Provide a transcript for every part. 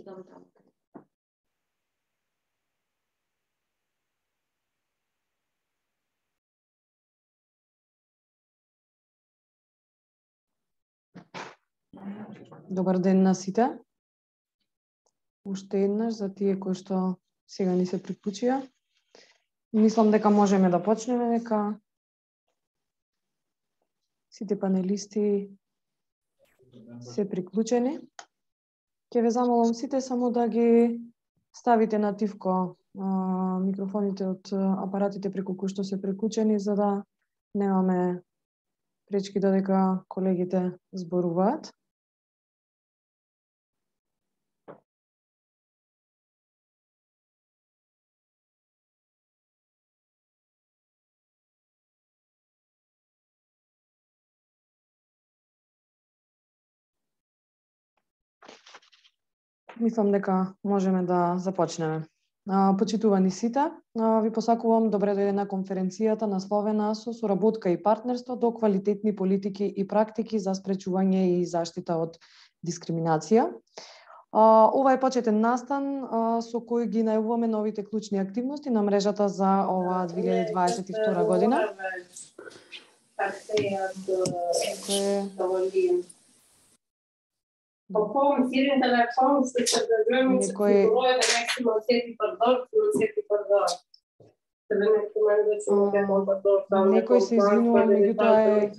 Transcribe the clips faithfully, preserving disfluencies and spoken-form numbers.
дам таму. Добар ден на сите. Уште еднаш за тие кои што сега ни се приклучија. Мислам дека можеме да почнеме, дека сите панелисти се приклучени. Ќе ве замолам сите само да ги ставите на тивко а, микрофоните од апаратите преку кои што се приклучени, за да немаме пречки додека колегите зборуваат. Мислам дека можеме да започнеме. Почитувани сите, ви посакувам добре дојде на конференцијата насловена со соработка и партнерство до квалитетни политики и практики за спречување и заштита од дискриминација. Ова е почетен настан со кој ги најавуваме новите клучни активности на мрежата за оваа две илјади дваесет и втора година. Некој Некој се извинува, меѓутоа е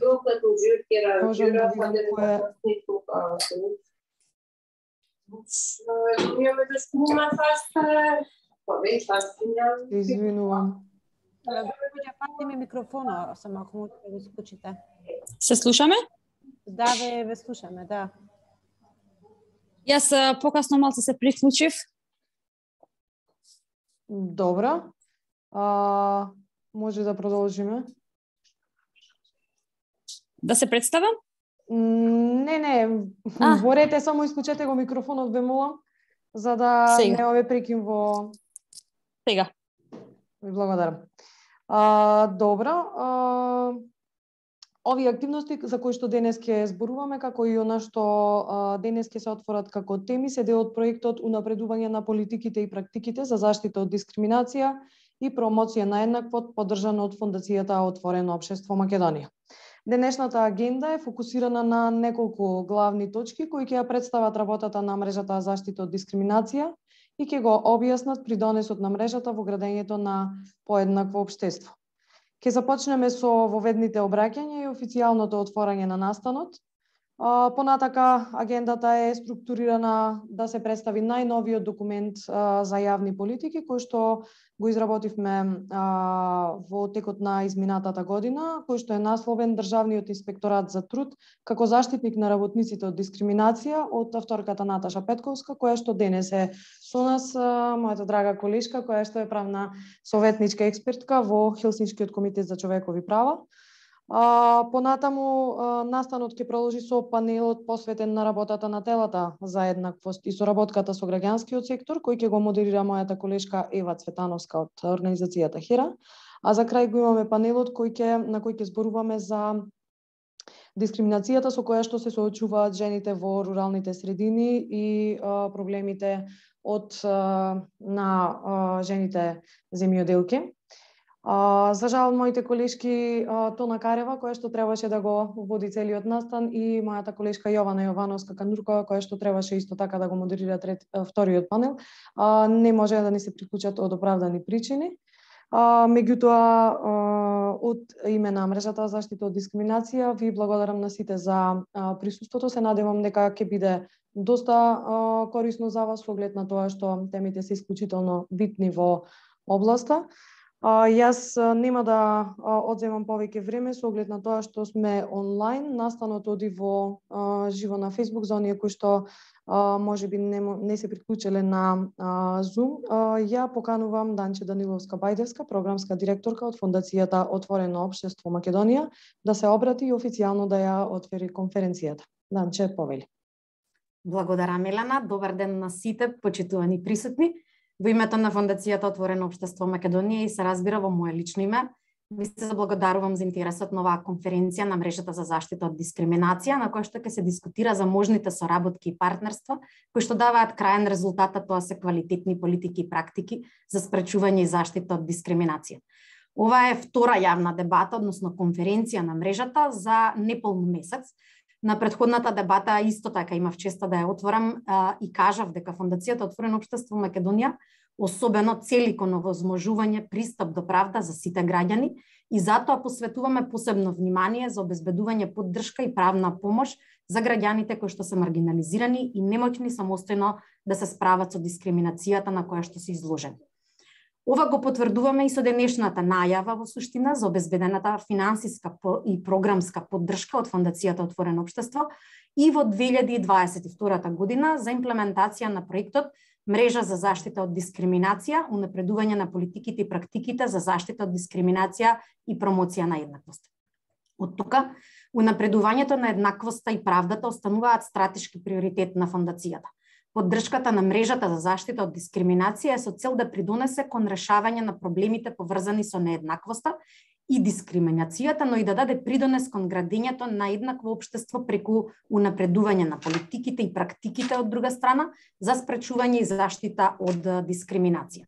можам да видам кој е. Се извинувам. Пати ми микрофона, само ако можете да го исклучите. Се слушаме? Да, ве, ве слушаме, да. Јас покасно малку се приклучив. Добро. А, може да продолжиме? Да се представам? Не, не. А. Борете, само исклучете го микрофонот, ве молам, за да сега не ове прекин во... Сега. Ви благодарам. А, добро. А... Овие активности за кои што денес ќе зборуваме, како и она што а, денес ќе се отворат како теми, се дел од проектот Унапредување на политиките и практиките за заштита од дискриминација и промоција на еднаквост, поддржано од Фондацијата Отворено општество Македонија. Денешната агенда е фокусирана на неколку главни точки кои ќе ја представат работата на мрежата за заштита од дискриминација и ќе го објаснат придонесот на мрежата во градењето на поеднакво општество. Ќе започнеме со воведните обраќања и официјалното отворање на настанот. Понатака, агендата е структурирана да се представи најновиот документ за јавни политики, кој што го изработивме во текот на изминатата година, кој што е насловен Државниот инспекторат за труд како заштитник на работниците од дискриминација, од авторката Наташа Петковска, која што денес е со нас, мојата драга колешка, која што е правна советничка експертка во Хелсинскиот комитет за човекови права. А, понатаму а, настанот ќе продолжи со панелот посветен на работата на телата за еднаквост и соработката со граѓанскиот сектор, кој ќе го модерира мојата колешка Ева Цветановска од организацијата Хера. А за крај го имаме панелот кој ќе на кој ќе зборуваме за дискриминацијата со која што се соочуваат жените во руралните средини и а, проблемите од а, на а, жените земјоделки. Uh, за жал, моите колешки uh, Тона Карева, која што требаше да го води целиот настан, и мојата колешка Јована Јовановска Кануркова, која што требаше исто така да го модерира трет, uh, вториот панел, uh, не може да ни се приклучат од оправдани причини. Uh, меѓутоа, uh, од име на мрежата за заштита од дискриминација, ви благодарам на сите за uh, присуството. Се надевам дека ќе биде доста uh, корисно за вас, со оглед на тоа што темите се исклучително битни во областа. А, јас нема да а, одземам повеќе време со оглед на тоа што сме онлайн. Настанот оди во а, живо на Facebook за оние кои што а, можеби не, не се приклучиле на а, Zoom. А, ја поканувам Данче Даниловска Бајдевска, програмска директорка од Фондацијата Отворено општество Македонија, да се обрати и официјално да ја отвори конференцијата. Данче, повели. Благодарам, Елена. Добар ден на сите почитувани присутни. Во името на Фондацијата Отворено општество Македонија и се разбира во моје лично име, Ви се заблагодарувам за интересот на оваа конференција на мрежата за заштита од дискриминација, на која што ќе се дискутира за можните соработки и партнерства, кои што даваат краен резултат, а тоа се квалитетни политики и практики за спречување и заштита од дискриминација. Ова е втора јавна дебата, односно конференција на мрежата за неполн месец. На претходната дебата исто така имав честа да ја отворам а, и кажав дека Фондацијата Отворено општество Македонија особено цели кон овозможување пристап до правда за сите граѓани и затоа посветуваме посебно внимание за обезбедување поддршка и правна помош за граѓаните кои што се маргинализирани и немоќни самостојно да се справат со дискриминацијата на која што се изложени. Ова го потврдуваме и со денешната најава во суштина за обезбедената финансиска и програмска поддршка од Фондацијата Отворено општество и во две илјади и дваесет и втора година за имплементација на проектот Мрежа за заштита од дискриминација, унапредување на политиките и практиките за заштита од дискриминација и промоција на еднаквост. Од тука, унапредувањето на еднаквоста и правдата остануваат стратешки приоритет на фондацијата. Поддршката на мрежата за заштита од дискриминација е со цел да придонесе кон решавање на проблемите поврзани со нееднаквоста и дискриминацијата, но и да даде придонес кон градењето на еднакво општество преку унапредување на политиките и практиките од друга страна за спречување и заштита од дискриминација.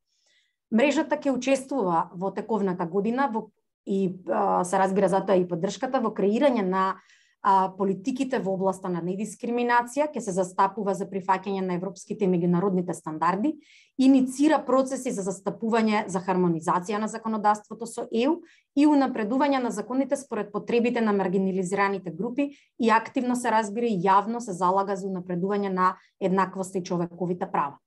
Мрежата ќе учествува во тековната година во, и а, се разбира затоа и поддршката во креирање на а, политиките во областа на недискриминација, ќе се застапува за прифаќање на европските и меѓународните стандарди, иницира процеси за застапување за хармонизација на законодавството со Е У и унапредување на законите според потребите на маргинализираните групи и активно се разбира и јавно се залага за унапредување на еднаквост и човековите права.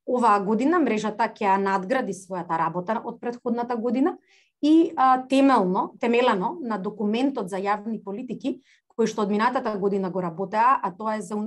Оваа година мрежата ќе надгради својата работа од претходната година и а, темелно, темелено на документот за јавни политики кој што од минатата година го работеа, а тоа е за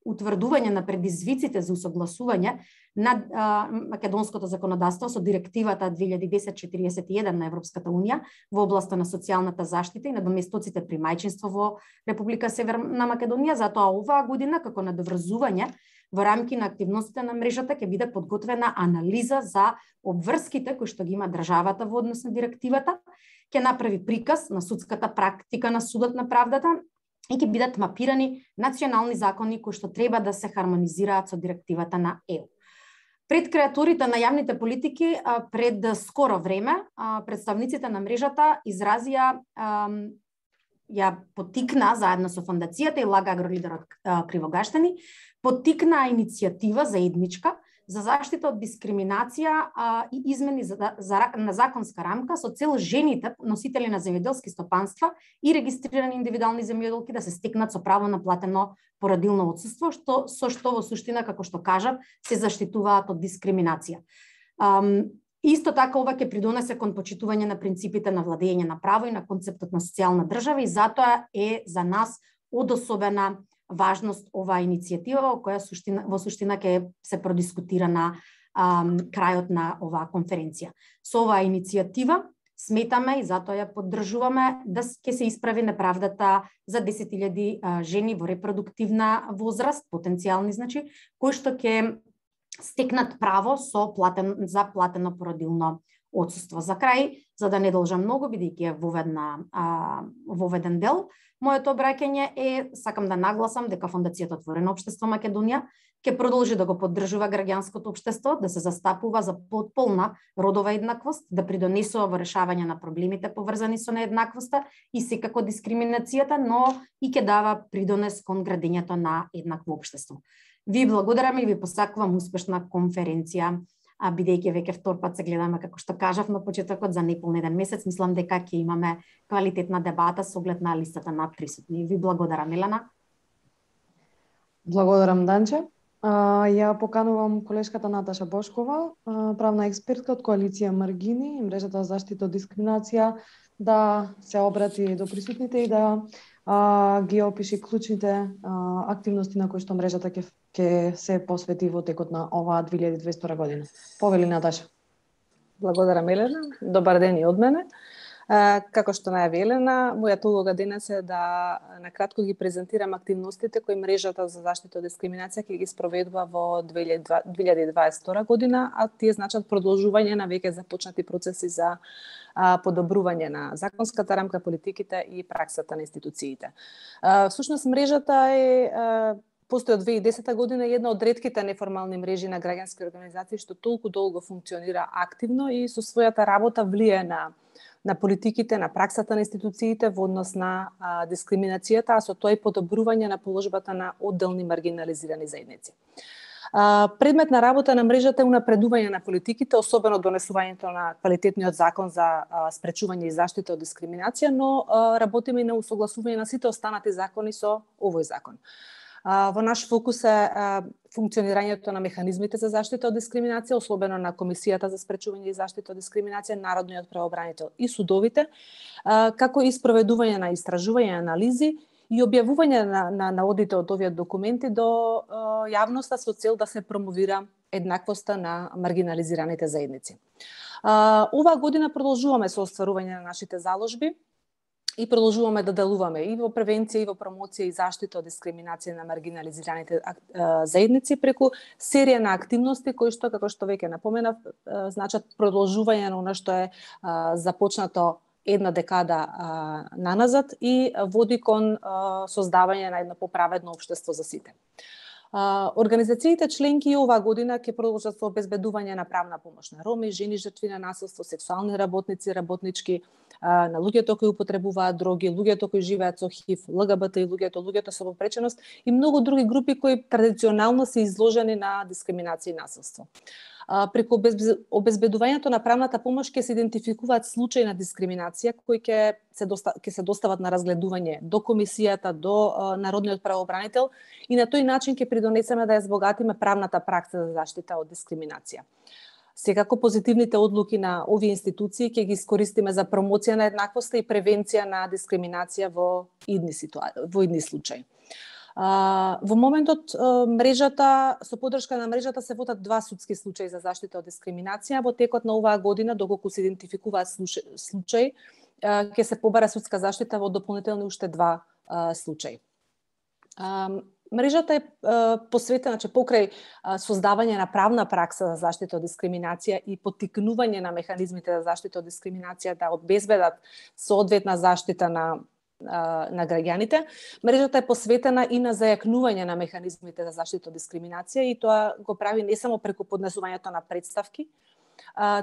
утврдување на предизвиците за усогласување на а, македонското законодавство со директивата две илјади и десет четириесет и еден на Европската унија во областа на социјалната заштита и на доместоците при мајчинство во Република Северна Македонија. Затоа оваа година како надоврзување во рамки на активностите на мрежата ќе биде подготвена анализа за обврските кои што ги има државата во однос на директивата, ќе направи приказ на судската практика на судот на правдата и ќе бидат мапирани национални закони кои што треба да се хармонизираат со директивата на Е У. Пред креаторите на јавните политики, пред скоро време, представниците на мрежата изразија, ја потикна заедно со фондацијата и Лага агролидерот Кривогаштени, потикна иницијатива заедничка за заштита од дискриминација а, и измени за, за, на законска рамка со цел жените носители на земјоделски стопанства и регистрирани индивидуални земјоделки да се стекнат со право на платено породилно отсуство, што со што во суштина, како што кажав, се заштитуваат од дискриминација. Um, Исто така ова ќе придонесе кон почитување на принципите на владење на право и на концептот на социјална држава и затоа е за нас од особена важност оваа иницијатива во која суштина, во суштина ќе се продискутира на ам, крајот на оваа конференција. Со оваа иницијатива сметаме и затоа ја поддржуваме да ќе се исправи неправдата за десет илјади жени во репродуктивна возраст, потенцијални значи, кои што ќе стекнат право со платен, за платено породилно отсуство. За крај, за да не должам многу, бидејќи е воведна, а, воведен дел, моето обраќање е, сакам да нагласам дека Фондацијата Отворено општество Македонија ќе продолжи да го поддржува граѓанското општество, да се застапува за потполна родова еднаквост, да придонесува во решавање на проблемите поврзани со нееднаквоста и секако дискриминацијата, но и ќе дава придонес кон градењето на еднакво општество. Ви благодарам и ви посакувам успешна конференција, а бидејќи веќе втор пат се гледаме, како што кажав на почетокот, за неполн еден месец, мислам дека ќе имаме квалитетна дебата со оглед на листата на присутни. Ви благодарам, Елена. Благодарам, Данче. А, ја поканувам колешката Наташа Бошкова, правна експертка од Коалиција Маргини и мрежата за заштита од дискриминација, да се обрати до присутните и да а, ги опиши клучните а, активности на кои што мрежата ќе ќе се посвети во текот на оваа две илјади и дваесет година. Повели, Наташа. Благодарам, Елена. Добар ден и од мене. Како што најави Елена, мојата улога денес е да накратко ги презентирам активностите кои мрежата за заштита од дискриминација ќе ги спроведува во две илјади и дваесет и втора година, а тие значат продолжување на веќе започнати процеси за подобрување на законската рамка, политиките и праксата на институциите. Всушност мрежата е постои од две илјади и десета година е една од ретките неформални мрежи на граѓански организации што толку долго функционира активно и со својата работа влие на на политиките, на праксата на институциите во однос на а, дискриминацијата, а со тоа и подобрување на положбата на одделни маргинализирани заедници. А, предмет на работа на мрежата е унапредување на политиките, особено донесувањето на квалитетниот закон за а, спречување и заштита од дискриминација, но а, работиме и на усогласување на сите останати закони со овој закон. Во наш фокус е функционирањето на механизмите за заштита од дискриминација, особено на Комисијата за спречување и заштита од дискриминација, Народниот правобранител и судовите, како и спроведување на истражување, анализи и објавување на, на, на одите од овие документи до јавноста со цел да се промовира еднаквоста на маргинализираните заедници. Оваа година продолжуваме со остварување на нашите заложби и продолжуваме да делуваме и во превенција, и во промоција и заштита од дискриминација на маргинализираните заедници преку серија на активности кои што, како што веќе напоменав, значат продолжување на она што е започнато една декада наназад и води кон создавање на едно поправедно општество за сите. Организациите членки оваа година ќе продолжат со обезбедување на правна помош на роми, жени жртви на насилство, сексуални работници, работнички, на луѓето кои употребуваат дроги, луѓето кои живеат со ХИВ, ЛГБТ и луѓето, луѓето со попреченост и многу други групи кои традиционално се изложени на дискриминација и насилство. Преку обезбедувањето на правната помош ќе се идентификуваат случаи на дискриминација кои ќе се доста, ќе се достават на разгледување до комисијата, до Народниот правобранител и на тој начин ќе придонесеме да ја збогатиме правната пракса за заштита од дискриминација. Секако позитивните одлуки на овие институции ќе ги искористиме за промоција на еднаквоста и превенција на дискриминација во идни ситуации, во идни случаи. Во моментот мрежата, со подршка на мрежата се водат два судски случаи за заштита од дискриминација. Во текот на оваа година, доколку се идентификуваат случаи, ќе се побара судска заштита во дополнителни уште два случаи. Мрежата е посветена, че покрај создавање на правна пракса за заштита од дискриминација и поттикнување на механизмите за заштита од дискриминација да обезбедат соодветна заштита на на граѓаните, мрежата е посветена и на зајакнување на механизмите за заштита од дискриминација и тоа го прави не само преку поднесувањето на представки,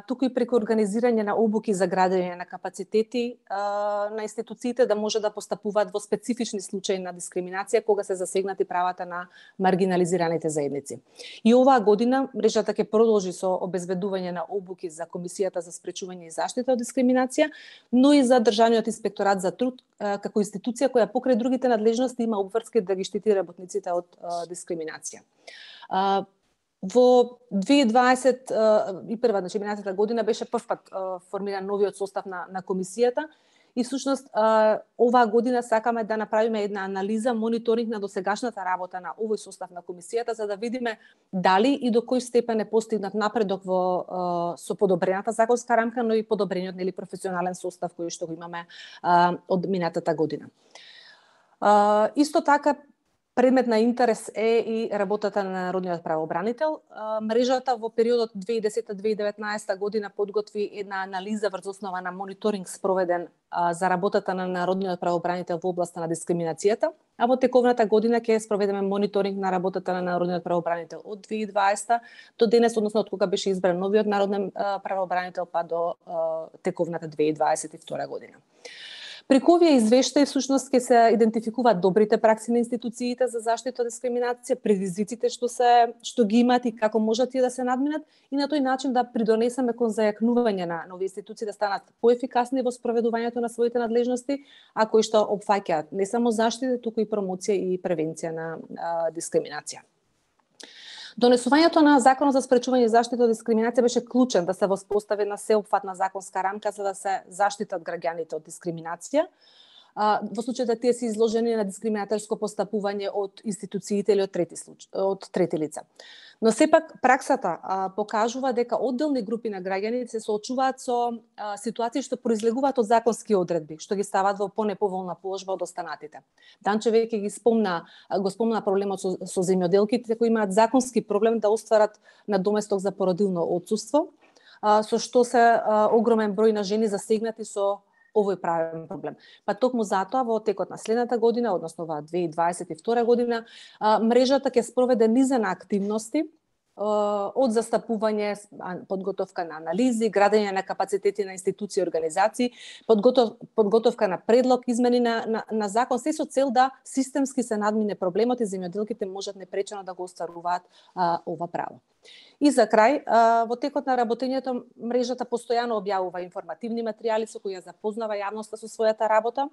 туку и преку организирање на обуки за градење на капацитети на институциите да може да постапуваат во специфични случаи на дискриминација кога се засегнати правата на маргинализираните заедници. И оваа година мрежата ќе продолжи со обезбедување на обуки за Комисијата за спречување и заштита од дискриминација, но и за Државниот инспекторат за труд како институција која покрај другите надлежности има обврски да ги штити работниците од дискриминација. Во две илјади дваесет и прва, значи минатата година, беше првпат формиран новиот состав на, на комисијата и всушност оваа година сакаме да направиме една анализа, мониторинг на досегашната работа на овој состав на комисијата за да видиме дали и до кој степен е постигнат напредок во со подобрената законска рамка, но и подобрениот нели професионален состав кој што го имаме од минатата година. Исто така предмет на интерес е и работата на Народниот правобранител. Мрежата во периодот две илјади и десета до две илјади и деветнаесета година подготви една анализа врз основа на мониторинг спроведен за работата на Народниот правобранител во областа на дискриминацијата, а во тековната година ќе спроведеме мониторинг на работата на Народниот правобранител од две илјади и дваесета до денес, односно од кога беше избран новиот Народен правобранител па до тековната две илјади и дваесет и втора година. Преку овие извештаи всушност ќе се идентификуваат добрите пракси на институциите за заштита од дискриминација, предизвиците што се што ги имаат и како можат тие да се надминат и на тој начин да придонесеме кон зајакнување на нови институции да станат поефикасни во спроведувањето на своите надлежности, а кои што опфаќаат не само заштита, туку и промоција и превенција на а, дискриминација. Донесувањето на Законот за спречување и заштита од дискриминација беше клучен да се воспостави една сеопфатна законска рамка за да се заштитат граѓаните од дискриминација. во случај да тие се изложени на дискриминаторско постапување од институциите или од трети случаи, од трети лица. Но сепак праксата а, покажува дека одделни групи на граѓани се соочуваат со а, ситуации што произлегуваат од законски одредби, што ги стават во понеповолна положба од останатите. Данче веќе ги спомна, го спомна проблемот со, со земјоделките кои имаат законски проблем да остварат надоместок за породилно отсуство, а, со што се а, огромен број на жени засегнати со овој правен проблем. Па токму затоа во текот на следната година, односно во две илјади дваесет и втора година, мрежата ќе спроведе низа на активности од застапување, подготовка на анализи, градење на капацитети на институции и организации, подготов, подготовка на предлог, измени на, на, на закон, се со цел да системски се надмине проблемот и земјоделките можат непречено да го остваруваат а, ова право. И за крај, а, во текот на работењето, мрежата постојано објавува информативни материјали со кои ја запознава јавноста со својата работа.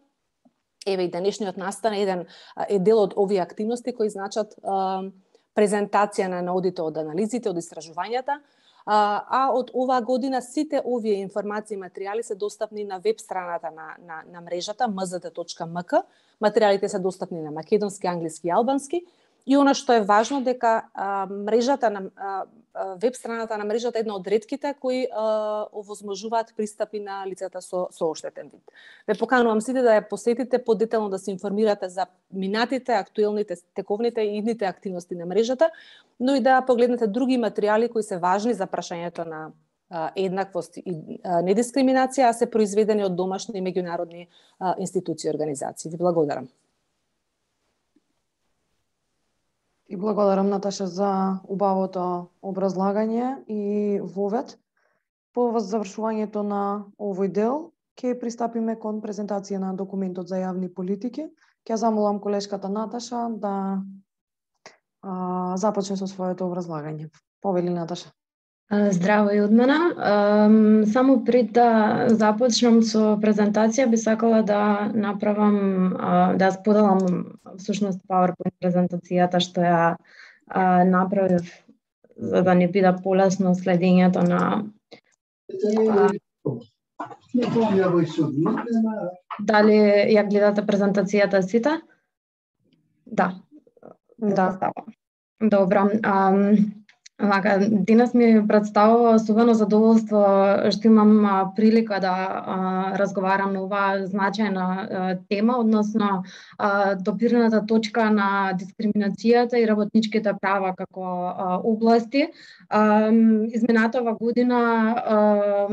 Еве и денешниот настан еден е дел од овие активности кои значат а, презентација на наудите од анализите, од истражувањата, а, а од оваа година сите овие информации и материјали се достапни на веб страната на, на, на мрежата ем зет точка ем ка. Материјалите се достапни на македонски, англиски и албански. И она што е важно дека а, мрежата на а, веб страната на мрежата е една од ретките кои а, овозможуваат пристапи на лицата со со оштетен вид. Ве поканувам сите да ја посетите подетелно, да се информирате за минатите, актуелните, тековните и идните активности на мрежата, но и да погледнете други материјали кои се важни за прашањето на а, еднаквост и а, недискриминација, а се произведени од домашни и меѓународни а, институции и организации. Ви благодарам. И благодарам, Наташа, за убавото образлагање и вовед. По завршувањето на овој дел, ќе пристапиме кон презентација на документот за јавни политики. Ќе замолам колешката Наташа да а, започне со своето образлагање. Повели, Наташа. Здраво и од мене. Само пред да започнам со презентација, би сакала да направам, да споделам всушност PowerPoint презентацијата што ја направив за да не биде полесно следењето на Дали ја гледате презентацијата сите? Да. Да. Добро. Вака, денес ми представува особено задоволство што имам а, прилика да а, разговарам на оваа значајна а, тема, односно а, допирната точка на дискриминацијата и работничките права како а, области. А, изминатава година а,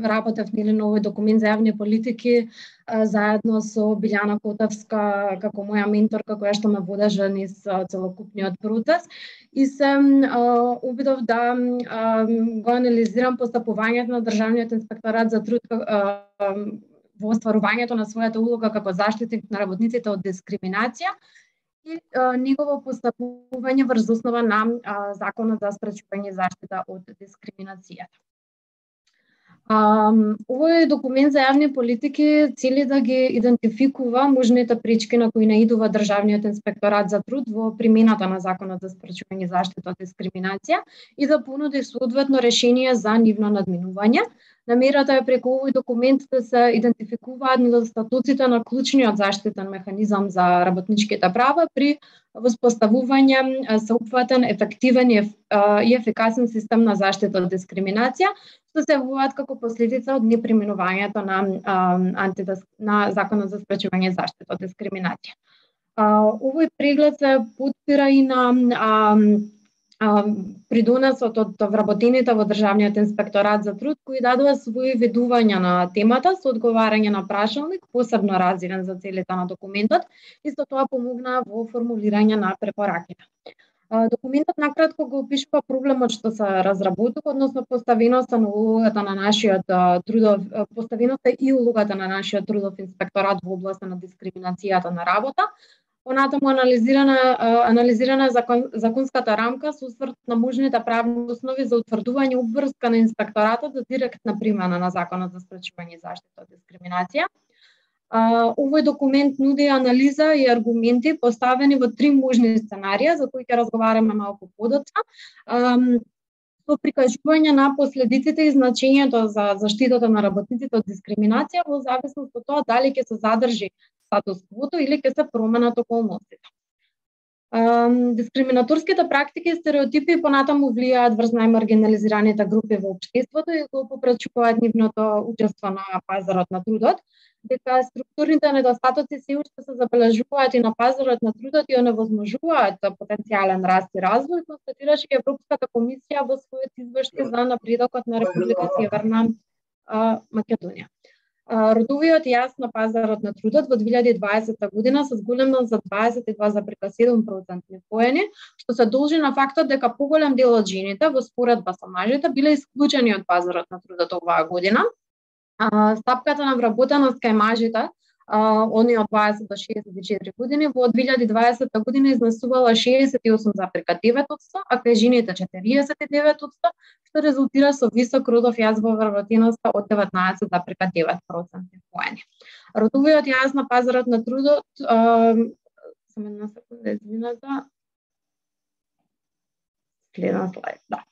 работев нели на овој документ за јавни политики а, заедно со Билјана Котевска како моја менторка која што ме водеше низ целокупниот процес. И се а, обидов да а, го анализирам постапувањето на Државниот инспекторат за труд а, во остварувањето на својата улога како заштитник на работниците од дискриминација и а, негово постапување врз основа на а, Законот за спречување и заштита од дискриминацијата. Um, овој документ за јавни политики цели да ги идентификува можните пречки на кои наидува Државниот инспекторат за труд во примената на Законот за спречување и заштита од дискриминација и да понуди соодветно решение за нивно надминување. Намерата е преку овој документ да се идентификуваат недостатоците на клучниот заштитен механизам за работничките права при воспоставување сеопфатен, ефективен и ефикасен систем на заштита од дискриминација, што се явуваат како последица од неприменувањето на, антидис... на Законот за спречување и заштита од дискриминација. Овој преглед се потпира и на а, а, придонесот од вработените во Државниот инспекторат за труд, кои дадува своји ведувања на темата со одговарање на прашалник, посебно разделен за целите на документот, и со тоа помогна во формулирање на препораките. Документот накратко го опишува проблемот што се разработува, односно поставеноста на улогата на нашиот трудов, поставеноста и улогата на нашиот трудов инспекторат во областа на дискриминацијата на работа. Понатаму анализирана анализирана закон, законската рамка со осврт на можните правни основи за утврдување обврска на инспекторатот за директна примена на Законот за спречување и заштита од дискриминација. Uh, овој документ нуди анализа и аргументи поставени во три можни сценарија за кои ќе разговараме малку подоцна, um, со прикажување на последиците и значењето за заштитата на работниците од дискриминација во зависност од тоа дали ќе се задржи статус квото или ќе се променат околностите. Дискриминаторските практики и стереотипи понатаму влијаат врз најмаргинализираните групи во општеството и го попречуваат нивното учество на пазарот на трудот, дека структурните недостатоци се уште се забележуваат и на пазарот на трудот и оневозможуваат потенцијален раст и развој, констатираше Европската комисија во својот извештај за напредокот на Република Северна Македонија. Родовиот јас на пазарот на трудот во две илјади и дваесета година се зголемил за дваесет и два зарез седум проценти поени, што се должи на фактот дека поголем дел од жените во споредба со мажите биле исклучени од пазарот на трудот оваа година. Стапката на вработеност кај мажите, они од дваесет до шеесет и четири години, во две илјади и дваесета година изнесувала шеесет и осум зарез девет одсто, а кај жените четириесет и девет одсто, што резултира со висок родов јас во вработеноста од деветнаесет зарез девет проценти поени. Родовиот јас на пазарот на трудот, само една секунда, извинете, следен слайд, да.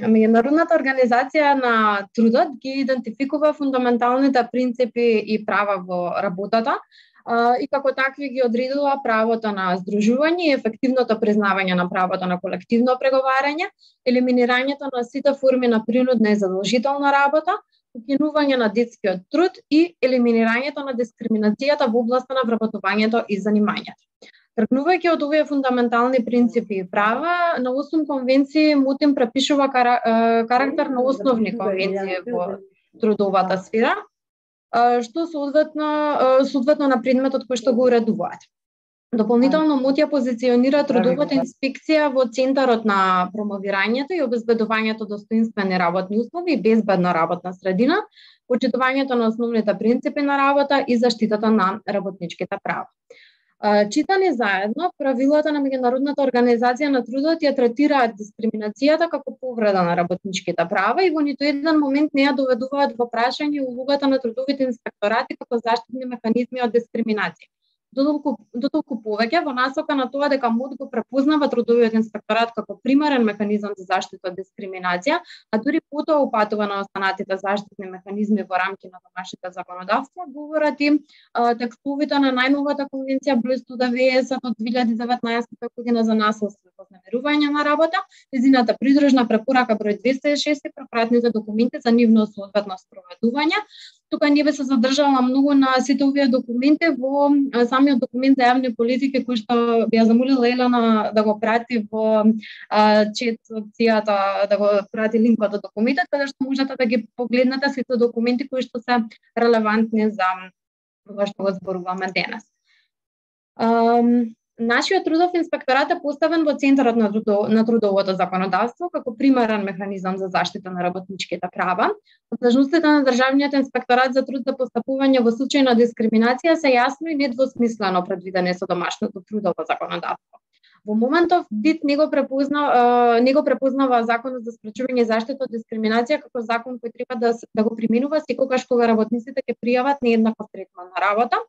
Меѓународната организација на трудот ги идентификува фундаменталните принципи и права во работата и како такви ги одредила правото на здружување и ефективното признавање на правото на колективно преговарање, елиминирањето на сите форми на принудна и задолжителна работа, укинување на детскиот труд и елиминирањето на дискриминацијата во областа на вработувањето и занимањето. Тргнувајќи од овие фундаментални принципи и права, на осум конвенции МОТИМ препишува карактер на основни конвенции во трудовата сфера, што соодветно соодветно на предметот кој што го уредуваат. Дополнително МОТИ ја позиционира трудовата инспекција во центарот на промовирањето и обезбедувањето достоинствени работни услови и безбедна работна средина, почитувањето на основните принципи на работа и заштитата на работничките права. Читани заедно, правилата на Меѓународната организација на трудот ја третираат дискриминацијата како повреда на работничките права и во ниту еден момент не ја доведуваат во прашање улогата на трудовите инспекторати како заштитни механизми од дискриминација. Дотолку, дотолку повеќе во насока на тоа дека МОД го препознава трудовиот инспекторат како примарен механизам за заштита од дискриминација, а дури потоа упатува на останатите заштитни механизми во рамки на домашните законодавства, говорат и а, текстовите на најновата конвенција број сто деветдесет од две илјади и деветнаесета година за насилство и вознемирување на работа, незината придружна препорака број двеста и шест и препратните документи за нивно соодветно спроведување. Тука не би се задржала многу на сите овие документи во самиот документ за јавни политики кој што би ја замолила Елена да го прати во а, чет опцијата, да го прати линкот од документот, каде што можете да ги погледнете сите документи кои што се релевантни за ова што го зборуваме денес. Um, Нашиот трудов инспекторат е поставен во центарот на, трудо, на трудовото законодавство како примарен механизам за заштита на работничките права. Должностите на државниот инспекторат за труд за постапување во случај на дискриминација се јасно и недвосмислено предвидени со домашното трудово законодавство. Во моментов ДИТ не го препознава не го препознава законот за спречување и заштита од дискриминација како закон кој треба да да го применува секогаш кога работниците ќе пријават нееднаков третман на работа.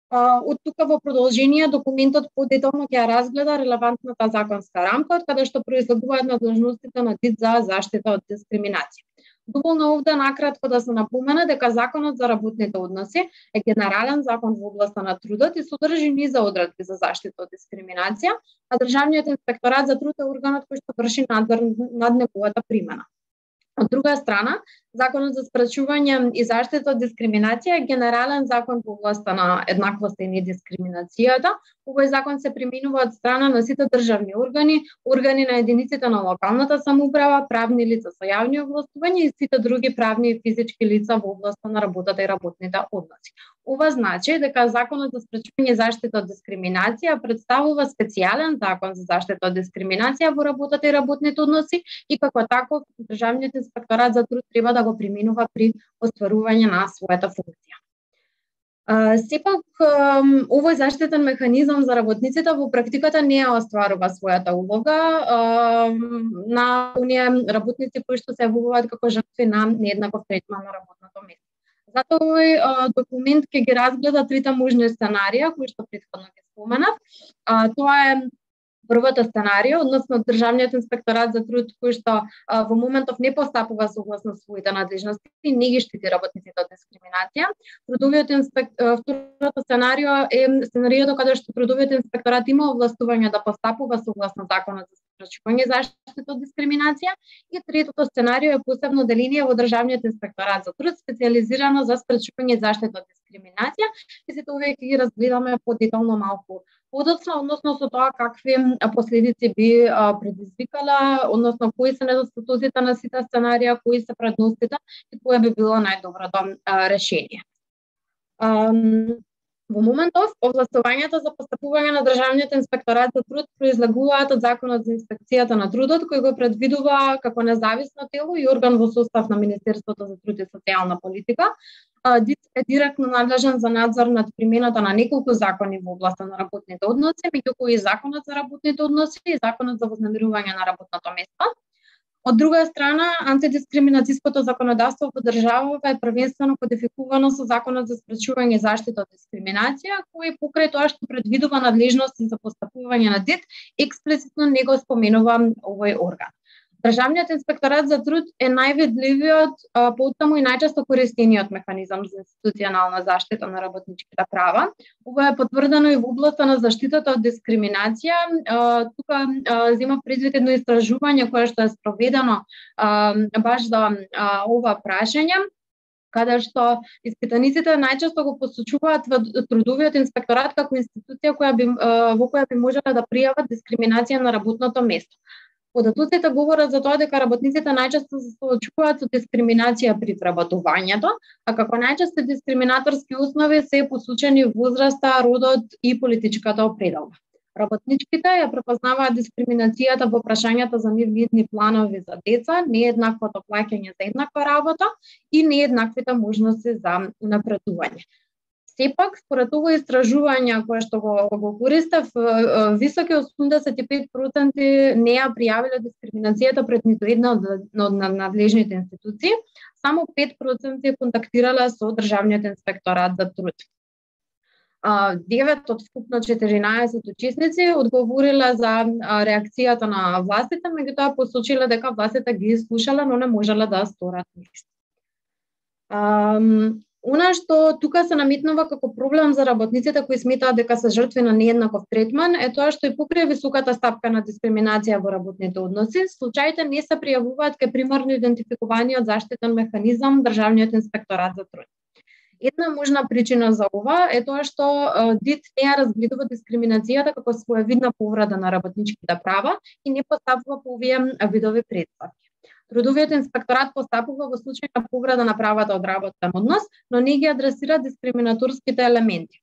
Од тука во продолжение документот подетално ќе ја разгледа релевантната законска рамка од каде што произлегуваат надолжностите на ДИТ за заштита од дискриминација. Доволно овде накратко да се напомена дека Законот за работните односи е генерален закон во областа на трудот и содржи низа одредби за заштита од дискриминација, а Државниот инспекторат за труд е органот кој што врши надзор над неговата примена. Од друга страна, Законот за спречување и заштита од дискриминација е генерален закон во областа на еднаквоста и недискриминацијата. Овој закон се применува од страна на сите државни органи, органи на единиците на локалната самоуправа, правни лица со јавни овластувања и сите други правни и физички лица во областа на работата и работните односи. Ова значи дека Законот за спречување и заштита од дискриминација представува специјален закон за заштита од дискриминација во работата и работните односи и како таков Државниот инспекторат за труд треба да го применува при остварување на својата функција. Uh, сепак, um, овој заштитен механизам за работниците во практиката не ја остварува својата улога uh, на оние работници кои што се јавуваат како жртви на нееднаков третман на работното место. Затоа овој uh, документ ќе ги разгледа трите можни сценарија кои што претходно ги споменав. Uh, тоа е Првото сценарио, односно Државниот инспекторат за труд кој што а, во моментов не постапува согласно своите надлежности и не ги штити работниците од дискриминација. Трудовиот инспек... второто сценарио е сценариото каде што Трудовиот инспекторат има овластување да постапува согласно законот за спречување заштита од дискриминација и третото сценарио е посебно деление во Државниот инспекторат за труд специјализирано за спречување заштита од дискриминација и сите овие ќе ги разгледаме подетално малку подоцна, односно со тоа какви последици би а, предизвикала, односно кои се недостатоците на сите сценарија, кои се предностите и кое би било најдоброто а, решение. А, во моментов, овластувањето за постапување на Државниот инспекторат за труд произлегуваат од Законот за инспекцијата на трудот, кој го предвидува како независно тело и орган во состав на Министерството за труд и социјална политика. ДИТ е директно надлежен за надзор над примената на неколку закони во областа на работните односи, меѓу кои Законот за работните односи и Законот за вознемирување на работното место. Од друга страна, антидискриминацијското законодавство во државава е првенствено кодификувано со Законот за спречување заштита од дискриминација, кој покрај тоа што предвидува надлежности за постапување на ДИТ, експлицитно не го споменува овој орган. Државниот инспекторат за труд е највидливиот, потаму и најчесто користениот механизам за институционална заштита на работничките права. Ова е потврдено и во областа на заштитата од дискриминација. Тука зема предвид едно истражување кое што е спроведено баш за ова прашање, каде што испитаниците најчесто го посочуваат во Трудовиот инспекторат како институција која би, во која би можеле да пријават дискриминација на работното место. Податоците говорат за тоа дека работниците најчесто се соочуваат со дискриминација при вработувањето, а како најчесто дискриминаторски основи се посочени возраста, родот и политичката определба. Работничките ја препознаваат дискриминацијата во прашањата за нивни планови за деца, нееднаквото плаќање за еднаква работа и нееднаквите можности за напредување. Сепак, според ово истражување кое што го, го користев, високи осумдесет и пет проценти не ја пријавиле дискриминацијата пред ниту една од, од надлежните институции, само пет проценти контактирале со Државниот инспекторат за труд. девет од вкупно четиринаесет учесници одговориле за реакцијата на властите, меѓутоа посочиле дека властите ги слушале, но не можеле да сторат ништо. Она што тука се наметнува како проблем за работниците кои сметаат дека се жртви на нееднаков третман е тоа што и покрај високата стапка на дискриминација во работните односи, случаите не се пријавуваат кај примарно идентификуваниот заштитен механизам Државниот инспекторат за труд. Една можна причина за ова е тоа што ДИТ не ја разгледува дискриминацијата како своевидна повреда на работничките права и не постапува по овие видови претпоставки. Трудовиот инспекторат постапува во случај на повреда на правата од работен однос, но не ги адресира дискриминаторските елементи.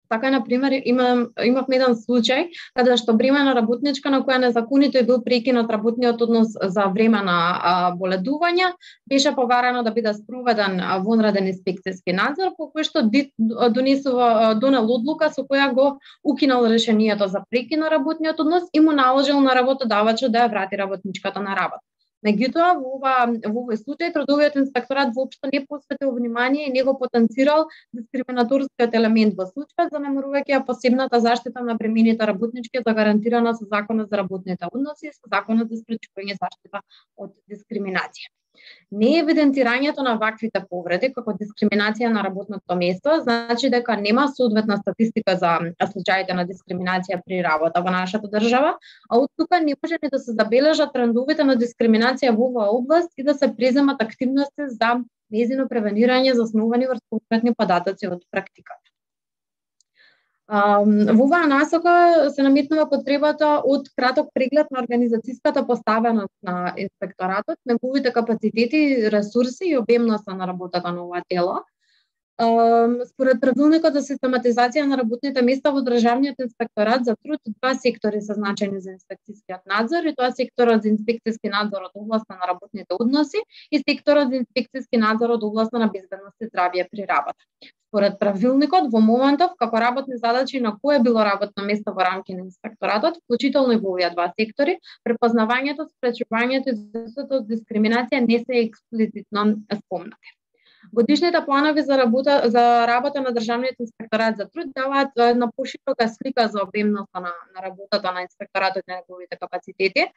Така, на пример, имам, имавме еден случај каде што бремена работничка на која незаконито е бил прекинат работниот однос за време на а, боледување, беше побарано да биде спроведен вонреден инспекцијски надзор, по кој што ДИТ донесува донел одлука со која го укинал решението за прекин на работниот однос и му наложил на работодавачот да ја врати работничката на работа. Меѓутоа, во ова во овој случај Трудовиот инспекторат воопшто не посветил внимание и не го потенцирал дискриминаторскиот елемент во случајот, занемарувајќи ја посебната заштита на бремените работнички загарантирана со Законот за работните односи и со Законот за спречување заштита од дискриминација. Не евидентирањето на ваквите повреди како дискриминација на работното место значи дека нема соодветна статистика за случаите на дискриминација при работа во нашата држава, а од тука не може ни да се забележат трендовите на дискриминација во оваа област и да се преземат активности за нејзино превенирање засновани врз конкретни податоци од практиката. Во оваа насока се наметнува потребата од краток преглед на организацијската поставеност на инспекторатот, неговите капацитети, ресурси и обемноста на работата на ова тело. Според правилникот за систематизација на работните места во Државниот инспекторат за труд, два сектори се значени за инспекцијскиот надзор, и тоа секторот за инспекцијски надзор од областа на работните односи и секторот за инспекцијски надзор од областа на безбедност и здравје при работа. Според правилникот, во моментов, како работни задачи на кое било работно место во рамки на инспекторатот, вклучително и во овие два сектори, препознавањето, спречувањето и заштитата од дискриминација не се експлицитно спомнати. Годишните планови за работа за работа на Државниот инспекторат за труд даваат една поширока слика за обемноста на, на работата на инспекторатот и неговите капацитети.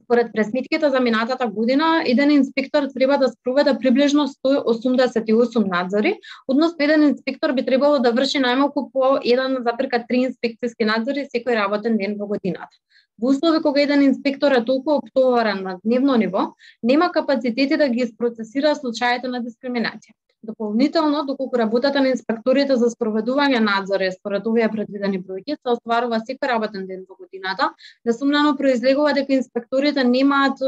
Според пресметките за минатата година, еден инспектор треба да спроведе приближно сто осумдесет и осум надзори, односно еден инспектор би требало да врши најмалку по еден запирка три инспекцијски надзори секој работен ден во годината. Во услови кога еден инспектор е толку оптоварен на дневно ниво, нема капацитети да ги isпроцесира случаите на дискриминација. Дополнително, доколку работата на инспекторите за спроведување надзори според овие предвидени бројки се остварува секој работен ден во годината, несумнено произлегува дека инспекторите немаат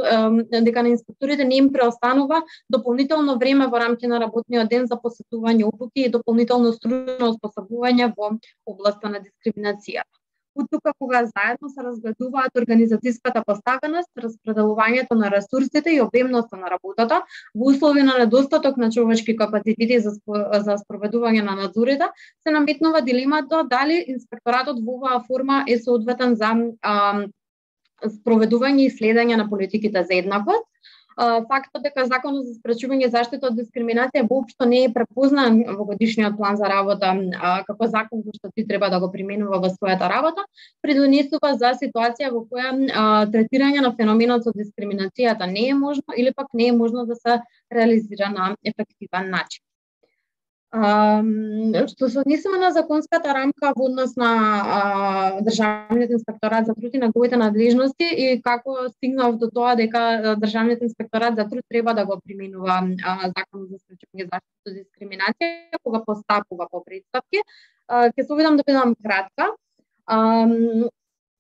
дека на инспекторите не им преостанува дополнително време во рамки на работниот ден за посетување обуки и дополнително стружно оспособување во областа на дискриминацијата. Тука кога заедно се разгледуваат организацијската поставеност, распределувањето на ресурсите и обемноста на работата во услови на недостаток на човечки капацитети за за спроведување на надзорите, се наметнува дилемата дали инспекторатот во оваа форма е соодветен за а, спроведување и следење на политиките за еднаквост. Фактот дека Законот за спречување и заштита од дискриминација воопшто не е препознан во годишниот план за работа а, како закон кој што ти треба да го применува во својата работа, придонесува за ситуација во која а, третирање на феноменот со дискриминацијата не е можно или пак не е можно да се реализира на ефективен начин. А, што се однесува на законската рамка во однос на а, Државниот инспекторат за труд и неговите надлежности и како стигнав до тоа дека Државниот инспекторат за труд треба да го применува а, Законот за спречување и заштита од дискриминација, кога постапува по претставки, ќе се обидам да бидам кратка. А,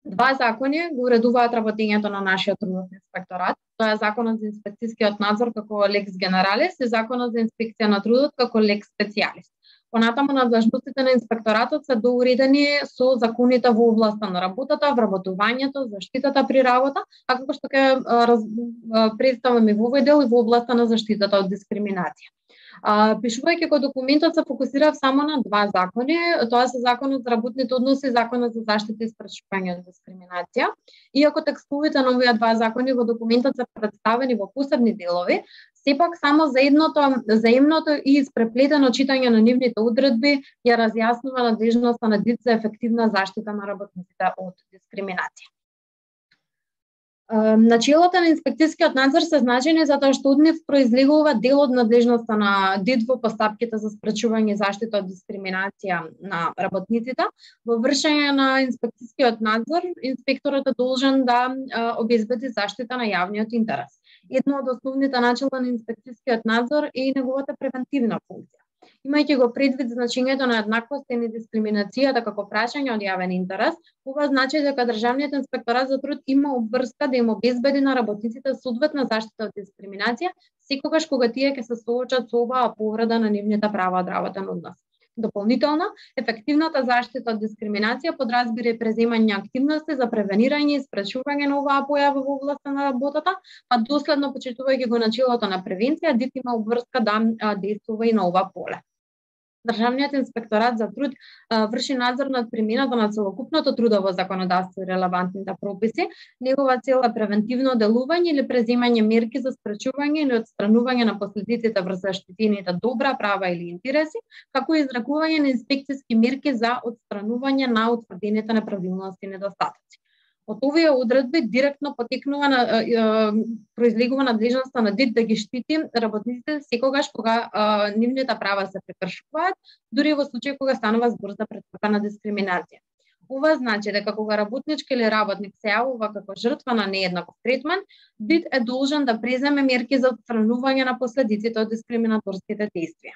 Два закони го уредуваат работењето на нашиот трудовен инспекторат. Тоа е Законот за инспекцијскиот надзор како лекс генералис и Законот за инспекција на трудот како лекс специјалис. Понатаму надлежностите на инспекторатот се доуредени со законите во областа на работата, вработувањето, заштитата при работа, а како што ќе представаме во овој дел и во областа на заштитата од дискриминација. А, пишувајќи го документот се фокусирав само на два закони, тоа се Законот за работните односи и Законот за заштита и спречување од дискриминација. Иако текстовите на овие два закони во документот се представени во посебни делови, сепак само за едното заемното и испреплетено читање на нивните одредби ја разјаснува надлежноста на ДИЦ за ефективна заштита на работниците од дискриминација. Начелата на инспекцијскиот надзор се значени затоа што од нив произлегува дел од надлежноста на ДИЦ во постапките за спречување и заштита од дискриминација на работниците. Во вршење на инспекцијскиот надзор, инспекторот е должен да обезбеди заштита на јавниот интерес. Едно од основните начела на инспекцијскиот надзор е неговата превентивна функција. Имајќи го предвид значењето на еднаквост и недискриминацијата како прашање од јавен интерес, ова значи дека Државниот инспекторат за труд има обврска да им обезбеди на работниците соодветна заштита од дискриминација секогаш кога тие ќе се соочат со оваа повреда на нивните права од работен однос. Дополнително, ефективната заштита од дискриминација подразбира преземање активности за превенирање и спречување на оваа појава во областа на работата, па доследно почитувајќи го начелото на превенција, ДИЦ има обврска да действува и на ова поле. Државниот инспекторат за труд а, врши надзор над примената на целокупното трудово законодавство и релевантните прописи. Негова цел е превентивно делување или преземање мерки за спречување или отстранување на последиците врз заштитените добра, права или интереси, како и изрекување на инспекцијски мерки за отстранување на утврдените неправилности и недостатоци. Од овие одредби директно потекнува на е, е, произлегува надлежноста на ДИЦ да ги штити работниците секогаш кога е, нивните права се прекршуваат, дури во случај кога станува збор за претрпена дискриминација. Ова значи дека кога работнички или работник се јавува како жртва на нееднаков третман, ДИЦ е должен да преземе мерки за отстранување на последиците од дискриминаторските действија.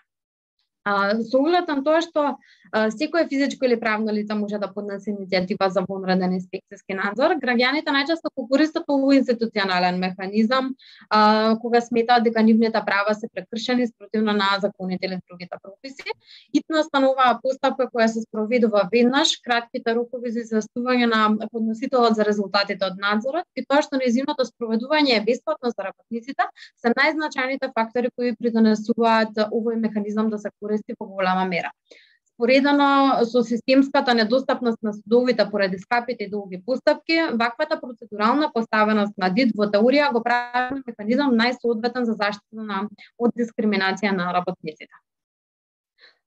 А, со оглед на тоа што а, секое физичко или правно лице може да поднесе иницијатива за вонреден инспекцијски надзор, граѓаните најчесто го користат овој институционален механизам а, кога сметаат дека нивните права се прекршени спротивно на законите или другите прописи. Итност на оваа постапка која се спроведува веднаш, кратките рокови за известување на подносителот за резултатите од надзорот и тоа што нејзиното спроведување е бесплатно за работниците се најзначајните фактори кои придонесуваат овој механизам да се користи во голема мера. споредено со системската недостапност на судовите поради скапите и долги постапки, ваквата процедурална поставеност на ДИД во теорија го прави механизам најсоодветен за заштита на од дискриминација на работниците.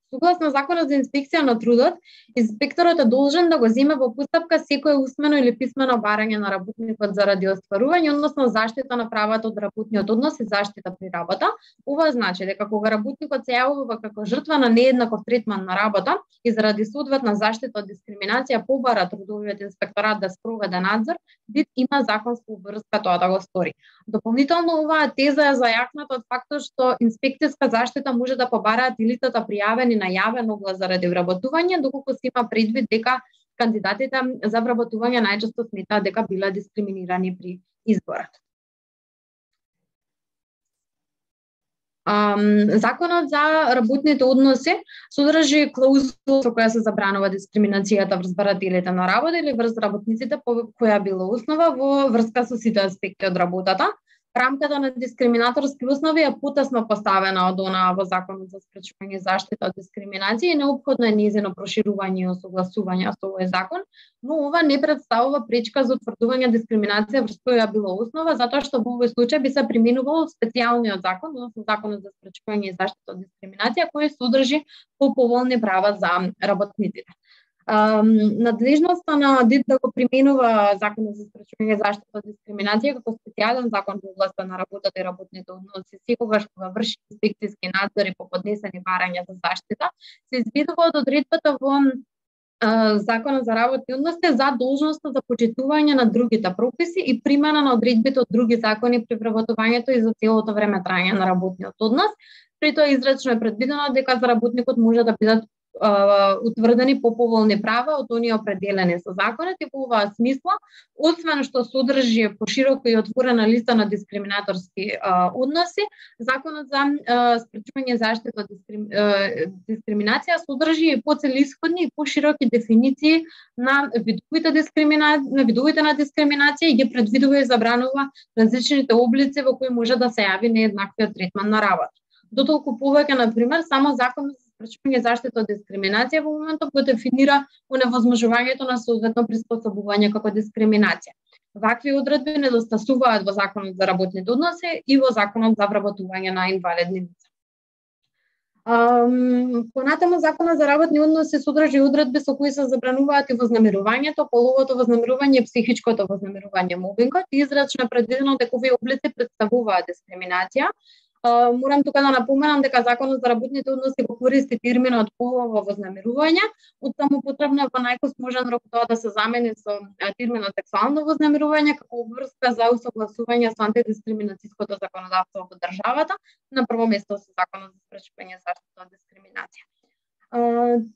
Согласно Законот за инспекција на трудот, инспекторот е должен да го земе во постапка секое усмено или писмено барање на работникот заради остварување, односно заштита на правата од работниот однос и заштита при работа. Ова значи дека кога работникот се јавува како жртва на нееднаков третман на работа и заради соодветна заштита од дискриминација побара трудовиот инспекторат да спроведе надзор, ДИД има законска обврска тоа да го стори. Дополнително оваа теза е зајакната од фактот што инспекцијска заштита може да побараат и лицата пријавени на јавен оглас заради вработување, доколку се има предвид дека кандидатите за вработување најчесто сметаат дека биле дискриминирани при изборот. Um, Законот за работните односи содржи клаузула со која се забранува дискриминацијата врз барателите на работа или врз работниците по која била основа во врска со сите аспекти од работата. Рамката на дискриминаторски основи е потесно поставена од онаа во Законот за спречување и заштита од дискриминација и неопходно е нејзино проширување и осогласување со овој закон, но ова не представува пречка за утврдување дискриминација врз која била основа, затоа што во овој случај би се применувал специјалниот закон, односно Законот за спречување и заштита од дискриминација, кој содржи поповолни права за работниците. Um, надлежноста на ДИД да го применува Законот за спречување и заштита од дискриминација како специјален закон во областа на работата и работните односи секогаш кога врши инспекцијски надзори по поднесени барања за заштита, се изведува од одредбата во uh, Законот за работни односи за должноста за почитување на другите прописи и примена на одредбите од други закони при вработувањето и за целото време траење на работниот однос. При тоа изречно е предвидено дека за работникот може да бидат утврдени поповолни права од оние определени со законот и во оваа смисла, освен што содржи поширока и отворена листа на дискриминаторски а, односи, Законот за а, спречување и заштита од дискрим, дискриминација содржи и поцелисходни и пошироки дефиниции на видовите дискримина... на видовите на дискриминација и ги предвидува и забранува различните облици во кои може да се јави нееднаквиот третман на работа. Дотолку повеќе, на пример, само Законот за спречување и заштита од дискриминација во моментот го дефинира оневозможувањето на соодветно приспособување како дискриминација. Вакви одредби недостасуваат во Законот за работните односи и во Законот за вработување на инвалидни лица. Um, понатаму Законот за работни односи содржи одредби со кои се забрануваат и вознемирувањето, половото вознемирување и психичкото вознемирување, мобингот, и израчно е предвидено дека овие облици представуваат дискриминација. Uh, морам тука да напоменам дека Законот за работните односи го користи терминот полово вознемирување, оттаму потребно е во најкосможен рок тоа да се замени со терминот сексуално вознемирување како обврска за усогласување со антидискриминацијското законодавство во државата, на прво место со Законот за спречување и заштита од дискриминација. Uh,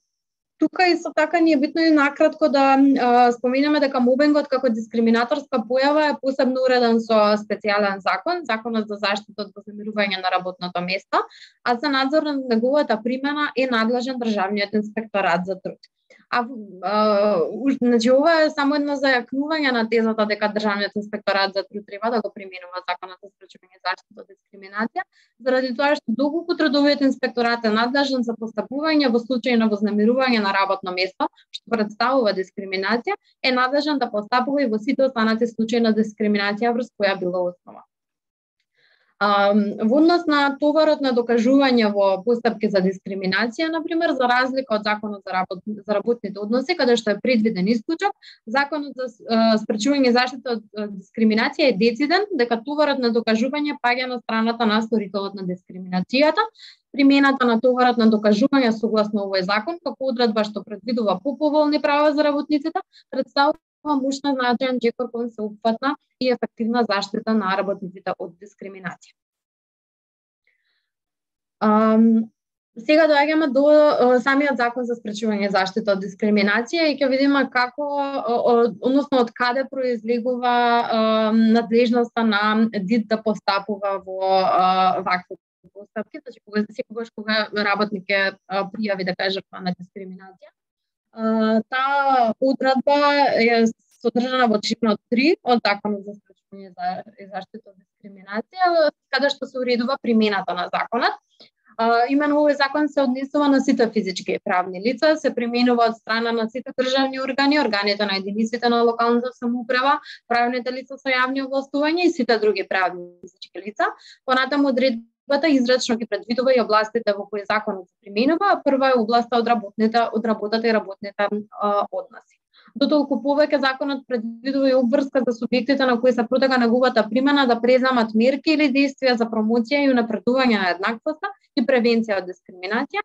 Тука исто така ни е битно и накратко да а, споменеме дека мобингот како дискриминаторска појава е посебно уреден со специјален закон, Законот за заштита од вознемирување на работното место, а за надзор на неговата примена е надлежен Државниот инспекторат за труд. А, а значи ова е само едно зајакнување на тезата дека Државниот инспекторат за труд треба да го применува Законот за спречување и заштита од дискриминација, заради тоа што доколку трудовиот инспекторат е надлежен за постапување во случај на вознемирување на работно место, што представува дискриминација, е надлежен да постапува и во сите останати случаи на дискриминација врз која била основа. Во однос на товарот на докажување во постапки за дискриминација, например, за разлика од Законот за, работ... за работните односи, каде што е предвиден исклучок, Законот за спречување и заштита од дискриминација е дециден дека товарот на докажување паѓа на страната на сторителот на дискриминацијата. Примената на товарот на докажување согласно овој закон, како одредба што предвидува поповолни права за работниците, представува мощна значаен джекор кон сеопфатна и ефективна заштита на работниците од дискриминација. Um, сега доаѓаме до uh, самиот закон за спречување и заштита од дискриминација и ќе видиме како, uh, односно од каде произлегува uh, надлежноста на ДИД да постапува во uh, вакви постапки, значи кога секогаш кога работник е uh, пријави да каже жртва на дискриминација. Uh, таа одредба е содржана во член три од Законот за спречување и заштита од дискриминација, каде што се уредува примената на законот. А, именно овој закон се однесува на сите физички и правни лица, се применува од страна на сите државни органи, органите на единиците на локалната самоуправа, правните лица со јавни овластувања и сите други правни физички лица. Понатаму одредбата израчно ги предвидува и областите во кои законот се применува, а прва е областа од работните, од работата и работните а, односи. Дотолку повеќе законот предвидува и обврска за субјектите на кои се протега неговата примена да преземат мерки или действија за промоција и унапредување на еднаквоста и превенција од дискриминација.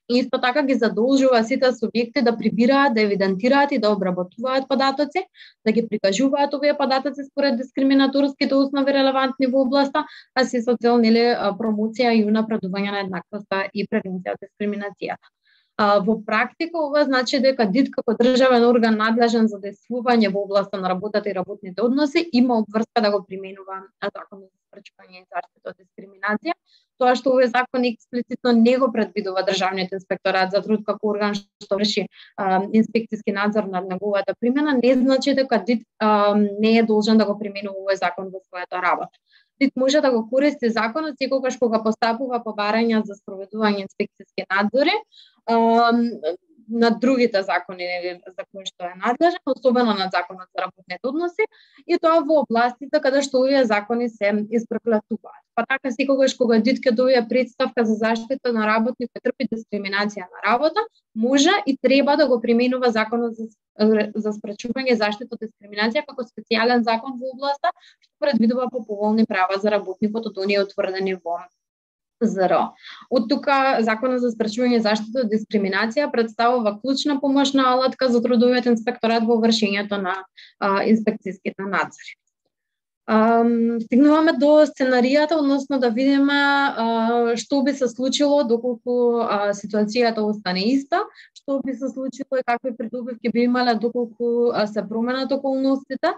И исто така ги задолжува сите субјекти да прибираат, да евидентираат и да обработуваат податоци, да ги прикажуваат овие податоци според дискриминаторските основи релевантни во областа, а се со цел нели промоција и унапредување на еднаквоста и превенција од дискриминацијата. А, во практика ова значи дека ДИД како државен орган надлежен за действување во областа на работата и работните односи има обврска да го применува законот за спречување и заштита од дискриминација. Тоа што овој закон експлицитно не го предвидува државниот инспекторат за труд како орган што врши а, инспекцијски надзор над неговата примена, не значи дека ДИД а, не е должен да го применува овој закон во својата работа. ДИД може да го користи законот секогаш кога постапува по барања за спроведување инспекцијски надзори на другите закони за кои што е надлежен, особено на законот за работните односи, и тоа во областите каде што овие закони се испреплетуваат. Па така секогаш кога ДИД ќе добие представка за заштита на работник кој трпи дискриминација на работа, може и треба да го применува законот за за спречување и заштита од дискриминација како специјален закон во областа што предвидува поповолни права за работникот од оние утврдени во ЗРО. Од тука законот за спречување и заштита од дискриминација представува клучна помошна алатка за трудовиот инспекторат во вршењето на а, инспекцијските надзори. Um, стигнуваме до сценаријата, односно да видиме uh, што би се случило доколку uh, ситуацијата остане иста, што би се случило и какви придобивки би имале доколку uh, се променат околностите.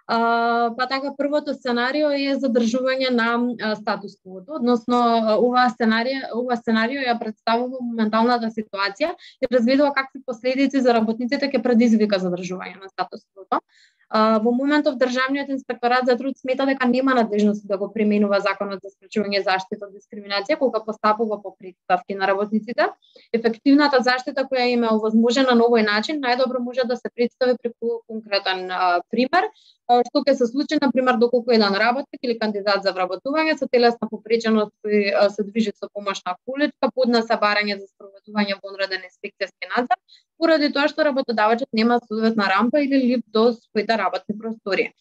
Uh, па така првото сценарио е задржување на uh, статус-квото, односно uh, ова сценарио, ова сценарио ја представува моменталната ситуација и развидува какви последици за работниците ќе предизвика задржување на статус-квото. Uh, во моментов државниот инспекторат за труд смета дека нема надлежност да го применува законот за спречување и заштита од дискриминација кога постапува по претставки на работниците. Ефективната заштита која им е овозможена на овој начин најдобро може да се представи преку конкретен uh, пример, uh, што ќе се случи на пример доколку еден работник или кандидат за вработување со телесна попреченост кој uh, се движи со помошна количка поднесе барање за спроведување во онреден инспекцијски надзор поради тоа што работодавачот нема соодветна рампа или лифт до своите работни простори.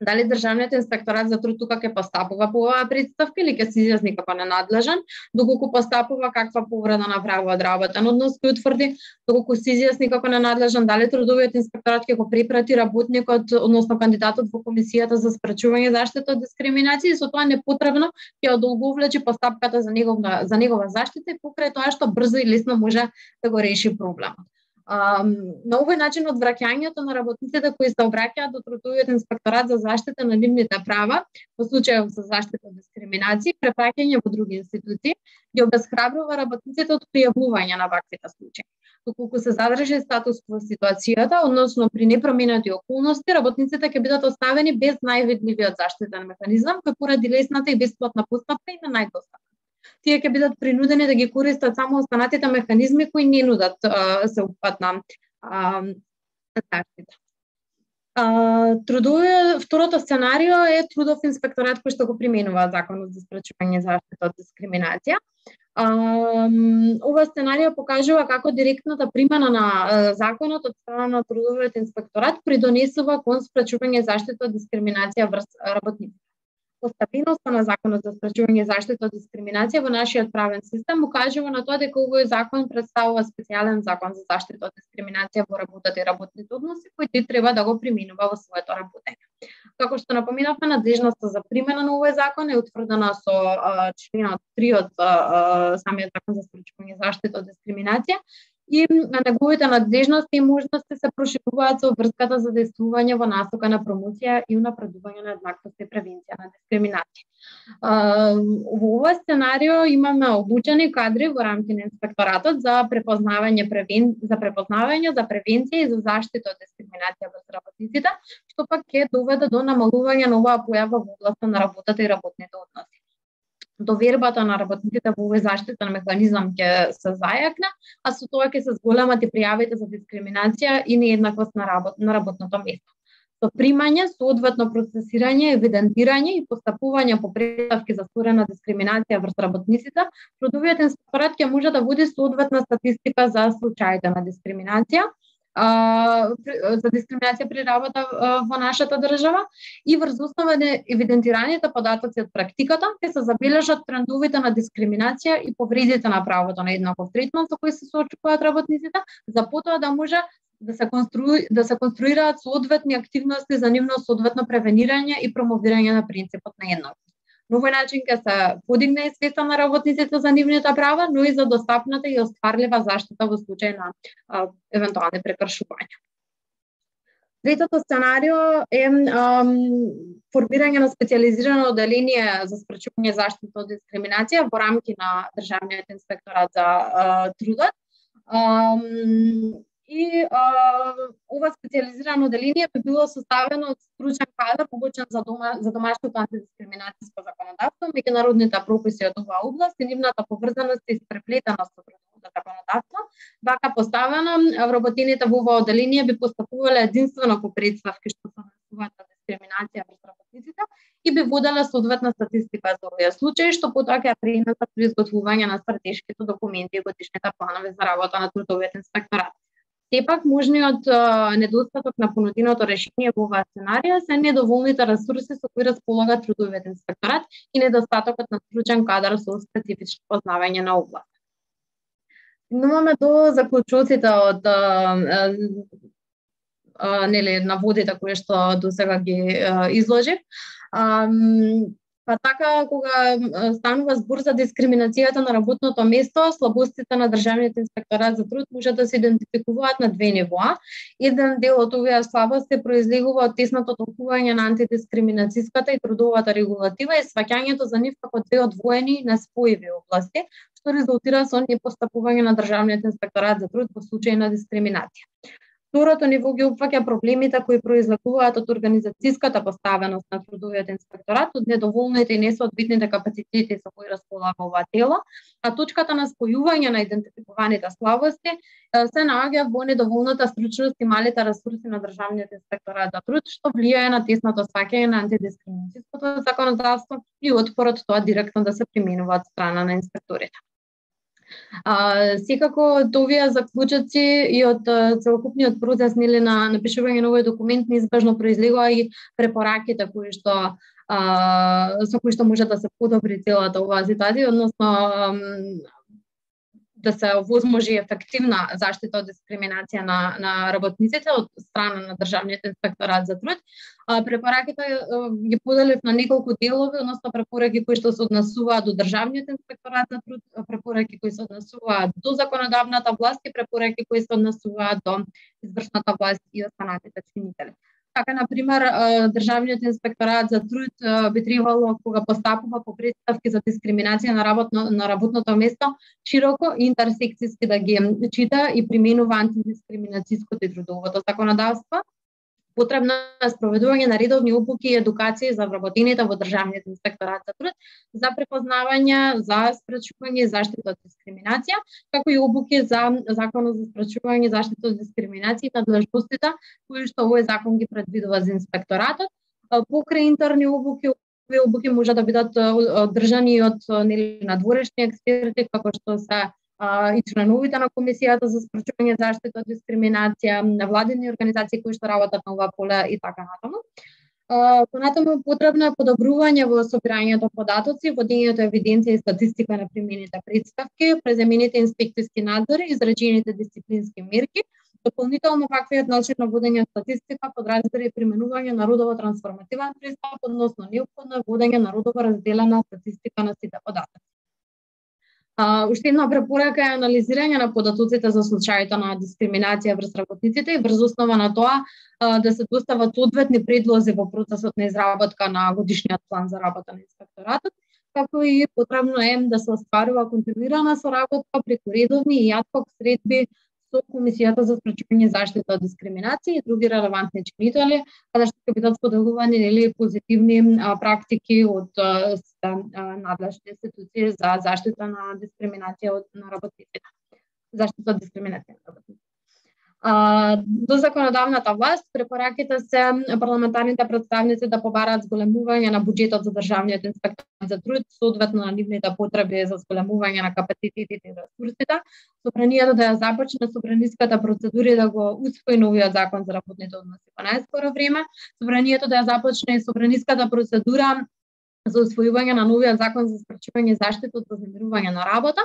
Дали државниот инспекторат за труд тука ќе постапува по оваа претставка или ќе се изјасни како ненадлежен, доколку постапува каква повреда направува од работен однос кој утврди, доколку се изјасни како ненадлежен, дали трудовиот инспекторат ќе го препрати работникот, односно кандидатот во комисијата за спречување и заштита од дискриминација и со тоа непотребно ќе одолговлечи постапката за негова за негова заштита и покрај тоа што брзо и лесно може да го реши проблемот. Um, на овој начин одвраќањето на работниците кои се обраќаат до трудовиот инспекторат за заштита на нивните права во случајов за заштита од дискриминација и препраќање во други институции ги обесхрабрува работниците од пријавување на ваквите случаи. Доколку се задржи статус во ситуацијата, односно при непроменети околности, работниците ќе бидат оставени без највидливиот заштитен механизам кој поради лесната и бесплатна постапка им е најдостапен. Тие ќе бидат принудени да ги користат само останатите механизми кои не нудат а, сеопфатна заштита. Трудовиот второто сценарио е трудов инспекторат кој што го применува законот за спречување и заштита од дискриминација. Ова сценарио покажува како директната примена на законот од страна на трудовиот инспекторат придонесува кон спречување и заштита од дискриминација врз работниците. Постапеноста на законот за спречување и заштита од дискриминација во нашиот правен систем укажува на тоа дека овој закон представува специјален закон за заштита од дискриминација во работата и работните односи кој ти треба да го применува во своето работење. Како што напоменавме, надлежноста за примена на овој закон е утврдена со а, членот три од а, самиот закон за спречување и заштита од дискриминација и неговите надлежности и можности се прошируваат со врската за действување во насока на промоција и унапредување на еднаквост и превенција на дискриминација. Во ова сценарио имаме обучени кадри во рамки на инспекторатот за препознавање превен... за препознавање, за превенција и за заштита од дискриминација во работниците, што пак ќе доведе до намалување на оваа појава во областа на работата и работните односи. довербата на работниците во овој заштитен механизам ќе се зајакне, а со тоа ќе се зголемат и пријавите за дискриминација и нееднаквост на, работ, на работното место. Со примање, соодветно процесирање, евидентирање и постапување по претставки за створена дискриминација врз работниците, трудовиот инспекторат ќе може да води соодветна статистика за случаите на дискриминација, за дискриминација при работа во нашата држава и врз основа на евидентираните податоци од практиката ќе се забележат трендовите на дискриминација и повредите на правото на еднаков третман со кои се соочуваат работниците, за потоа да може да се конструи да се конструираат соодветни активности за нивно соодветно превенирање и промовирање на принципот на еднаквост. На овој начин ќе се подигне свеста на работниците за нивните права, но и за достапната и остварлива заштита во случај на а, евентуални прекршувања. Третото сценарио е ам, формирање на специјализирано оделение за спречување заштита од дискриминација во рамки на Државниот инспекторат за а, трудот. Ам, И а, ова специјализирано оделение би било составено од стручен кадар обучен за, дома, за домашното антидискриминацијско законодавство, меѓународните прописи од оваа област и нивната поврзаност и испреплетеност со трудовото законодавство. Вака поставено, вработените во ова оделение би постапувале единствено по претставки што се однесуваат на дискриминација врз работниците и би воделе соодветна статистика за овие случаи, што потоа ќе пренесат при изготвување на стратешките документи и годишните планови за работа на трудовиот инспекторат. Сепак, можниот а, недостаток на понуденото решение во оваа сценарија се недоволните ресурси со кои располага трудовиот инспекторат и недостатокот на стручен кадар со специфични познавање на област. Стигнуваме до заклучоците од а, а, нели наводите кои што досега ги а, изложив. А, Па така, кога станува збор за дискриминацијата на работното место, слабостите на Државниот инспекторат за труд може да се идентификуваат на две нивоа. Еден дел од овие слабости произлегува од тесното толкување на антидискриминацијската и трудовата регулатива и сваќањето за нив како две одвоени и неспојиви области, што резултира со непостапување на Државниот инспекторат за труд во случај на дискриминација. Второто ниво ги опфаќа проблемите кои произлегуваат од организацијската поставеност на трудовиот инспекторат, од недоволните и несоодветните капацитети со кои располага ова тело, а точката на спојување на идентификуваните слабости се наоѓа во недоволната стручност и малите ресурси на Државниот инспекторат за труд, што влијае на тесното сваќање на антидискриминацијското законодавство и отпорот тоа директно да се применува од страна на инспекторите. А, секако овие заклучоци и од целокупниот процес нели на напишување на овој документ неизбежно произлегува и препораките кои што а, со кои што може да се подобри целата оваа ситуација, односно да се овозможи ефективна заштита од дискриминација на, на работниците од страна на Државниот инспекторат за труд. А, препораките ги поделив на неколку делови, односно препораки кои што се однесуваат до Државниот инспекторат за труд, препораки кои се однесуваат до законодавната власт и препораки кои се однесуваат до извршната власт и останатите чинители. Така, например, Државниот инспекторат за труд би требало, кога постапува по претставки за дискриминација на, работно, на работното место, широко и интерсекцијски да ги чита и применува антидискриминацијското и трудовото законодавство. Потребно е спроведување на редовни обуки и едукации за вработените во Државниот инспекторат за труд за препознавање, за спречување и заштита од дискриминација, како и обуки за Законот за спречување и заштита од дискриминација и надлежностите кои што овој закон ги предвидува за инспекторатот. Покрај интерни обуки, овие обуки може да бидат одржани од нели надворешни експерти, како што се и членовите на Комисијата за спречување заштита од дискриминација, невладини организации кои што работат на ова поле и така натаму. Понатаму потребно е подобрување во собирањето податоци, водењето евиденција и статистика на примените претставки, преземените инспекцијски надзори, изречените дисциплински мерки. Дополнително ваквиот начин на водење статистика подразбира и применување на родово трансформативен пристап, односно неопходно е водење на родово разделена статистика на сите податоци. Uh, уште една препорака е анализирање на податоците за случаите на дискриминација врз работниците и врз основа на тоа uh, да се достават соодветни предлози во процесот на изработка на годишниот план за работа на инспекторатот, како и потребно е да се остварува континуирана соработка преку редовни и ad hoc средби со Комисијата за спречување заштита од дискриминација и други релевантни чинители, каде што ќе бидат споделувани нели позитивни а, практики од а, надлежни институции за заштита на дискриминација од на работниците. Заштита од дискриминација на работниците. А, до законодавната власт препораките се парламентарните представници да побараат зголемување на буџетот за државниот инспекторат за труд, соодветно на нивните потреби за зголемување на капацитетите и ресурсите. Собранието да ја започне собраниската процедура и да го усвои новиот закон за работните односи во најскоро време. Собранието да ја започне и собраниската процедура за усвојување на новиот закон за спречување заштита од вознемирување на работа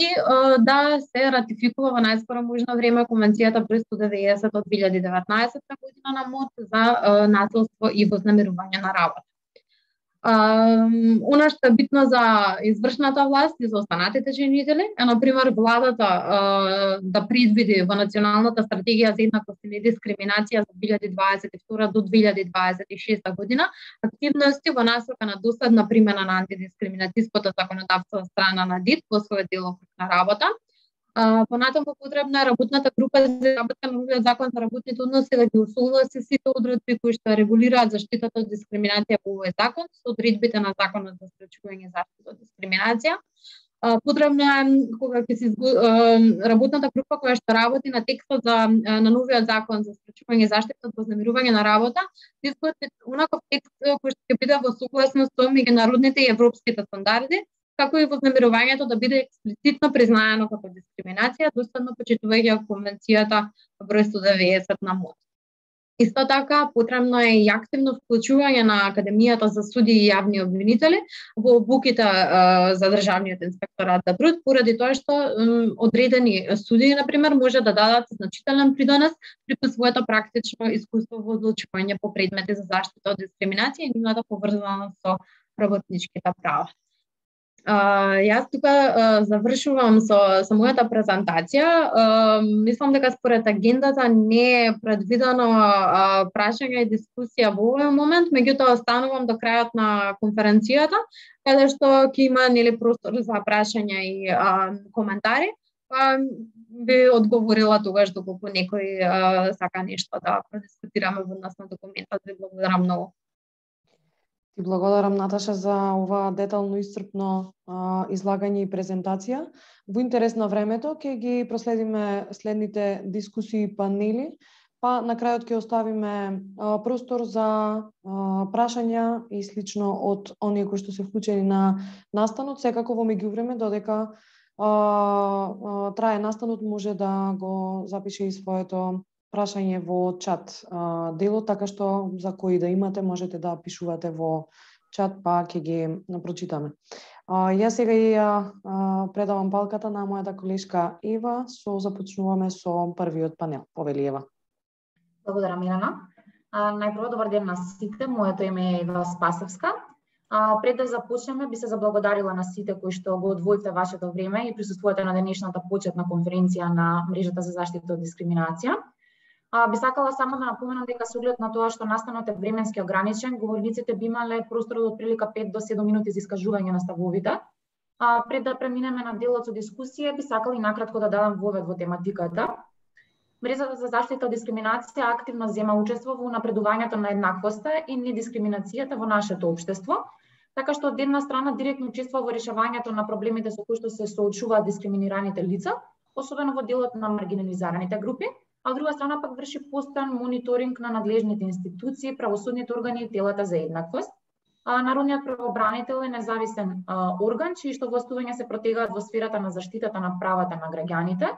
и е, да се ратификува во најскоро можно време Конвенцијата број сто деветдесет од две илјади и деветнаесетта година на МОТ за е, насилство и вознемирување на работа. Она што е битно за извршната власт и за останатите чинители е, например, владата е, да предвиди во Националната стратегија за еднаквост и недискриминација за две илјади дваесет и втора до две илјади дваесет и шеста година активности во насока на досадна примена на антидискриминацијското законодавство од страна на ДИТ во својот делокруг на работа. Uh, понатаму потребно е работната група за работа на новиот закон за работните односи да ги усогласи сите одредби кои што регулираат заштитата од дискриминација по овој закон со одредбите на законот за спречување заштита од дискриминација. Uh, потребно е кога ќе се uh, работната група која што работи на текстот за uh, на новиот закон за спречување заштита од вознемирување на работа, да изготви онаков текст кој што ќе биде во согласност со меѓународните и европските стандарди, како и вознемирувањето да биде експлицитно признаено како дискриминација, доследно почитувајќи Конвенцијата број сто деветдесет на МОТ. Исто така, потребно е и активно вклучување на Академијата за суди и јавни обвинители во обуките е, за државниот инспекторат за труд, поради тоа што м, одредени судии, например, може да дадат значителен придонес при своето практично искуство во одлучување по предмети за заштита од дискриминација и нивната поврзаност со работничките права. Uh, јас тука uh, завршувам со, со мојата презентација. Uh, мислам дека според агендата не е предвидено uh, прашање и дискусија во овој момент, меѓутоа останувам до крајот на конференцијата, каде што ќе има нели простор за прашања и uh, коментари. Па би одговорила тогаш доколку некој uh, сака нешто да продискутираме во однос на документот. Ви благодарам многу. Ти благодарам, Наташа, за ова детално исцрпно а, излагање и презентација. Во интерес на времето ќе ги проследиме следните дискусии и панели, па на крајот ќе оставиме а, простор за а, прашања и слично од оние кои што се вклучени на настанот. Секако во меѓувреме додека а, а, трае настанот може да го запише и своето прашање во чат а, делот, така што за кои да имате можете да пишувате во чат, па ќе ги прочитаме. А, јас сега и ја предавам палката на мојата колешка Ева, со започнуваме со првиот панел. Повели, Ева. Благодарам, Милана. А, најпрво добар ден на сите, моето име е Ева Спасевска. А, пред да започнеме, би се заблагодарила на сите кои што го одвоите вашето време и присуствувате на денешната почетна конференција на Мрежата за заштита од дискриминација. А, би сакала само да напоменам дека со оглед на тоа што настанот е временски ограничен, говорниците би имале простор од отприлика пет до седум минути за искажување на ставовите. А, пред да преминеме на делот со дискусија, би сакала и накратко да дадам вовед во тематиката. Мрежата за заштита од дискриминација активно зема учество во напредувањето на еднаквоста и недискриминацијата во нашето општество, така што од една страна директно учествува во решавањето на проблемите со кои што се соочуваат дискриминираните лица, особено во делот на маргинализираните групи, а од друга страна пак врши постојан мониторинг на надлежните институции, правосудните органи и телата за еднаквост. А, Народниот правобранител е независен а, орган, чии што властувања се протегаат во сферата на заштитата на правата на граѓаните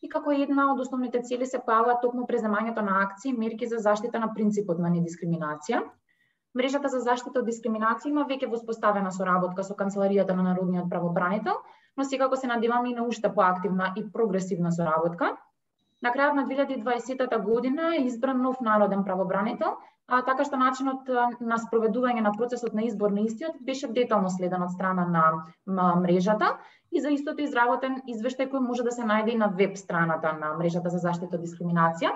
и како една од основните цели се појавува токму преземањето на акции и мерки за заштита на принципот на недискриминација. Мрежата за заштита од дискриминација има веќе воспоставена соработка со Канцеларијата на Народниот правобранител, но секако се надеваме и на уште поактивна и прогресивна соработка. На крајот на две илјади и дваесетта година е избран нов народен правобранител, а така што начинот на спроведување на процесот на избор на истиот беше детално следен од страна на мрежата и за истото изработен извештај кој може да се најде и на веб страната на Мрежата за заштита од дискриминација.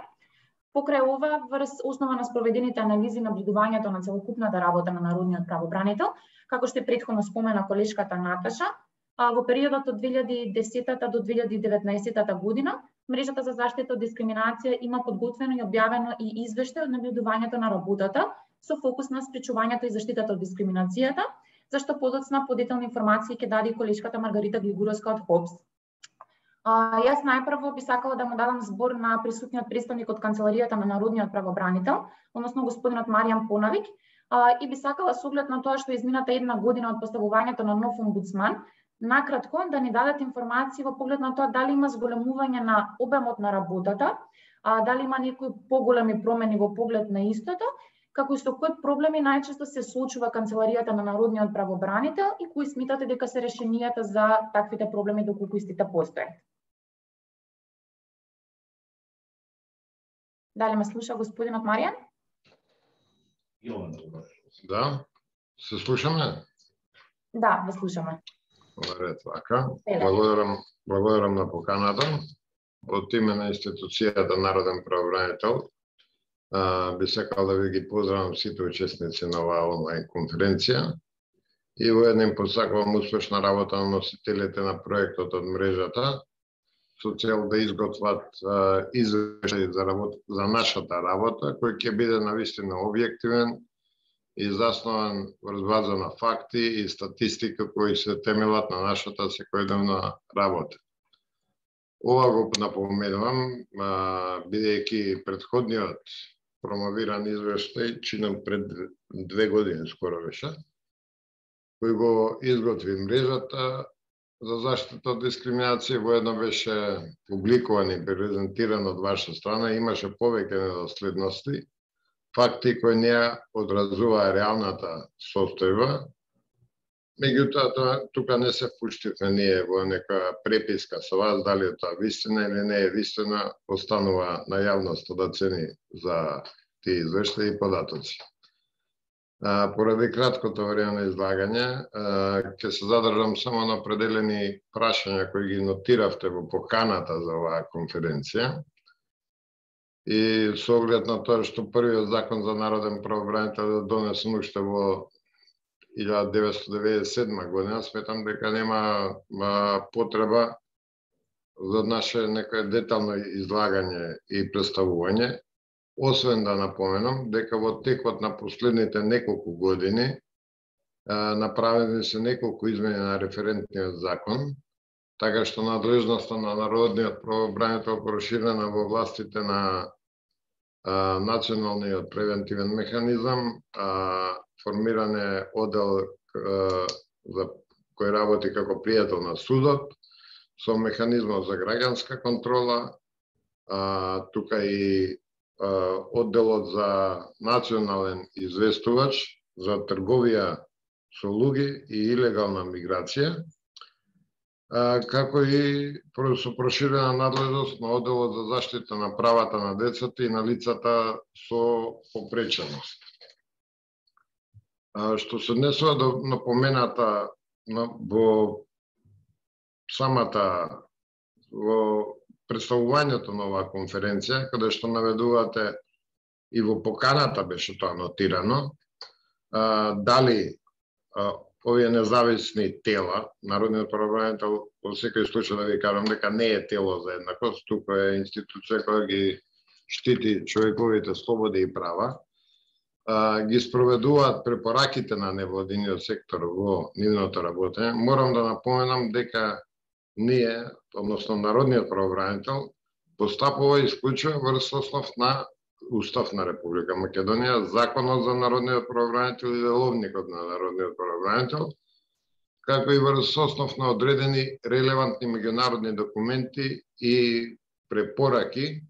Покрај ова, врз основа на спроведените анализи и наблюдувањето на целокупната работа на Народниот правобранител, како што претходно спомена колешката Наташа, во периодот од две илјади и десетта до две илјади и деветнаесетта година Мрежата за заштита од дискриминација има подготвено и објавено и извештај од набљудувањето на работата со фокус на спречувањето и заштитата од дискриминацијата, зашто подоцна подетални информации ќе даде и колешката Маргарита Глигуровска од ХОПС. А, јас најпрво би сакала да му дадам збор на присутниот представник од Канцеларијата на Народниот правобранител, односно господинот Маријан Понавик, а, и би сакала со оглед на тоа што измината една година од поставувањето на нов омбудсман, накратко да ни дадат информации во поглед на тоа дали има зголемување на обемот на работата, а, дали има некои поголеми промени во поглед на истото, како и со кои проблеми најчесто се соочува Канцеларијата на Народниот правобранител и кои смитате дека се решенијата за таквите проблеми доколку истите постојат. Дали ме слуша господинот Маријан? Да, се слушаме? Да, ве слушаме. Ред, вака. Благодарам, благодарам на поканата. Од име на институцијата Народен правобранител, би сакал да ви ги поздравам сите учесници на оваа онлайн конференција и воедно им посакувам успешна работа на носителите на проектот од мрежата со цел да изготват извештај за, за нашата работа, кој ќе биде навистина објективен и заснован врз база на факти и статистика кои се темелат на нашата секојдневна работа. Ова го напоменувам, бидејќи предходниот промовиран извештај чинам пред две години скоро беше, кој го изготви мрежата за заштита од дискриминација, воедно беше публикуван и презентиран од ваша страна, имаше повеќе недоследности, факти кои не одразуваа реалната состојба. Меѓутоа, тука не се впуштивме ние во нека преписка со вас, дали е тоа вистина или не е вистина, останува на јавноста да цени за тие извештаи и податоци. А, поради краткото време на излагање, ќе се задржам само на определени прашања кои ги нотиравте во поканата за оваа конференција. И со оглед на тоа што првиот закон за народен правобранител е донесен уште во илјада деветстотини деветдесет и седма година, сметам дека нема а, потреба за наше некое детално излагање и представување, освен да напоменам дека во текот на последните неколку години а, направени се неколку измени на референтниот закон, така што надлежноста на народниот правобранител проширена во властите на а, националниот превентивен механизам, а, формиран е одел а, за кој работи како пријател на судот, со механизмот за граѓанска контрола, а, тука и а, одделот за национален известувач за трговија со луѓе и илегална миграција, а, како и со проширена надлежност на одделот за заштита на правата на децата и на лицата со попреченост. А, што се однесува до напомената во самата во представувањето на оваа конференција, каде што наведувате и во поканата беше тоа нотирано, а, дали а, овие независни тела, Народниот правобранител во секој случај да ви кажам дека не е тело за еднакост, тука е институција која ги штити човековите слободи и права, а, ги спроведуваат препораките на невладиниот сектор во нивното работење. Морам да напоменам дека ние, односно Народниот правобранител, постапува исклучува врз основ на Устав на Република Македонија, Законот за Народниот правобранител и Деловникот на Народниот правобранител, како и врз основ на одредени релевантни меѓународни документи и препораки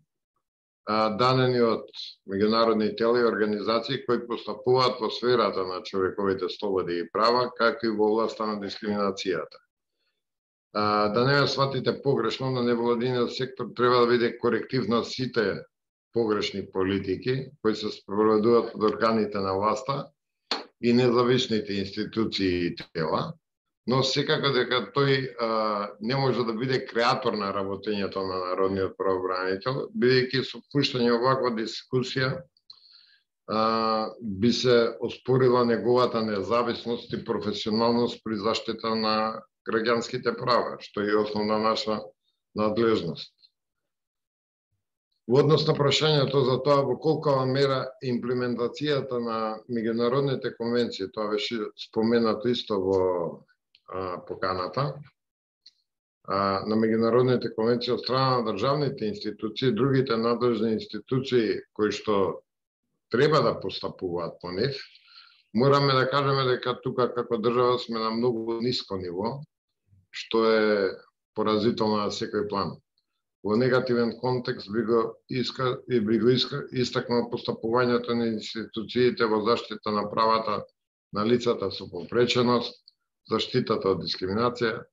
дадени од меѓународни тела и организации кои постапуваат во сферата на човековите слободи и права, како и во областа на дискриминацијата. Да не ме сватите погрешно, на невладиниот сектор треба да биде коректив на сите погрешни политики кои се спроведуваат од органите на власта и независните институции и тела, но секако дека тој а, не може да биде креатор на работењето на Народниот правобранител, бидејќи со пуштање оваква дискусија а, би се оспорила неговата независност и професионалност при заштита на граѓанските права, што е основна наша надлежност. Во однос на прашањето за тоа во колкава мера имплементацијата на меѓународните конвенции, тоа беше споменато исто во а, поканата, а, на меѓународните конвенции од страна на државните институции, другите надлежни институции кои што треба да постапуваат по нив, мораме да кажеме дека тука како држава сме на многу ниско ниво, што е поразително на секој план. Во негативен контекст би го иска и би го иска, истакнал постапувањето на институциите во заштита на правата на лицата со попреченост, заштитата од дискриминација,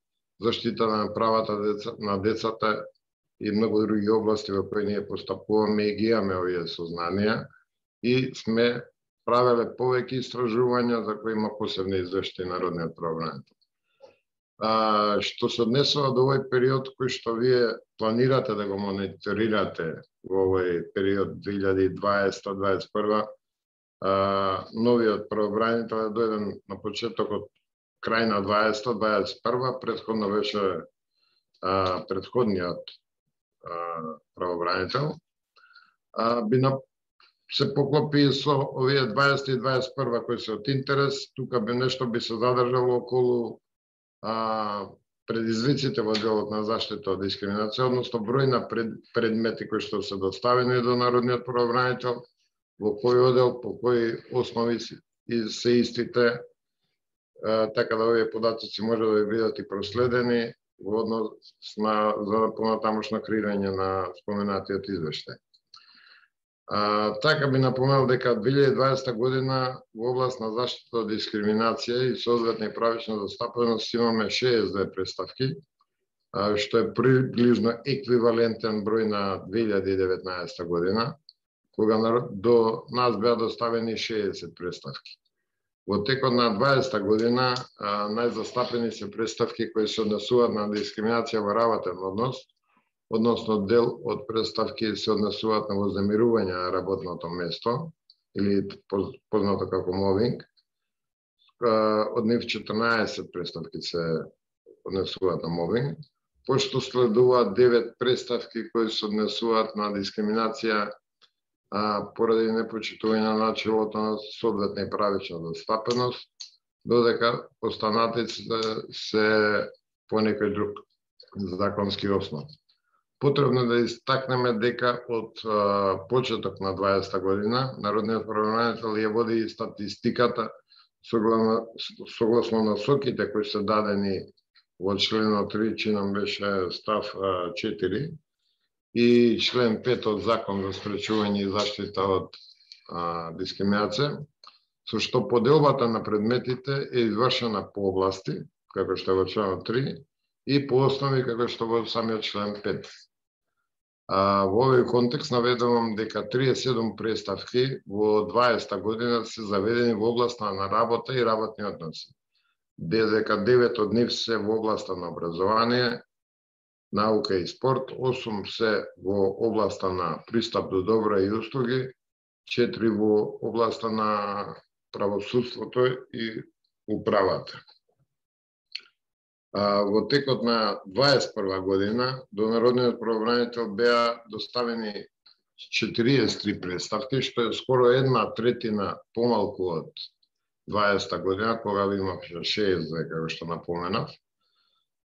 заштита на правата деца, на децата и многу други области во кои ние постапуваме и ги имаме овие сознанија и сме правеле повеќе истражувања за кои има посебни извештаи народниот правобранител. А, што се однесува до овој период кој што вие планирате да го мониторирате во овој период две илјади и дваесета до дваесет и прва, а, новиот правобранител е дојден на почетокот крај на дваесета до дваесет и прва, претходно беше а, претходниот а, правобранител. А, би на се поклопи со овие дваесета и дваесет и прва кои се од интерес, тука би нешто би се задржало околу а, предизвиците во делот на заштита од дискриминација, односно број на пред, предмети кои што се доставени до народниот правобранител, во кој одел, по кои основи и се истите, а, така да овие податоци може да бидат и проследени во однос на за понатамошно креирање на споменатиот извештај. А, така би напоменал дека две илјади и дваесета година во област на заштита од дискриминација и соодветна и правична застапеност имаме шеесет и две представки, а, што е приближно еквивалентен број на две илјади и деветнаесета година, кога до нас беа доставени шеесет представки. Во текот на дваесета година а, најзастапени се представки кои се однесуваат на дискриминација во работен однос, односно дел од представки се однесуваат на вознемирување на работното место, или познато како мобинг. Од нив четрнаесет представки се однесуваат на мобинг, пошто следуваат девет представки кои се однесуваат на дискриминација а, поради непочитување на начелото на соодветна и правична застапеност, додека останатите се, се по некој друг законски основ. Потребно да истакнеме дека од а, почеток на дваесета година народниот правобранител ја води статистиката согласно, согласно насоките кои се дадени во членот три, чином беше став а, четири, и член пет од Закон за спречување и заштита од а, дискриминација, со што поделбата на предметите е извршена по области, како што е во членот три, и по основи како што во самиот член пет. А, во овој контекст наведувам дека триесет и седум представки во дваесета година се заведени во областа на работа и работни односи, додека девет од нив се во областа на образование, наука и спорт, осум се во областа на пристап до добра и услуги, четири во областа на правосудството и управата. А, во текот на дваесет и прва година до народниот правобранител беа доставени четириесет и три представки, што е скоро една третина помалку од дваесета година, кога имаше шеесет и две, како што напоменав.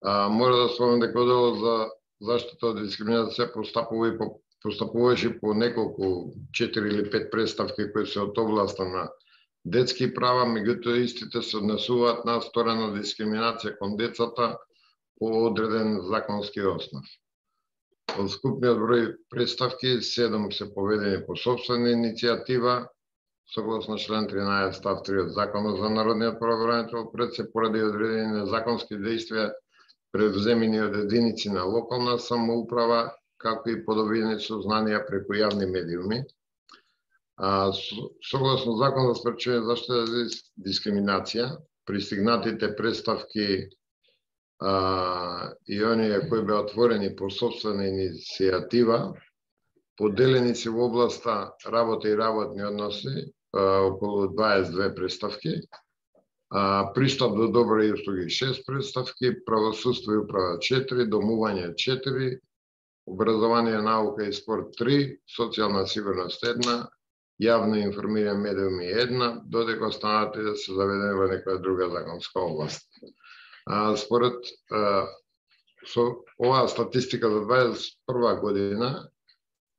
А, мора да спомнам дека оделот за заштита од дискриминација постапува и по, постапуваше по неколку четири или пет представки кои се од областа на детски права, меѓутоа истите се однесуваат на сторена дискриминација кон децата по одреден законски основ. Од скупниот број представки, седум се поведени по собствена иницијатива, согласно член тринаесет став три од Законот за народниот правобранител, пред се поради одредени незаконски действија превземени од единици на локална самоуправа, како и подобрени сознанија преку јавни медиуми. А, согласно Закон за спречување заштита за дискриминација, пристигнатите представки а, и оние кои беа отворени по собствена иницијатива, поделени се во областа работа и работни односи, а, околу дваесет и две представки, а, пристап до добра и услуги шест представки, правосудство и управа четири, домување четири, образование, наука и спорт три, социјална сигурност една, јавно информирање медиуми една, додека останатите да се заведени во некоја друга законска област. А, според а, со оваа статистика за дваесет и прва година,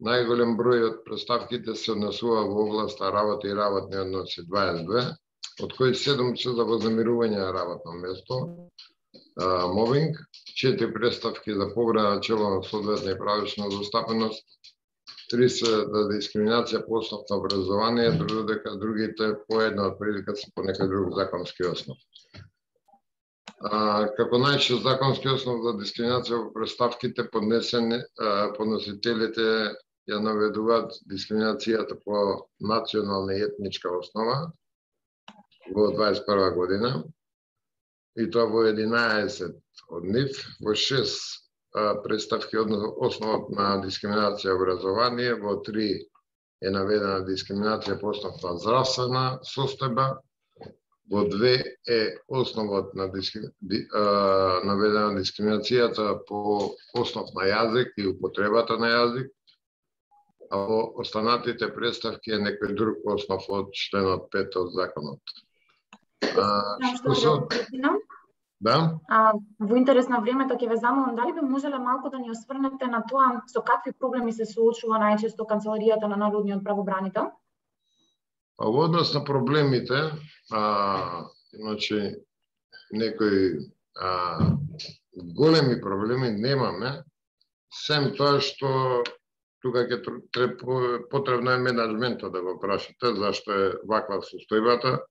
најголем број од представките се однесува во областа работа и работни односи дваесет и две, од кои седум се за вознемирување на работно место, а, мобинг, четири представки за повреда на чело соодветна и правична застапеност, три се за дискриминација по основ на образование, додека другите по една од прилика се по некој друг законски основ. А, како најчест законски основ за дискриминација во представките поднесени, а, подносителите ја наведуваат дискриминацијата по национална и етничка основа во дваесет и прва година, и тоа во единаесет од нив, во шест представки основот на дискриминација образование, во три е наведена дискриминација по основ на здравствена состојба, во две е основот на дискри... ди... а, наведена дискриминацијата по основ на јазик и употребата на јазик, а во останатите представки е некој друг основ од членот пет од законот. А, што се... Да? А, во интерес на времето ќе ве замолам дали би можеле малку да ни осврнете на тоа со какви проблеми се соочува најчесто канцеларијата на народниот правобранител? А во однос на проблемите, а, значи некои а, големи проблеми немаме, сем тоа што тука ќе потребно е менеджментот да го прашате зашто е ваква состојбата.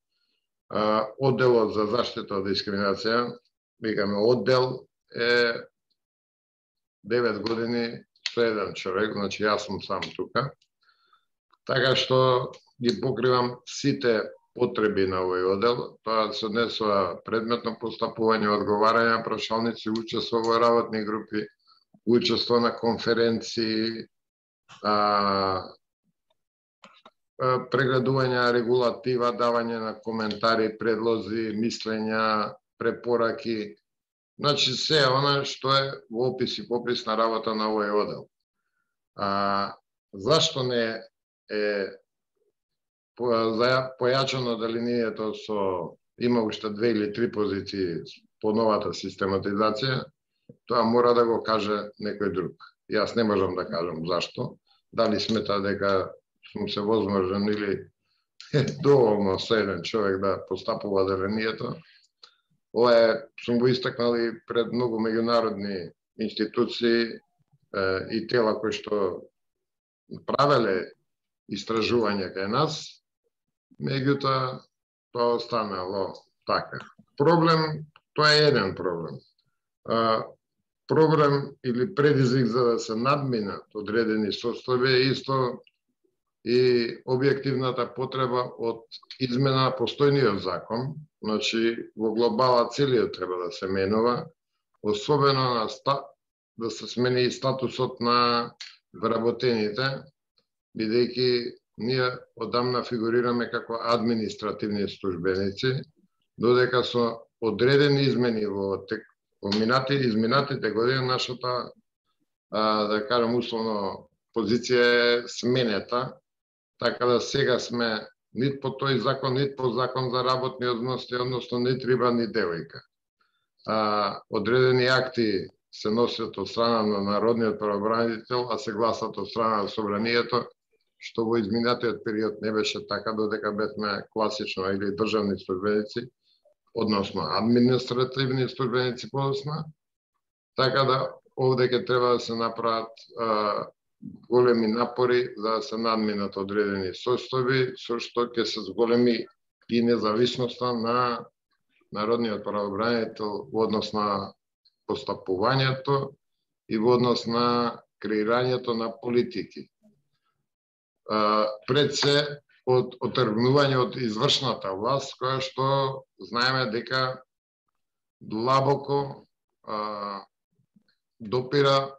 Одделот за заштита од дискриминација, викаме оддел е девет години со еден човек, значи јас сум сам тука. Така што ги покривам сите потреби на овој оддел. Тоа се однесува предметно постапување, одговарање на прашалници, учество во работни групи, учество на конференции, а, прегледување на регулатива, давање на коментари, предлози, мислења, препораки. Значи, се она што е во опис и попис на работа на овој оддел. А, зашто не е појачано делението со има уште две или три позиции по новата систематизација, тоа мора да го каже некој друг. Јас не можам да кажам зашто. Дали смета дека сум се возможен или е доволно со еден човек да постапува делението. Ова е, сум го истакнал и пред многу меѓународни институции е, и тела кои што правеле истражување кај нас, меѓутоа тоа останало така. Проблем, тоа е еден проблем. А, проблем или предизвик за да се надминат одредени состојби е исто и објективната потреба од измена на постојниот закон, значи во глобала целиот треба да се менува, особено на ста... да се смени и статусот на вработените, бидејќи ние одамна фигурираме како административни службеници, додека со одредени измени во тек во минати, изминатите години нашата, а, да кажам условно, позиција е сменета, така да сега сме нит по тој закон, нит по закон за работни односи, односно нит риба, ни девојка. А, одредени акти се носят од страна на народниот правобранител, а се гласат од страна на собранието, што во изминатиот период не беше така, додека бевме класично или државни службеници, односно административни службеници подосна, така да овде ќе треба да се направат а, големи напори за да се надминат одредени состојби, со што ќе се зголеми и независноста на народниот правобранител во однос на постапувањето и во однос на креирањето на политики. А, пред се од отргнување од извршната власт, која што знаеме дека длабоко а, допира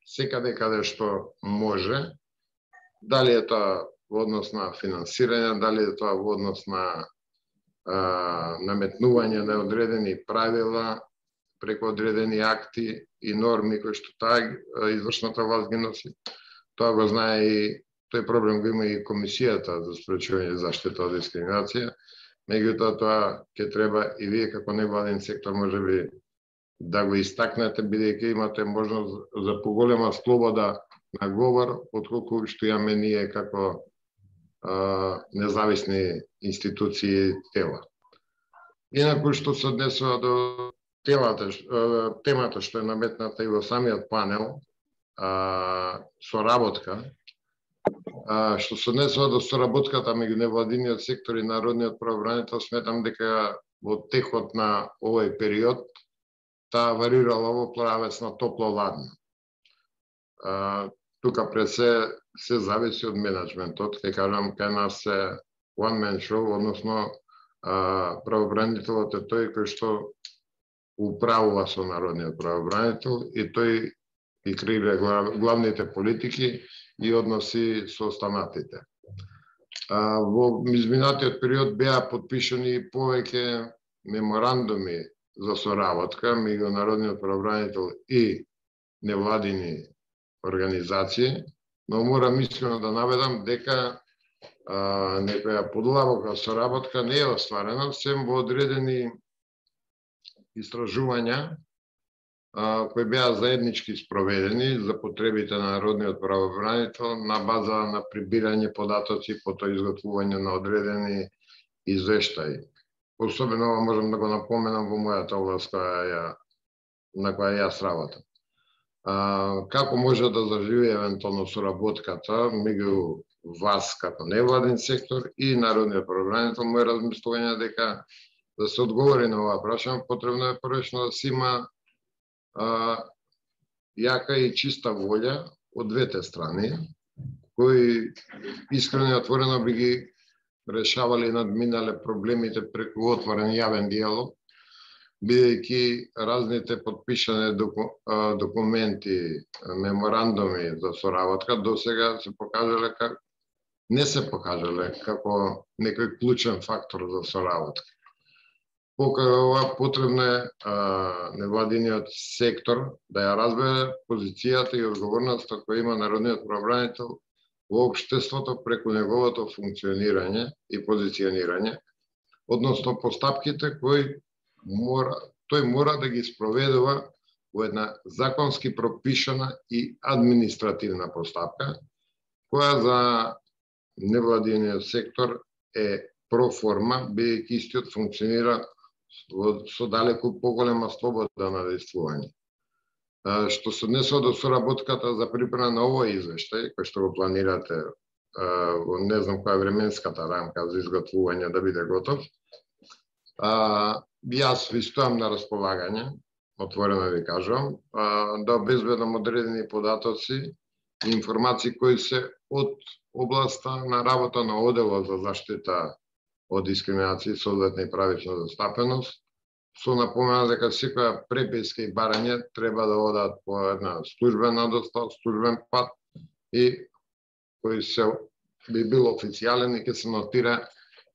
секаде каде што може, дали е тоа во однос на финансирање, дали е тоа во однос на а, наметнување на одредени правила, преку одредени акти и норми кои што таа извршната власт ги носи. Тоа го знае и тој проблем го има и Комисијата за спречување и заштита од дискриминација. Меѓутоа тоа ќе треба и вие како невладин сектор можеби да го истакнете, бидејќи имате можност за поголема слобода на говор, отколку што имаме ние како а, независни институции и тела. Инаку што се однесува до телата, темата што е наметната и во самиот панел, а, соработка, а, што се однесува до соработката меѓу невладиниот сектор и народниот правобранител, сметам дека во текот на овој период таа варирала во правец на топло-ладно. Тука пред се се зависи од менеджментот, ќе кажам, кај нас се one man show, односно правобранителот е тој кој што управува со народниот правобранител и тој и креира главните политики и односи со останатите. Во изминатиот период беа подпишани повеќе меморандуми за соработка меѓу народниот правобранител и невладини организации, но морам искрено да наведам дека а, некоја подлабока соработка не е остварена, сем во одредени истражувања а, кои беа заеднички спроведени за потребите на народниот правобранител на база на прибирање податоци по тоа изготвување на одредени извештаи. Особено можам да го напоменам во мојата област која ја, на која јас работам. А, како може да заживи евентуално соработката меѓу вас како невладин сектор и народниот правобранител? Мој размислување е дека да се одговори на оваа прашање, потребно е првично да се има а, јака и чиста волја од двете страни, кои искрено и отворено би ги решавали и надминале проблемите преку отворен јавен диалог, бидејќи разните подпишани доку, документи, меморандуми за соработка досега се покажале как не се покажале како некој клучен фактор за соработка. Покрај ова потребно е невладиниот сектор да ја разбере позицијата и одговорноста која има народниот правобранител во општеството преку неговото функционирање и позиционирање, односно постапките кои мора, тој мора да ги спроведува во една законски пропишана и административна постапка, која за невладиниот сектор е проформа, бидејќи истиот функционира со далеку поголема слобода на действување. Што се однесува до соработката за припрема на овој извештај, кој што го планирате во не знам која временската рамка за изготвување да биде готов, јас ви стојам на располагање, отворено ви кажувам, да обезбедам одредени податоци и информации кои се од областа на работа на Оделот за заштита од дискриминација, соодветна и правична застапеност, со напомена дека секоја преписка и барање треба да одат по една службена достава, службен пат и кој се би бил официјален и ќе се нотира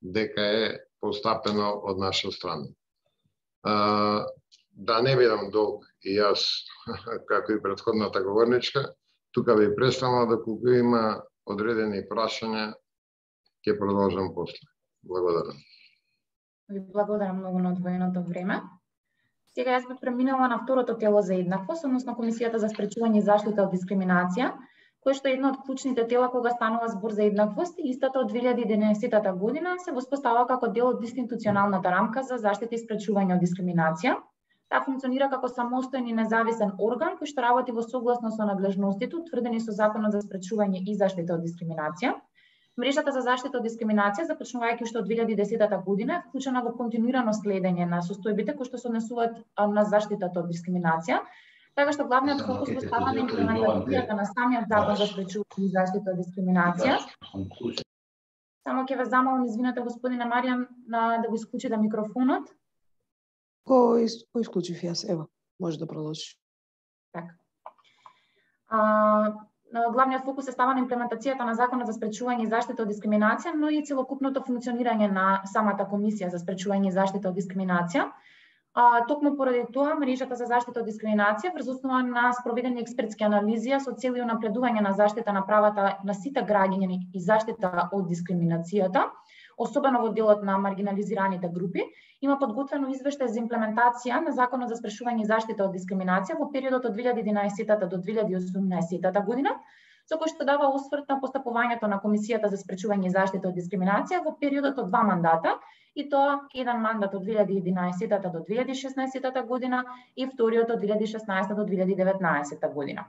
дека е постапено од наша страна. А, да не бидам долг и јас, како и претходната говорничка, тука ви представам доколку има одредени прашања, ќе продолжам после. Благодарам. Ви благодарам многу на одвоеното време. Сега јас би преминала на второто тело за еднаквост, односно Комисијата за спречување и заштита од дискриминација, кој што е едно од клучните тела кога станува збор за еднаквост и истата од две илјади и единаесетта година се воспоставува како дел од институционалната рамка за заштита и спречување од дискриминација. Таа функционира како самостоен и независен орган кој што работи во согласно со надлежностите утврдени со Законот за спречување и заштита од дискриминација. Мрежата за заштита од дискриминација, започнувајќи уште од две илјади и десетта година, е вклучена во континуирано следење на состојбите кои што се однесуваат на заштитата од дискриминација, така што главниот фокус се става на имплементацијата на самиот Закон за спречување и заштита од дискриминација. Само ќе ве замолам, извинете господине Маријан, на да го исклучите микрофонот. Го, из, го исклучив јас, ево, може да продолжиш. Така. А, главниот фокус се става на имплементацијата на Законот за спречување и заштита од дискриминација, но и целокупното функционирање на самата Комисија за спречување и заштита од дискриминација. А, токму поради тоа, мрежата за заштита од дискриминација врз основа на спроведени експертски анализи со цел и унапредување на заштита на правата на сите граѓани и заштита од дискриминацијата, особено во делот на маргинализираните групи, има подготвено извештај за имплементација на Законот за спречување и заштита од дискриминација во периодот од две илјади и единаесетта до две илјади и осумнаесетта година, со кој што дава осврт на постапувањето на Комисијата за спречување и заштита од дискриминација во периодот од два мандата, и тоа еден мандат од две илјади и единаесетта до две илјади и шеснаесетта година и вториот од две илјади и шеснаесетта до две илјади и деветнаесетта година.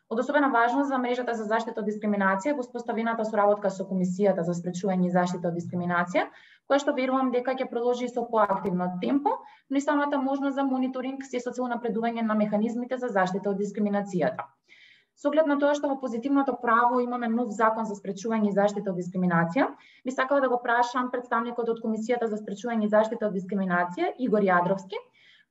Од особена важност за мрежата за заштита од дискриминација во споставената соработка со Комисијата за спречување и заштита од дискриминација, која што верувам дека ќе продолжи со поактивно темпо, но и самата можност за мониторинг се со цел напредување на механизмите за заштита од дискриминацијата. Со оглед на тоа што во позитивното право имаме нов закон за спречување и заштита од дискриминација, би сакала да го прашам представникот од Комисијата за спречување и заштита од дискриминација, Игор Јадровски,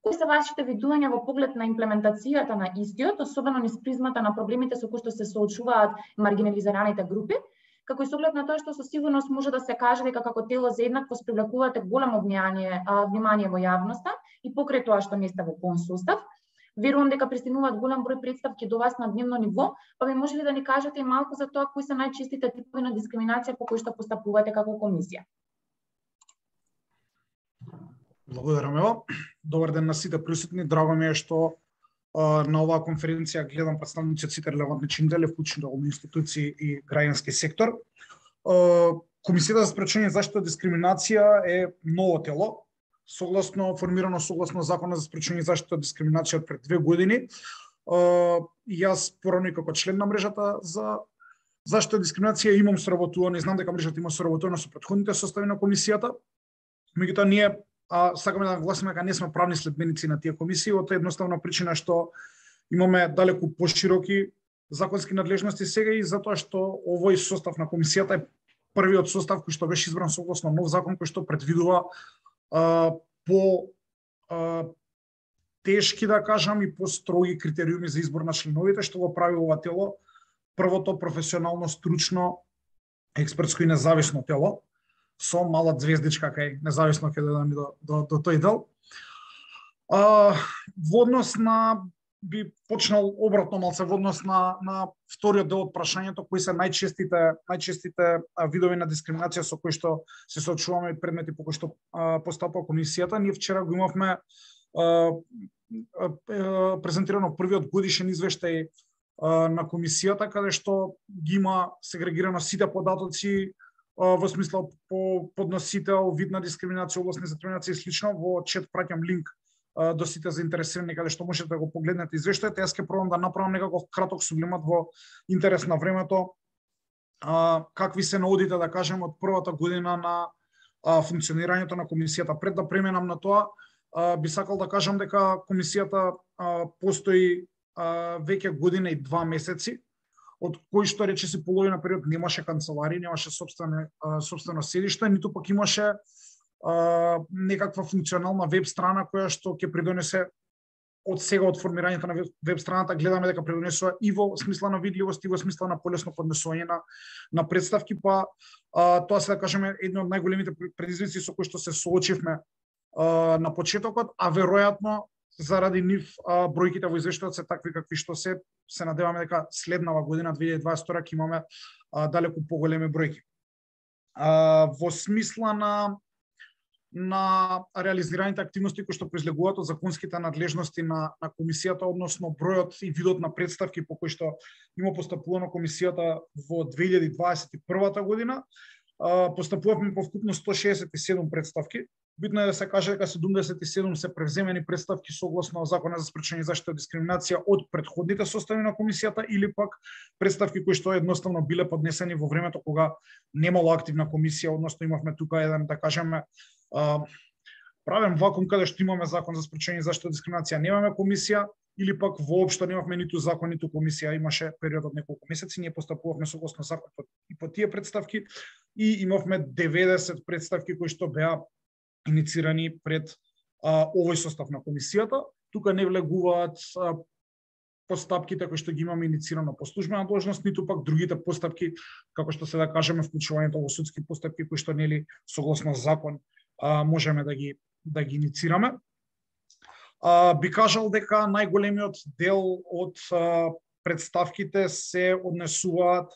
кои се вашите видувања во поглед на имплементацијата на истиот, особено низ призмата на проблемите со кои што се соочуваат маргинализираните групи, како и со оглед на тоа што со сигурност може да се каже дека како тело за еднаквост привлекувате големо внимание, внимание во јавноста и покрај тоа што не сте во полн состав. Верувам дека пристигнуваат голем број представки до вас на дневно ниво, па би може ли да ни кажете и малку за тоа кои се најчестите типови на дискриминација по кои што постапувате како комисија? Благодарам, Ева. Добар ден на сите присутни. Драго ми е што а, на оваа конференција гледам представници од сите релевантни чинители, вклучително од институции и граѓански сектор. А, Комисијата за спречување и заштита од дискриминација е ново тело, согласно формирано согласно Законот за спречување и заштита од дискриминација пред две години. А, јас порано како член на мрежата за заштита од дискриминација имам соработувано и знам дека мрежата има соработувано со претходните состави на комисијата. Меѓутоа ние а, сакаме да нагласиме дека не сме правни следбеници на тие комисии, од едноставна причина што имаме далеку пошироки законски надлежности сега и затоа што овој состав на комисијата е првиот состав кој што беше избран согласно нов закон кој што предвидува а, по а, тешки, да кажам, и по строги критериуми за избор на членовите, што го прави ова тело првото професионално, стручно, експертско и независно тело, со мала звездичка кај независно ќе додам до, до, до тој дел. А, во однос на, би почнал обратно малце, во однос на, на вториот дел од прашањето, кои се најчестите, најчестите видови на дискриминација со кои што се соочуваме и предмети по кои што а, постапува комисијата. Ние вчера го имавме а, а, презентирано првиот годишен извештај а, на комисијата, каде што ги има сегрегирано сите податоци во смисла по подносител, вид на дискриминација, област на дискриминација и слично. Во чет праќам линк а, до сите заинтересирани каде што можете да го погледнете извештајот. Јас ќе пробам да направам некаков краток сублимат во интерес на времето. А, какви се наодите, да кажем, од првата година на а, функционирањето на комисијата. Пред да преминам на тоа, а, би сакал да кажам дека комисијата а, постои а, веќе година и два месеци, од кои што рече си половина период немаше канцеларија, немаше собствено, собствено седиште, ниту пак имаше а, некаква функционална веб страна која што ќе придонесе од сега од формирањето на веб страната, гледаме дека придонесува и во смисла на видливост и во смисла на полесно поднесување на, на представки, па а, тоа се да кажеме едно од најголемите предизвици со кои што се соочивме а, на почетокот, а веројатно заради нив а, бројките во извештајот се такви какви што се, се надеваме дека следнава година две илјади и дваесет и втора ќе имаме а, далеку поголеми бројки. А, во смисла на на реализираните активности кои што произлегуваат од законските надлежности на на комисијата, односно бројот и видот на представки по кои што има постапувано комисијата во две илјади дваесет и прва година, а, постапувавме по вкупно сто шеесет и седум представки. Битно е да се каже дека седумдесет и седум се превземени представки согласно Законот за спречување и заштита од дискриминација од претходните состави на комисијата или пак представки кои што едноставно биле поднесени во времето кога немало активна комисија, односно имавме тука еден, да кажеме, правен вакуум каде што имаме Закон за спречување и заштита од дискриминација, немаме комисија, или пак воопшто немавме ниту закон, ниту комисија, имаше период од неколку месеци, ние постапувавме согласно законот и по тие представки и имавме деветдесет представки кои што беа иницирани пред а, овој состав на комисијата. Тука не влегуваат а, постапките кои што ги имаме иницирано по службена должност, ниту пак другите постапки, како што се да кажеме вклучувањето во судски постапки кои што нели согласно закон а, можеме да ги да ги иницираме. А, би кажал дека најголемиот дел од а, представките се однесуваат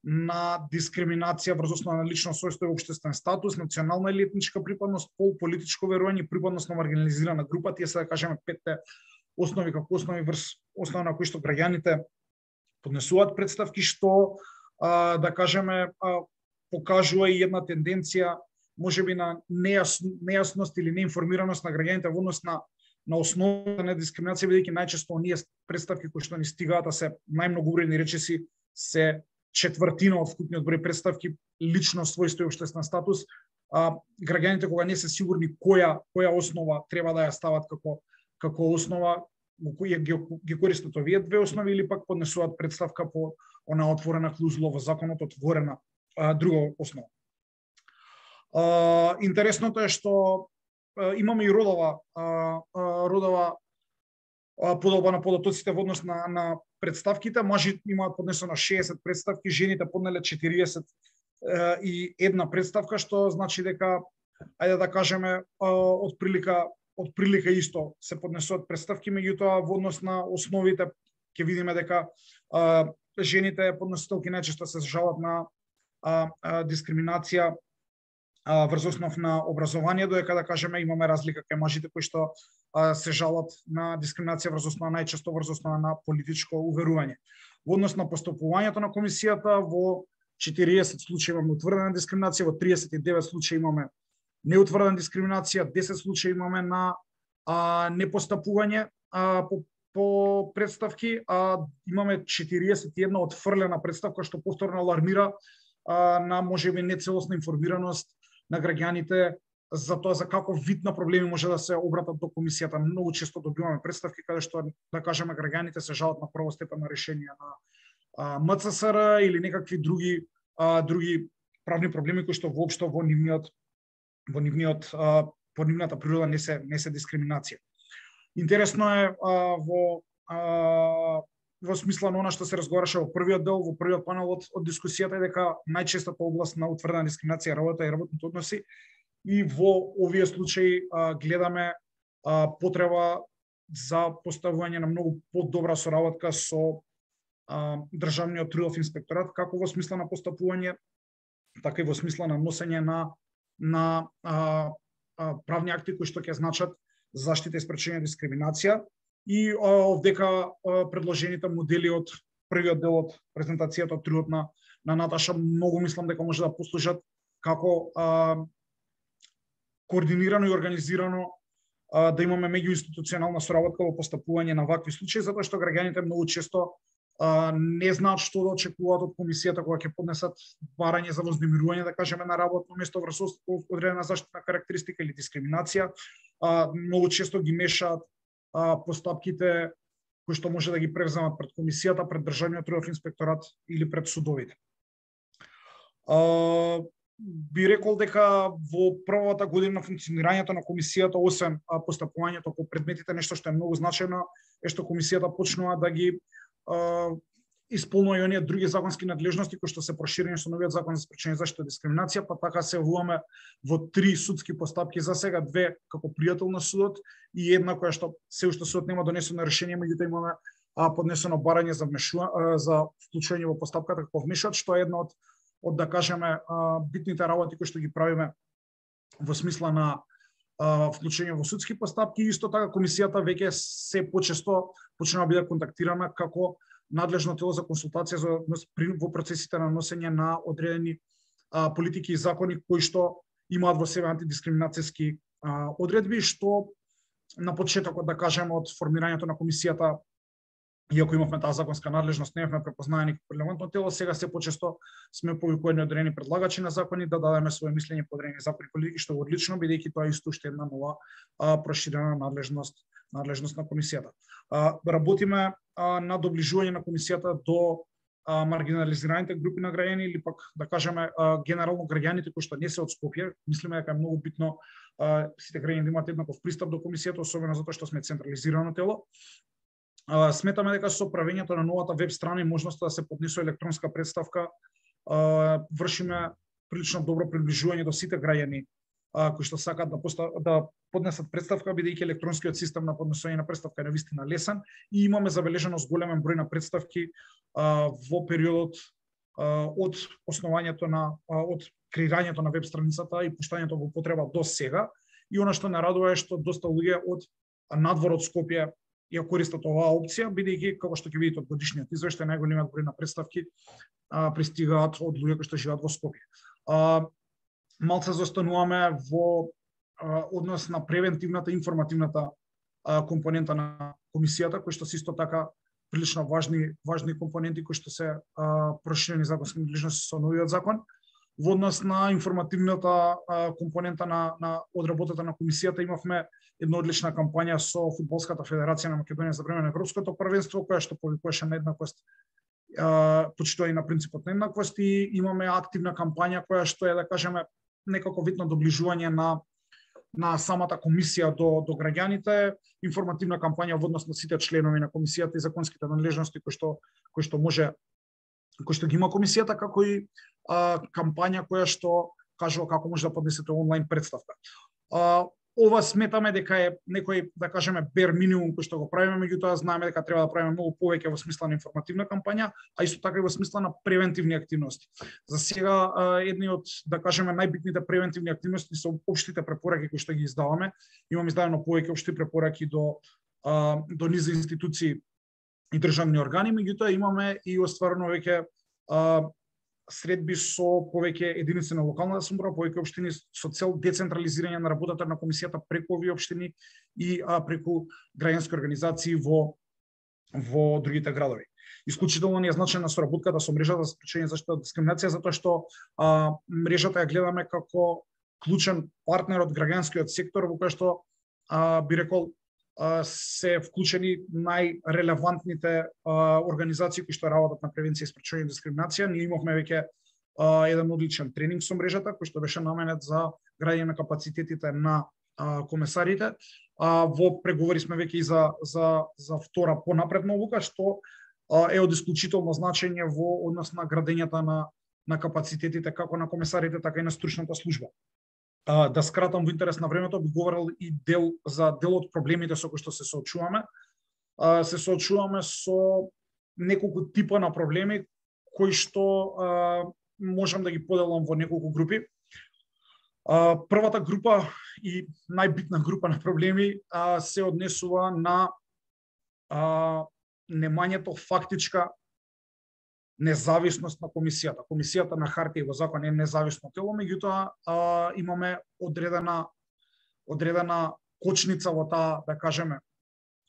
на дискриминација врз основа на лично својство и општествен статус, национална или етничка припадност, пол, политичко верување, припадност на маргинализирана група. Тие се, да кажеме, петте основи како основи врз основа на кои што граѓаните поднесуваат представки, што а, да кажеме а, покажува и една тенденција можеби на нејас, нејасност или неинформираност на граѓаните во однос на на основата на дискриминација, бидејќи најчесто оние представки кои што ни стигаат, а се најмногу убедни речиси се четвртина од вкупниот број представки, лично својство и општествен статус. А, граѓаните кога не се сигурни која која основа треба да ја стават како како основа, ги, ги користат овие две основи или пак поднесуваат представка по она отворена клаузула во законот, отворена а, друга основа. А, интересното е што а, имаме и родова а, а, родова а, подолба на податоците во однос на, на представките. Мажи имаат поднесено шеесет представки, жените поднеле четириесет а, и една представка, што значи дека, ајде да кажеме, а, од прилика од прилика исто се поднесуваат представки, меѓутоа во однос на основите ќе видиме дека а, жените подносителки најчесто се жалат на а, а, дискриминација а, врз основ на образование, додека да кажеме имаме разлика кај мажите кои што а, се жалат на дискриминација врз основа најчесто врз основа на политичко уверување. Во однос на постапувањето на комисијата, во четириесет случаи имаме утврдена дискриминација, во триесет и девет случаи имаме неутврдена дискриминација, десет случаи имаме на а, непостапување а, по, по представки, а имаме четириесет и една отфрлена представка, што повторно алармира а, на можеби нецелосна информираност на граѓаните за тоа за каков вид на проблеми може да се обратат до комисијата. Многу често добиваме представки каде што, да кажеме, граѓаните се жалат на првостепено решение на а, М Ц С Р или некакви други а, други правни проблеми кои што воопшто во нивниот во нивниот а, по нивната природа не се не се дискриминација. Интересно е а, во а, во смисла на она што се разговараше во првиот дел, во првиот панел од, од дискусијата, е дека најчестата област на утврдена дискриминација е работа и работните односи, и во овие случаи а, гледаме а, потреба за поставување на многу подобра соработка со а, државниот трудов инспекторат, како во смисла на постапување, така и во смисла на носење на на а, а, правни акти кои што ќе значат заштита и спречување дискриминација, и а, овдека а, предложените модели од првиот дел од презентацијата од трудот на на Наташа многу мислам дека може да послужат како а, координирано и организирано а, да имаме меѓуинституционална соработка во постапување на вакви случаи, затоа што граѓаните многу често а, не знаат што да очекуваат од комисијата кога ќе поднесат барање за вознемирување, да кажеме, на работно место врз одредена заштитна карактеристика или дискриминација. А, многу често ги мешаат а, постапките кои што може да ги превземат пред комисијата, пред државниот трудов инспекторат или пред судовите. А, би рекол дека во првата година на функционирањето на комисијата, освен а, постапувањето по предметите, нешто што е многу значајно е што комисијата почнува да ги а, исполнува и оние други законски надлежности кои што се проширени со новиот закон за спречување заштита од дискриминација, па така се вуваме во три судски постапки за сега, две како пријател на судот и една која што се уште судот нема донесено решение, меѓутоа имаме а, поднесено барање за вмешува, за вклучување во постапката како вмешувач, што е една од од да кажеме битните работи кои што ги правиме во смисла на а, вклучување во судски постапки. Исто така комисијата веќе се почесто почнува да биде контактирана како надлежно тело за консултација за во процесите на носење на одредени а, политики и закони кои што имаат во себе антидискриминацијски а, одредби, што на почетокот, да кажеме, од формирањето на комисијата, иако имавме таа законска надлежност, не бевме препознаени како релевантно тело, сега се почесто сме повикувани одредени предлагачи на закони да дадеме своје мислење по одредени закони и политики, што е одлично, бидејќи тоа исто уште една нова а, проширена надлежност надлежност на комисијата. А, работиме а, на доближување на комисијата до а, маргинализираните групи на граѓани или пак да кажеме а, генерално граѓаните кои што не се од Скопје. Мислиме дека е многу битно а, сите граѓани да имаат еднаков пристап до комисијата, особено затоа што сме централизирано тело. Uh, сметаме дека со правењето на новата веб страна и можноста да се поднесува електронска представка, uh, вршиме прилично добро приближување до сите граѓани кои што сакаат да постав, да поднесат представка, бидејќи електронскиот систем на поднесување на представка е навистина лесен и имаме забележеност големен број на представки а, во периодот а, од основањето на а, од креирањето на веб страницата и пуштањето во употреба до сега. И она што не радува е што доста луѓе од надвор од Скопје ја користат оваа опција, бидејќи како што ќе видите од годишниот извештај, најголемиот број на представки а, пристигаат од луѓе кои што живеат во Скопје. А, малце застануваме во а, однос на превентивната и информативната а, компонента на комисијата, кои што се исто така прилично важни важни компоненти кои што се а, проширени законски надлежности со новиот закон. Во однос на информативната а, компонента на, на одработата на комисијата имавме една одлична кампања со Фудбалската федерација на Македонија за време на Европското првенство, која што повикуваше на еднаквост, почитување на принципот на еднаквост, и имаме активна кампања која што е, да кажеме, некако вид на доближување на на самата комисија до до граѓаните, информативна кампања во однос на сите членови на комисијата и законските надлежности кои што кои што може кои што ги има комисијата, како и а, кампања која што кажува како може да поднесете онлайн представка. А, ова сметаме дека е некој, да кажеме, бер минимум кој што го правиме, меѓутоа знаеме дека треба да правиме многу повеќе во смисла на информативна кампања, а исто така и во смисла на превентивни активности. За сега едни од, да кажеме, најбитните превентивни активности се општите препораки кои што ги издаваме. Имаме издадено повеќе општи препораки до до низ институции и државни органи, меѓутоа имаме и остварено веќе средби со повеќе единици на локалната самоуправа, повеќе општини со цел децентрализирање на работата на комисијата преку овие општини и а, преку граѓански организации во во другите градови. Исклучително ни е значајна соработката со мрежата за спречување заштита од дискриминација, затоа што а, мрежата ја гледаме како клучен партнер од граѓанскиот сектор, во кој што а, би рекол се вклучени најрелевантните организации кои што работат на превенција и спречување дискриминација. Ние имавме веќе а, еден одличен тренинг со мрежата кој што беше наменет за градење на капацитетите на а, комесарите. А, во преговори сме веќе и за за за втора понапредна обука, што а, е од исклучително значење во однос на градењето на на капацитетите како на комесарите, така и на стручната служба. Uh, да скратам во интерес на времето, би говорил и дел за дел од проблемите со кои што се соочуваме. Uh, се соочуваме со неколку типа на проблеми кои што uh, можам да ги поделам во неколку групи. Uh, првата група и најбитна група на проблеми uh, се однесува на uh, немањето фактичка независност на комисијата. Комисијата на хартија и во закон е независно тело, меѓутоа имаме одредена одредена кочница во таа, да кажеме,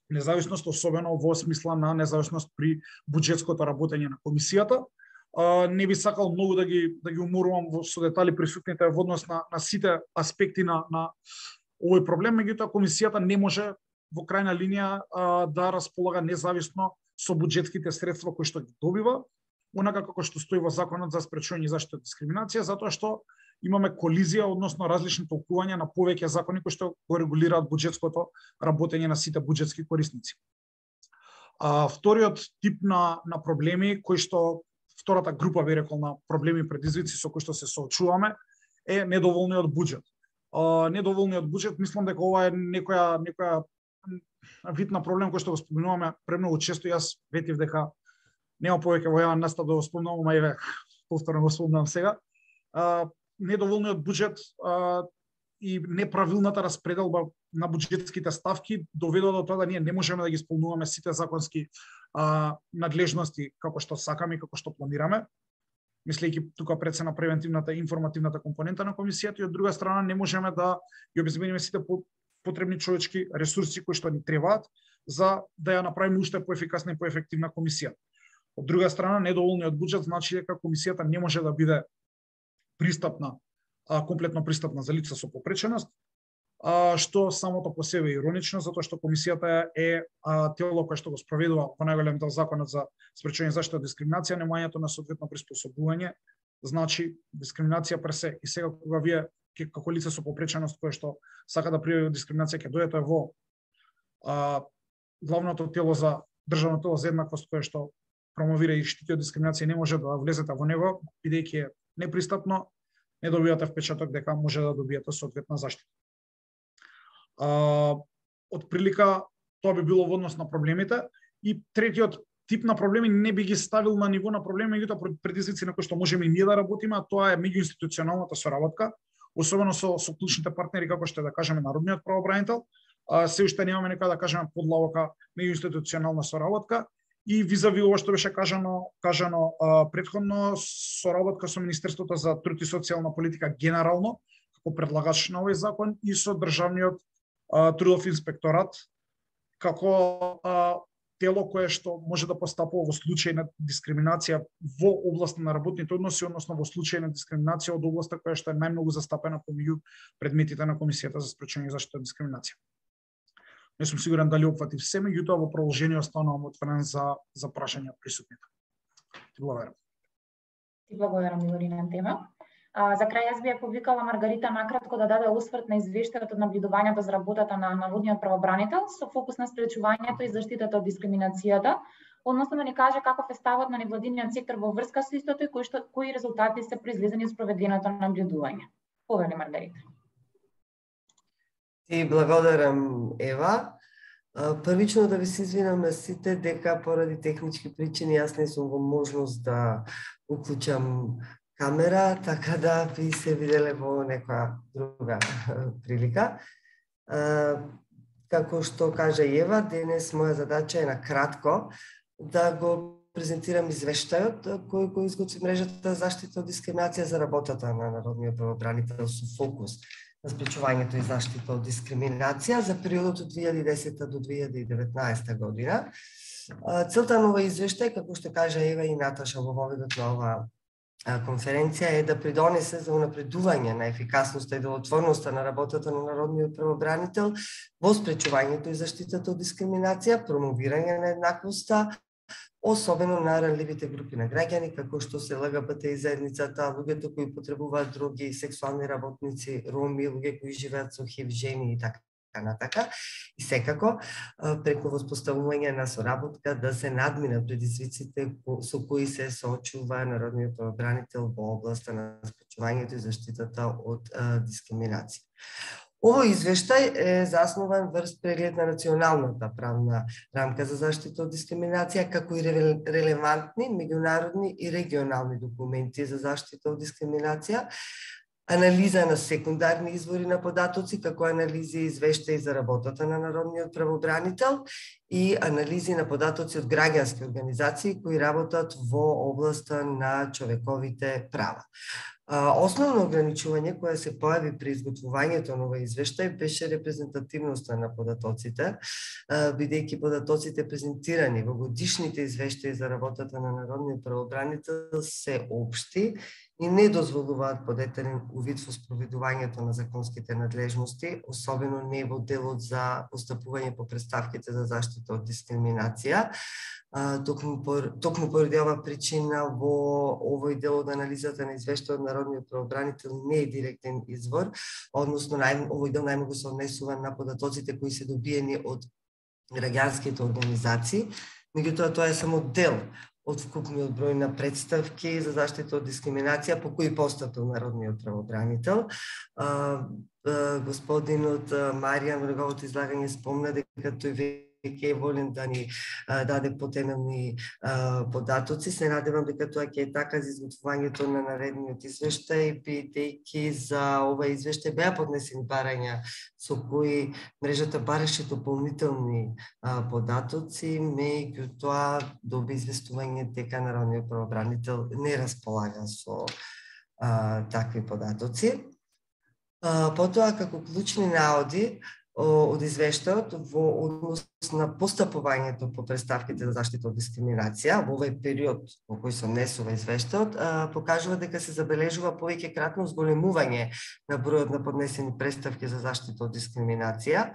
независност, особено во смисла на независност при буџетското работење на комисијата. А, не би сакал многу да ги да ги уморувам во со детали присутните во однос на на сите аспекти на на овој проблем, меѓутоа комисијата не може во крајна линија а, да располага независно со буџетските средства кои што ги добива, онака како што стои во законот за спречување и заштита од дискриминација, затоа што имаме колизија односно различни толкувања на повеќе закони кои што го регулираат буџетското работење на сите буџетски корисници. А, вториот тип на на проблеми кои што втората група би рекол на проблеми и предизвици со кои што се соочуваме е недоволниот буџет. А, недоволниот буџет, мислам дека ова е некоја некоја вид на проблем кој што го спомнуваме премногу често. Јас ветив дека нема повеќе во јавен настап да го спомнувам, а еве повторно го спомнувам сега. А, недоволниот буџет а, и неправилната распределба на буџетските ставки доведува до тоа да ние не можеме да ги исполнуваме сите законски а, надлежности како што сакаме и како што планираме, мислејќи тука пред се на превентивната и информативната компонента на комисијата, и од друга страна не можеме да ги обезбедиме сите потребни човечки ресурси кои што ни требаат за да ја направиме уште поефикасна и поефективна комисија. Од друга страна, недоволниот буџет значи дека комисијата не може да биде пристапна, а, комплетно пристапна за лица со попреченост, а, што самото по себе е иронично, затоа што комисијата е а, тело кое што го спроведува во најголем дел законот за спречување и заштита од дискриминација, немањето на соодветно приспособување, значи дискриминација персе. И сега кога вие како лице со попреченост кое што сака да пријави дискриминација ќе дојдете во а, главното тело за државно тело за еднаквост кое што промовира и штити од дискриминација, не може да влезете во него, бидејќи е непристапно, не добивате впечаток дека може да добиете соодветна заштита. А, од прилика тоа би било во однос на проблемите, и третиот тип на проблеми не би ги ставил на ниво на проблеми, меѓутоа предизвици на кои што можеме и ние да работиме, а тоа е меѓуинституционалната соработка, особено со, со клучните партнери, како што е, да кажеме, народниот правобранител. А, се уште немаме нека да кажеме подлавока меѓуинституционална соработка, и визави ова што беше кажано, кажано а, предходно, соработка со Министерството за труд и социјална политика генерално, како предлагач на овој закон, и со Државниот а, трудов инспекторат, како а, тело кое што може да постапува во случај на дискриминација во област на работните односи, односно во случај на дискриминација од областа која што е најмногу застапена помеѓу предметите на Комисијата за спречување и заштита од дискриминација. Не сум сигурен дали опфатив се, меѓутоа во продолжение останувам отворен за за прашања од присутните. Ти благодарам. Ти благодарам, Милори, на тема. А, за крај јас би ја повикала Маргарита накратко да даде осврт на извештајот од наблюдувањето за работата на народниот правобранител со фокус на спречувањето и заштитата од дискриминацијата, односно да ни каже каков е ставот на невладиниот сектор во врска со истото и кои што кои резултати се произлезени од спроведеното наблюдување. Повели, Маргарита. Ти благодарам, Ева. Првично да ви се извинам на сите дека поради технички причини јас не сум во можност да уклучам камера, така да ви се виделе во некоја друга прилика. Како што кажа Ева, денес моја задача е на кратко да го презентирам извештајот кој го изготви мрежата за заштита од дискриминација за работата на народниот правобранител со фокус на спречувањето и заштита од дискриминација за периодот од две илјади и десета до две илјади и деветнаесета година. Целта на овој извештај, како што кажа Ева и Наташа во воведот на ова конференција, е да придонесе за унапредување на ефикасноста и делотворноста на работата на народниот правобранител во спречувањето и заштитата од дискриминација, промовирање на еднаквоста, особено на ранливите групи на граѓани, како што се ЛГБТ и заедницата, луѓето кои потребуваат други, сексуални работници, роми, луѓе кои живеат со ХИВ, жени и така натака. И секако, преку воспоставување на соработка да се надминат предизвиците со кои се соочува народниот правобранител во областа на спречувањето и заштитата од дискриминација. Овој извештај е заснован врз преглед на националната правна рамка за заштита од дискриминација, како и релевантни меѓународни и регионални документи за заштита од дискриминација, анализа на секундарни извори на податоци, како анализи и извештаи за работата на народниот правобранител и анализи на податоци од граѓански организации кои работат во областа на човековите права. Основно ограничување кое се појави при изготвувањето на овој извештај беше репрезентативноста на податоците, бидејќи податоците презентирани во годишните извештаи за работата на народниот правобранител се општи и не дозволуваат подетелен увид во спроведувањето на законските надлежности, особено не во делот за постапување по претставките за заштита од дискриминација. Токму, токму поради оваа причина во овој дел од анализата на извештајот од народниот правобранител не е директен извор, односно нај, овој дел најмногу се однесува на податоците кои се добиени од граѓанските организации, меѓутоа тоа е само дел од вкупниот број на претставки за заштита од дискриминација по кои постапил народниот правобранител. Господинот Маријан во неговото излагање спомна дека тој ќе е волен да ни а, даде потемелни а, податоци. Се надевам дека тоа ќе е така за изготвувањето на наредниот извештај, бидејќи за ова извештај беа поднесени барања со кои мрежата бараше дополнителни а, податоци, меѓутоа доби известување дека народниот правобранител не располага со а, такви податоци. А, потоа, како клучни наоди од извештајот во однос на постапувањето по претставките за заштита од дискриминација во овој период во кој се однесува извештајот, покажува дека се забележува повеќекратно зголемување на бројот на поднесени претставки за заштита од дискриминација,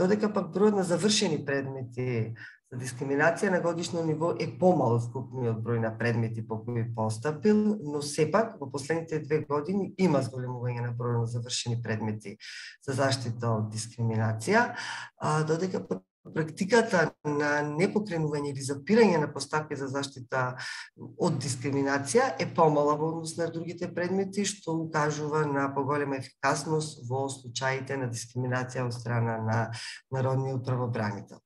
додека пак бројот на завршени предмети за дискриминација на годишно ниво е помал од вкупниот број на предмети по кои постапил, но сепак во последните две години има зголемување на бројот на завршени предмети за заштита од дискриминација, додека практиката на непокренување или запирање на постапки за заштита од дискриминација е помала во однос на другите предмети, што укажува на поголема ефикасност во случаите на дискриминација од страна на народниот правобранител.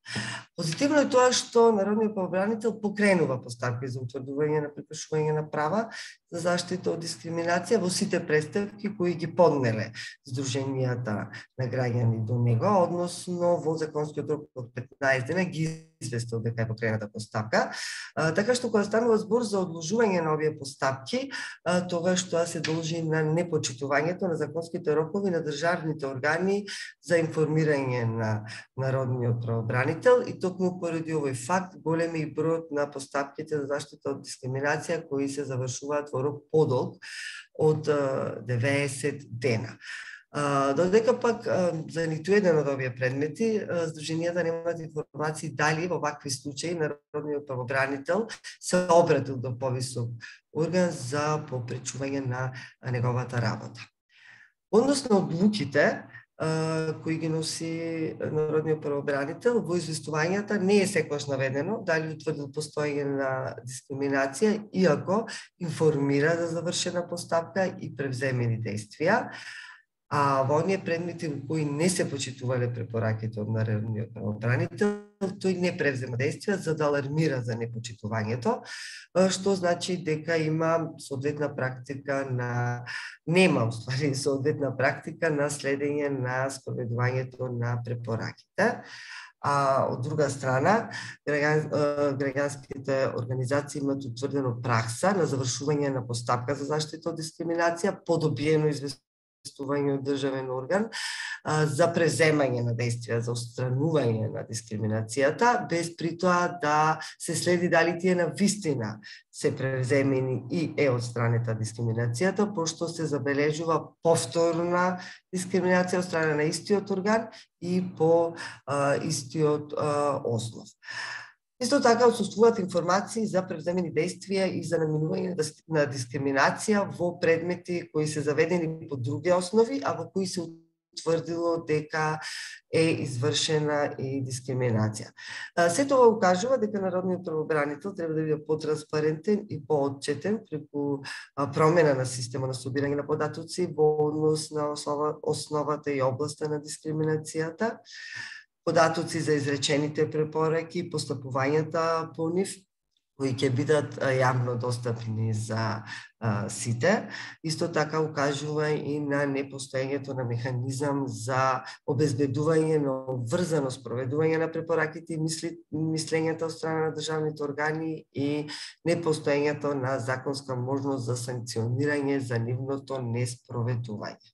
Позитивно е тоа што народниот правобранител покренува постапки за утврдување на прекршување на права за заштита од дискриминација во сите представки кои ги поднеле здруженијата на граѓани до него, односно во законскиот рок од петнаесет дена ги известил дека е покрената постапка. А, така што кога станува збор за одложување на овие постапки, а, тогаш тоа се должи на непочитувањето на законските рокови на државните органи за информирање на народниот правобранител и токму поради овој факт голем е бројот на постапките за заштита од дискриминација кои се завршуваат во рок подолг од деветдесет дена. Додека пак за ниту еден од овие предмети здруженијата немаат информации дали во вакви случаи народниот правобранител се обратил до повисок орган за попречување на неговата работа. Односно одлуките кои ги носи народниот правобранител, во известувањата не е секогаш наведено дали утврдил постоење на дискриминација, иако информира за завршена постапка и превземени действија. А во оние предмети во кои не се почитувале препораките од народниот правобранител, тој не превзема действија за да алармира за непочитувањето, што значи дека има соодветна практика на нема уствари соодветна практика на следење на спроведувањето на препораките. А од друга страна, граѓанските организации имаат утврдено пракса на завршување на постапка за заштита од дискриминација по добиено известување од државен орган за преземање на действија за отстранување на дискриминацијата, без при тоа да се следи дали тие на вистина се преземени и е отстранета дискриминацијата, пошто се забележува повторна дискриминација од страна на истиот орган и по а, истиот а, основ. Исто така отсуствуваат информации за превземени действија и за наминување на дискриминација во предмети кои се заведени по други основи, а во кои се утврдило дека е извршена и дискриминација. Се тоа укажува дека народниот правобранител треба да биде потранспарентен и поотчетен преку промена на система на собирање на податоци во однос на основа, основата и областа на дискриминацијата, податоци за изречените препораки и постапувањата по нив, кои ќе бидат јавно достапни за а, сите. Исто така укажува и на непостоењето на механизам за обезбедување на врзано спроведување на препораките и мисли, мислењата од страна на државните органи и непостоењето на законска можност за санкционирање за нивното неспроведување.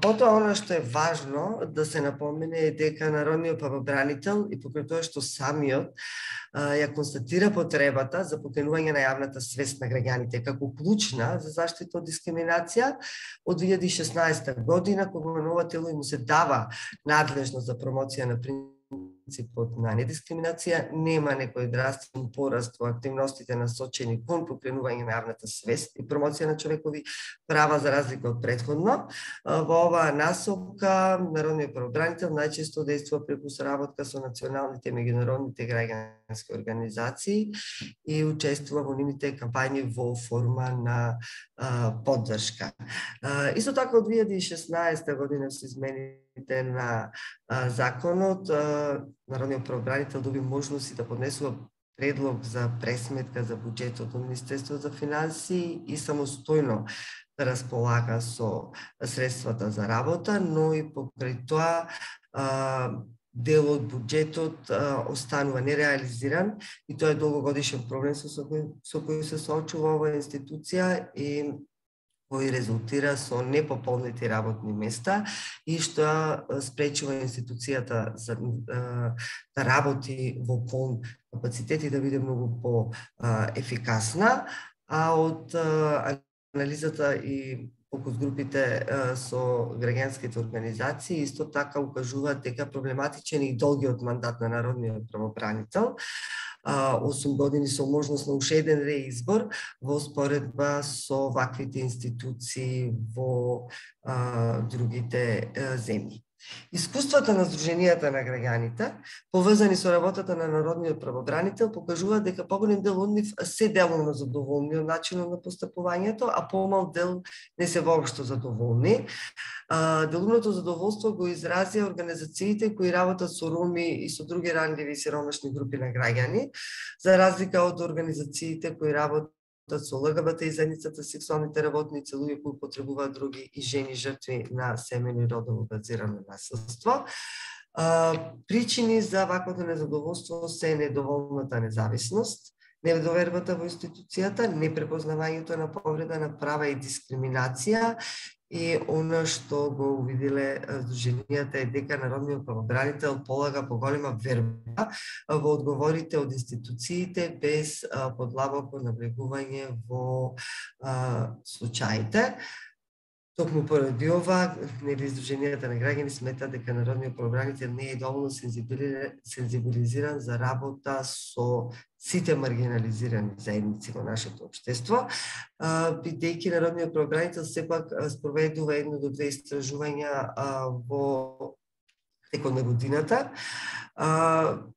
Потоа, она што е важно да се напомене е дека народниот правобранител и покрај тоа што самиот ја констатира потребата за покренување на јавната свест на граѓаните како клучна за заштита од дискриминација, од две илјади и шеснаесета година, кога нова тело му се дава надлежност за промоција на принципот на недискриминација, нема некој драстичен пораст во активностите насочени кон покренување на јавната свест и промоција на човекови права за разлика од претходно. Во оваа насока народниот правобранител најчесто действува преку соработка со националните и меѓународните граѓански организации и учествува во нивните кампањи во форма на а, поддршка. А, исто така од две илјади и шеснаесета година се измените на а, законот, а, народниот правобранител доби можност и да поднесува предлог за пресметка за буџетот од Министерството за финансии и самостојно да располага со средствата за работа, но и покрај тоа а, дел од буџетот а, останува нереализиран и тоа е долгогодишен проблем со, со, кој, со кој се соочува оваа институција и кој резултира со непополнети работни места и што спречува институцијата за, а, да работи во полн капацитет и да биде многу по-ефикасна, а од а, анализата и фокус групите а, со граѓанските организации исто така укажуваат дека проблематичен и долгиот мандат на народниот правобранител, осум години со можност на уште еден реизбор во споредба со ваквите институции во а, другите а, земји. Искуствата на Сдруженијата на граѓаните, поврзани со работата на народниот правобранител, покажуваат дека поголем дел од нив се делумно задоволни од начинот на постапувањето, а помал дел не се воопшто задоволни. Делумното задоволство го изразија организациите кои работат со роми и со други ранливи и сиромашни групи на граѓани, за разлика од организациите кои работат со ЛГБТ и заедницата, сексуалните работници, луѓе кои потребуваат други и жени жртви на семејно и родово базирано насилство. Причини за ваквото незадоволство се недоволната независност, недовербата во институцијата, непрепознавањето на повреда на права и дискриминација. И она што го увиделе Сдруженијата е дека народниот правобранител полага поголема верба во одговорите од институциите без подлабоко навлегување во а, случаите. Токму поради ова, нели Сдруженијата на граѓани смета дека народниот правобранител не е доволно сензибилизиран за работа со сите маргинализирани заедници во нашето општество, бидејќи народниот правобранител сепак спроведува едно до две истражувања во текот на годината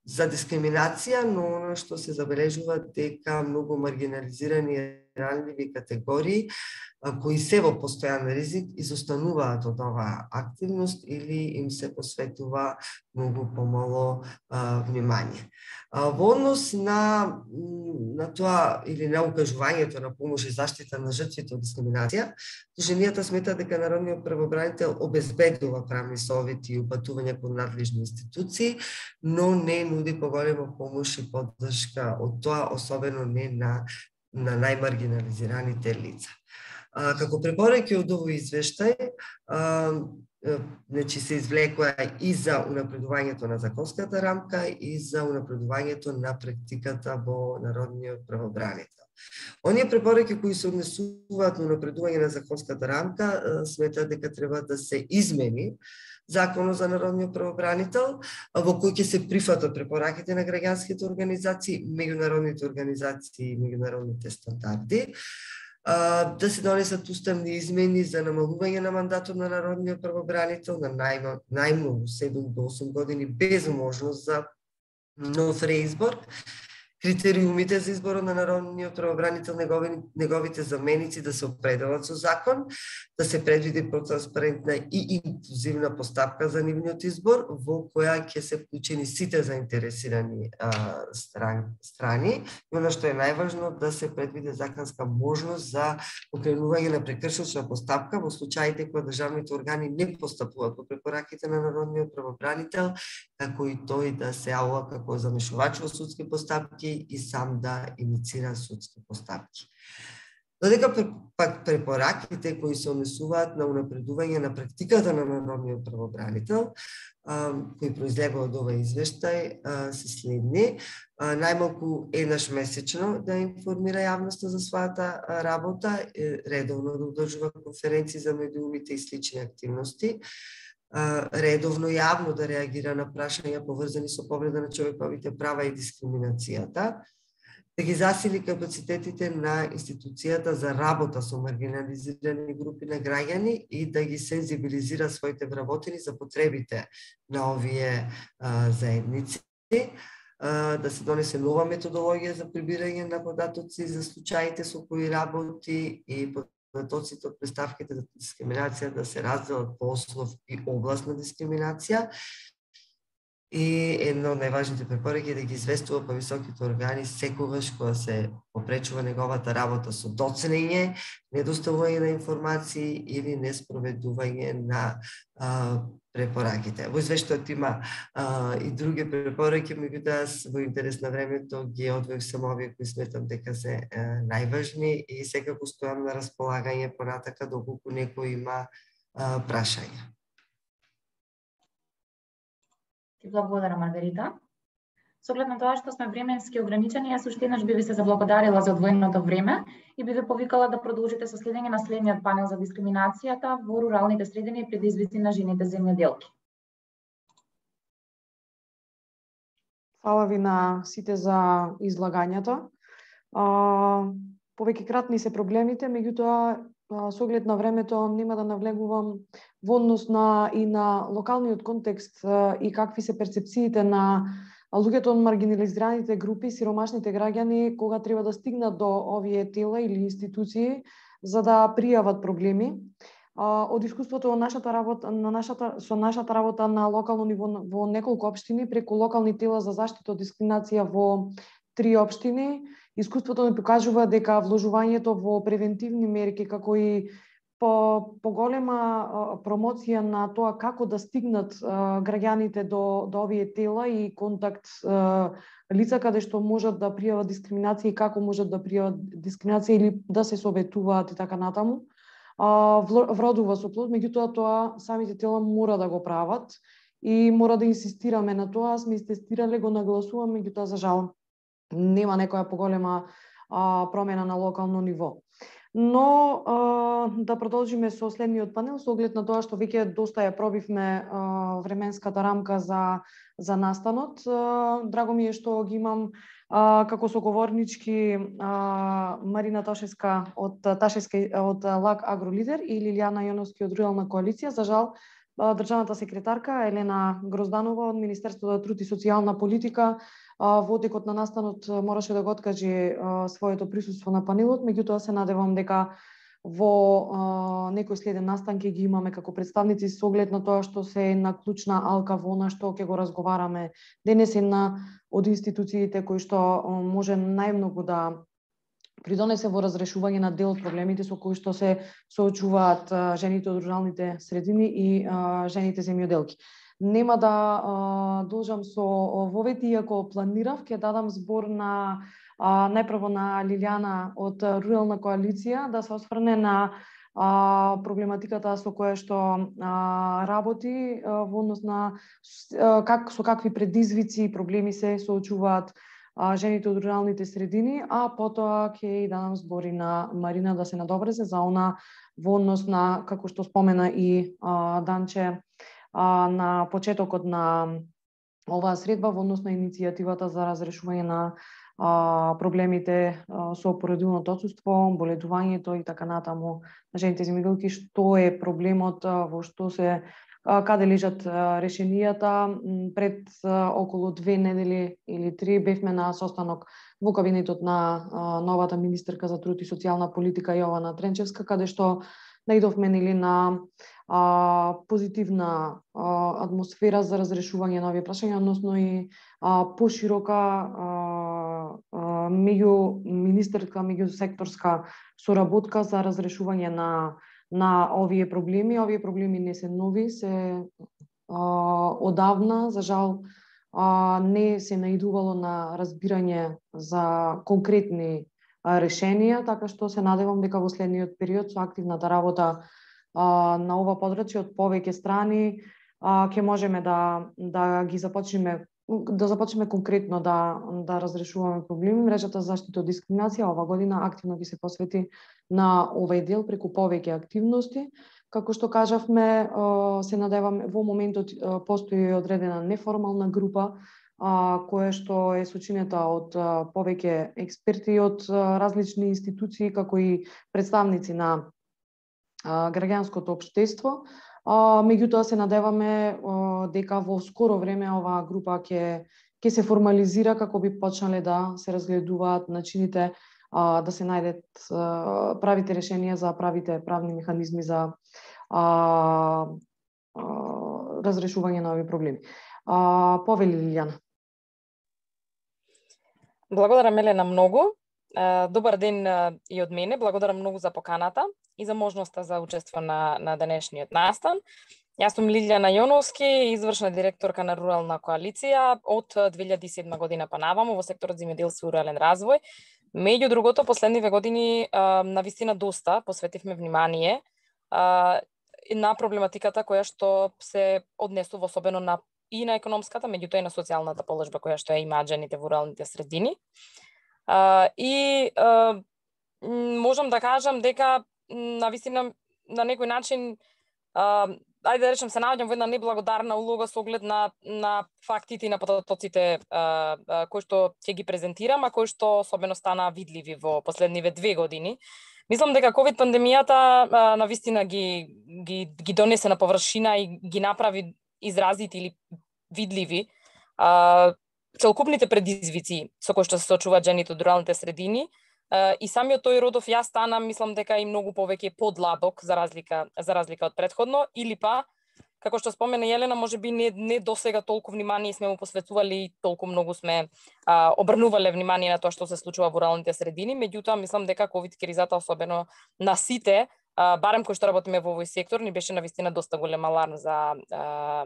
за дискриминација, но оно што се забележува дека многу маргинализирани ранливи категории кои се во постојан ризик изостануваат од оваа активност или им се посветува многу помало а, внимание. А, во однос на, на тоа или на укажувањето на помош и заштита на жртвите од дискриминација, Сдруженијата смета дека народниот правобранител обезбедува правни совети и упатувања кон надлежни институции, но не нуди поголема помош и поддршка од тоа, особено не на, на најмаргинализираните лица. А, како препораки од овој извештај, а, значи се извлекува и за унапредувањето на законската рамка и за унапредувањето на практиката во народниот правобранител. Оние препораки кои се однесуваат на унапредување на законската рамка, сметаат дека треба да се измени Законот за народниот правобранител, во кој ќе се прифатат препораките на граѓанските организации, меѓународните организации и меѓународните стандарди, да се донесат уставни измени за намалување на мандатот на народниот правобранител на најмногу седум до осум години без можност за нов реизбор, критериумите за изборот на народниот правобранител, негови, неговите заменици да се определат со закон, да се предвиди транспарентна и инклузивна постапка за нивниот избор, во која ќе се вклучени сите заинтересирани а, стран, страни. И оно што е најважно, да се предвиди законска можност за покренување на прекршочна постапка во случаите кога државните органи не постапуваат по препораките на народниот правобранител, како и тој да се јавува како замешувач во судски постапки и сам да иницира судски постапки. Додека пак препораките кои се однесуваат на унапредување на практиката на народниот правобранител, кои произлегува од овој извештај, се следни. Најмалку еднаш месечно да информира јавноста за својата работа, редовно да одржува конференции за медиумите и слични активности, редовно јавно да реагира на прашања поврзани со повреда на човековите права и дискриминацијата, да ги засили капацитетите на институцијата за работа со маргинализирани групи на граѓани и да ги сензибилизира своите вработени за потребите на овие а, заедници, а, да се донесе нова методологија за прибирање на податоци за случаите со кои работи и податоците од представките за дискриминација да се разделат по ослов и област на дискриминација. И една од најважните препораки е да ги известува по високите органи секогаш кога се попречува неговата работа со доцнење, недоставување на информации или неспроведување на а, препораките. Во извештајот има а, и други препораки, меѓутоа во интерес на времето ги одвоив само овие кои сметам дека се а, најважни и секако стојам на располагање понатака доколку некој има а, прашања. Ти благодарам, Маргарита. Со оглед на тоа што сме временски ограничени, јас уште еднаш би ви се заблагодарила за одвоеното време и би ви повикала да продолжите со следење на следниот панел за дискриминацијата во руралните средини и предизвици на жените земјоделки. Фала ви на сите за излагањето. Повеќе кратни се проблемите, меѓутоа со оглед на времето нема да навлегувам во однос на и на локалниот контекст и какви се перцепциите на луѓето од маргинализираните групи, сиромашните граѓани, кога треба да стигнат до овие тела или институции за да пријават проблеми. Од искуството во нашата работа, на нашата, со нашата работа на локално ниво во неколку општини, преку локални тела за заштита од дискриминација во три општини, искуството ни покажува дека вложувањето во превентивни мерки, како и по поголема промоција на тоа како да стигнат а, граѓаните до, до овие тела и контакт а, лица каде што можат да пријават дискриминација и како можат да пријават дискриминација или да се советуваат и така натаму, а, вродува со плод, меѓутоа тоа самите тела мора да го прават и мора да инсистираме на тоа. Сме истестирале, го нагласуваме, меѓутоа за жал нема некоја поголема а, промена на локално ниво. Но а, да продолжиме со следниот панел, со оглед на тоа што веќе доста ја пробивме а, временската рамка за, за настанот. А, драго ми е што ги имам а, како соговорнички а, Марина Ташевска од, Ташевска, од ЛАК Агролидер и Лилијана Јоновски од Рурална коалиција. За жал, државната секретарка Елена Грозданова од Министерството за труд и социјална политика во текот на настанот мораше да го откаже своето присуство на панелот, меѓутоа се надевам дека во некој следен настан ќе ги имаме како представници со оглед на тоа што се една клучна алка во она што ќе го разговараме денес, една од институциите кои што може најмногу да придонесе во разрешување на дел од проблемите со кои што се соочуваат жените од руралните средини и жените земјоделки. Нема да а, должам со вовети, иако планирав, ќе дадам збор на а, најпрво на Лилијана од Рурална коалиција да се осврне на а, проблематиката со која што а, работи а, во однос на а, как, со какви предизвици и проблеми се соочуваат а, жените од руралните средини, а потоа ќе и дадам збори на Марина да се надобрезе за она во однос на, како што спомена и а, Данче, на почетокот на оваа средба во однос на иницијативата за разрешување на а, проблемите а, со породилното отсуство, боледувањето и така натаму на жените земјоделки, што е проблемот, а, во што се а, каде лежат а, решенијата. Пред а, околу две недели или три бевме на состанок во кабинетот на а, новата министерка за труд и социјална политика Јована Тренчевска, каде што наидовме нели на а, позитивна а, атмосфера за разрешување на овие прашања, односно и а, поширока а, а, меѓу министерска, меѓу секторска соработка за разрешување на на овие проблеми. Овие проблеми не се нови, се а, одавна, за жал а, не се наидувало на разбирање за конкретни решенија, така што се надевам дека во следниот период со активната работа а, на ова подрачје од повеќе страни а, ќе можеме да да ги започнеме да започнеме конкретно да да разрешуваме проблеми. Мрежата за заштита од дискриминација ова година активно ги се посвети на овој дел преку повеќе активности. Како што кажавме, се надеваме во моментот постои одредена неформална група а, која што е сочинета од а, повеќе експерти од а, различни институции, како и представници на а, граѓанското општество. А, меѓутоа се надеваме а, дека во скоро време оваа група ќе ќе се формализира како би почнале да се разгледуваат начините а, да се најдат а, правите решенија за правите правни механизми за а, а, разрешување на овие проблеми. А, повели Лилијана. Благодарам, Елена, многу. Добар ден и од мене. Благодарам многу за поканата и за можноста за учество на, на денешниот настан. Јас сум Лилијана Јоновски, извршна директорка на Рурална коалиција од две илјади и седма година па наваму во секторот земјоделство и рурален развој. Меѓу другото, последниве години на вистина доста посветивме внимание на проблематиката која што се однесува особено на и на економската, меѓутоа и на социјалната положба која што ја имаат жените во руралните средини. Uh, и uh, можам да кажам дека на вистина на некој начин uh, ајде да речем се наоѓам во една неблагодарна улога со оглед на на фактите и на потоците uh, uh, кои што ќе ги презентирам, а кои што особено стана видливи во последниве две години. Мислам дека ковид пандемијата а, навистина ги, ги ги донесе на површина и ги направи изразити или видливи а, целокупните предизвици со кои што се соочуваат жените од руралните средини. Uh, и самиот тој родов јас стана, мислам дека и многу повеќе подлабок за разлика за разлика од претходно, или па како што спомена Јелена, можеби не не досега толку внимание сме му посветували и толку многу сме а, обрнувале внимание на тоа што се случува во руралните средини, меѓутоа мислам дека ковид кризата особено на сите, а, барем кои што работиме во овој сектор, ни беше навистина доста голем аларм за а,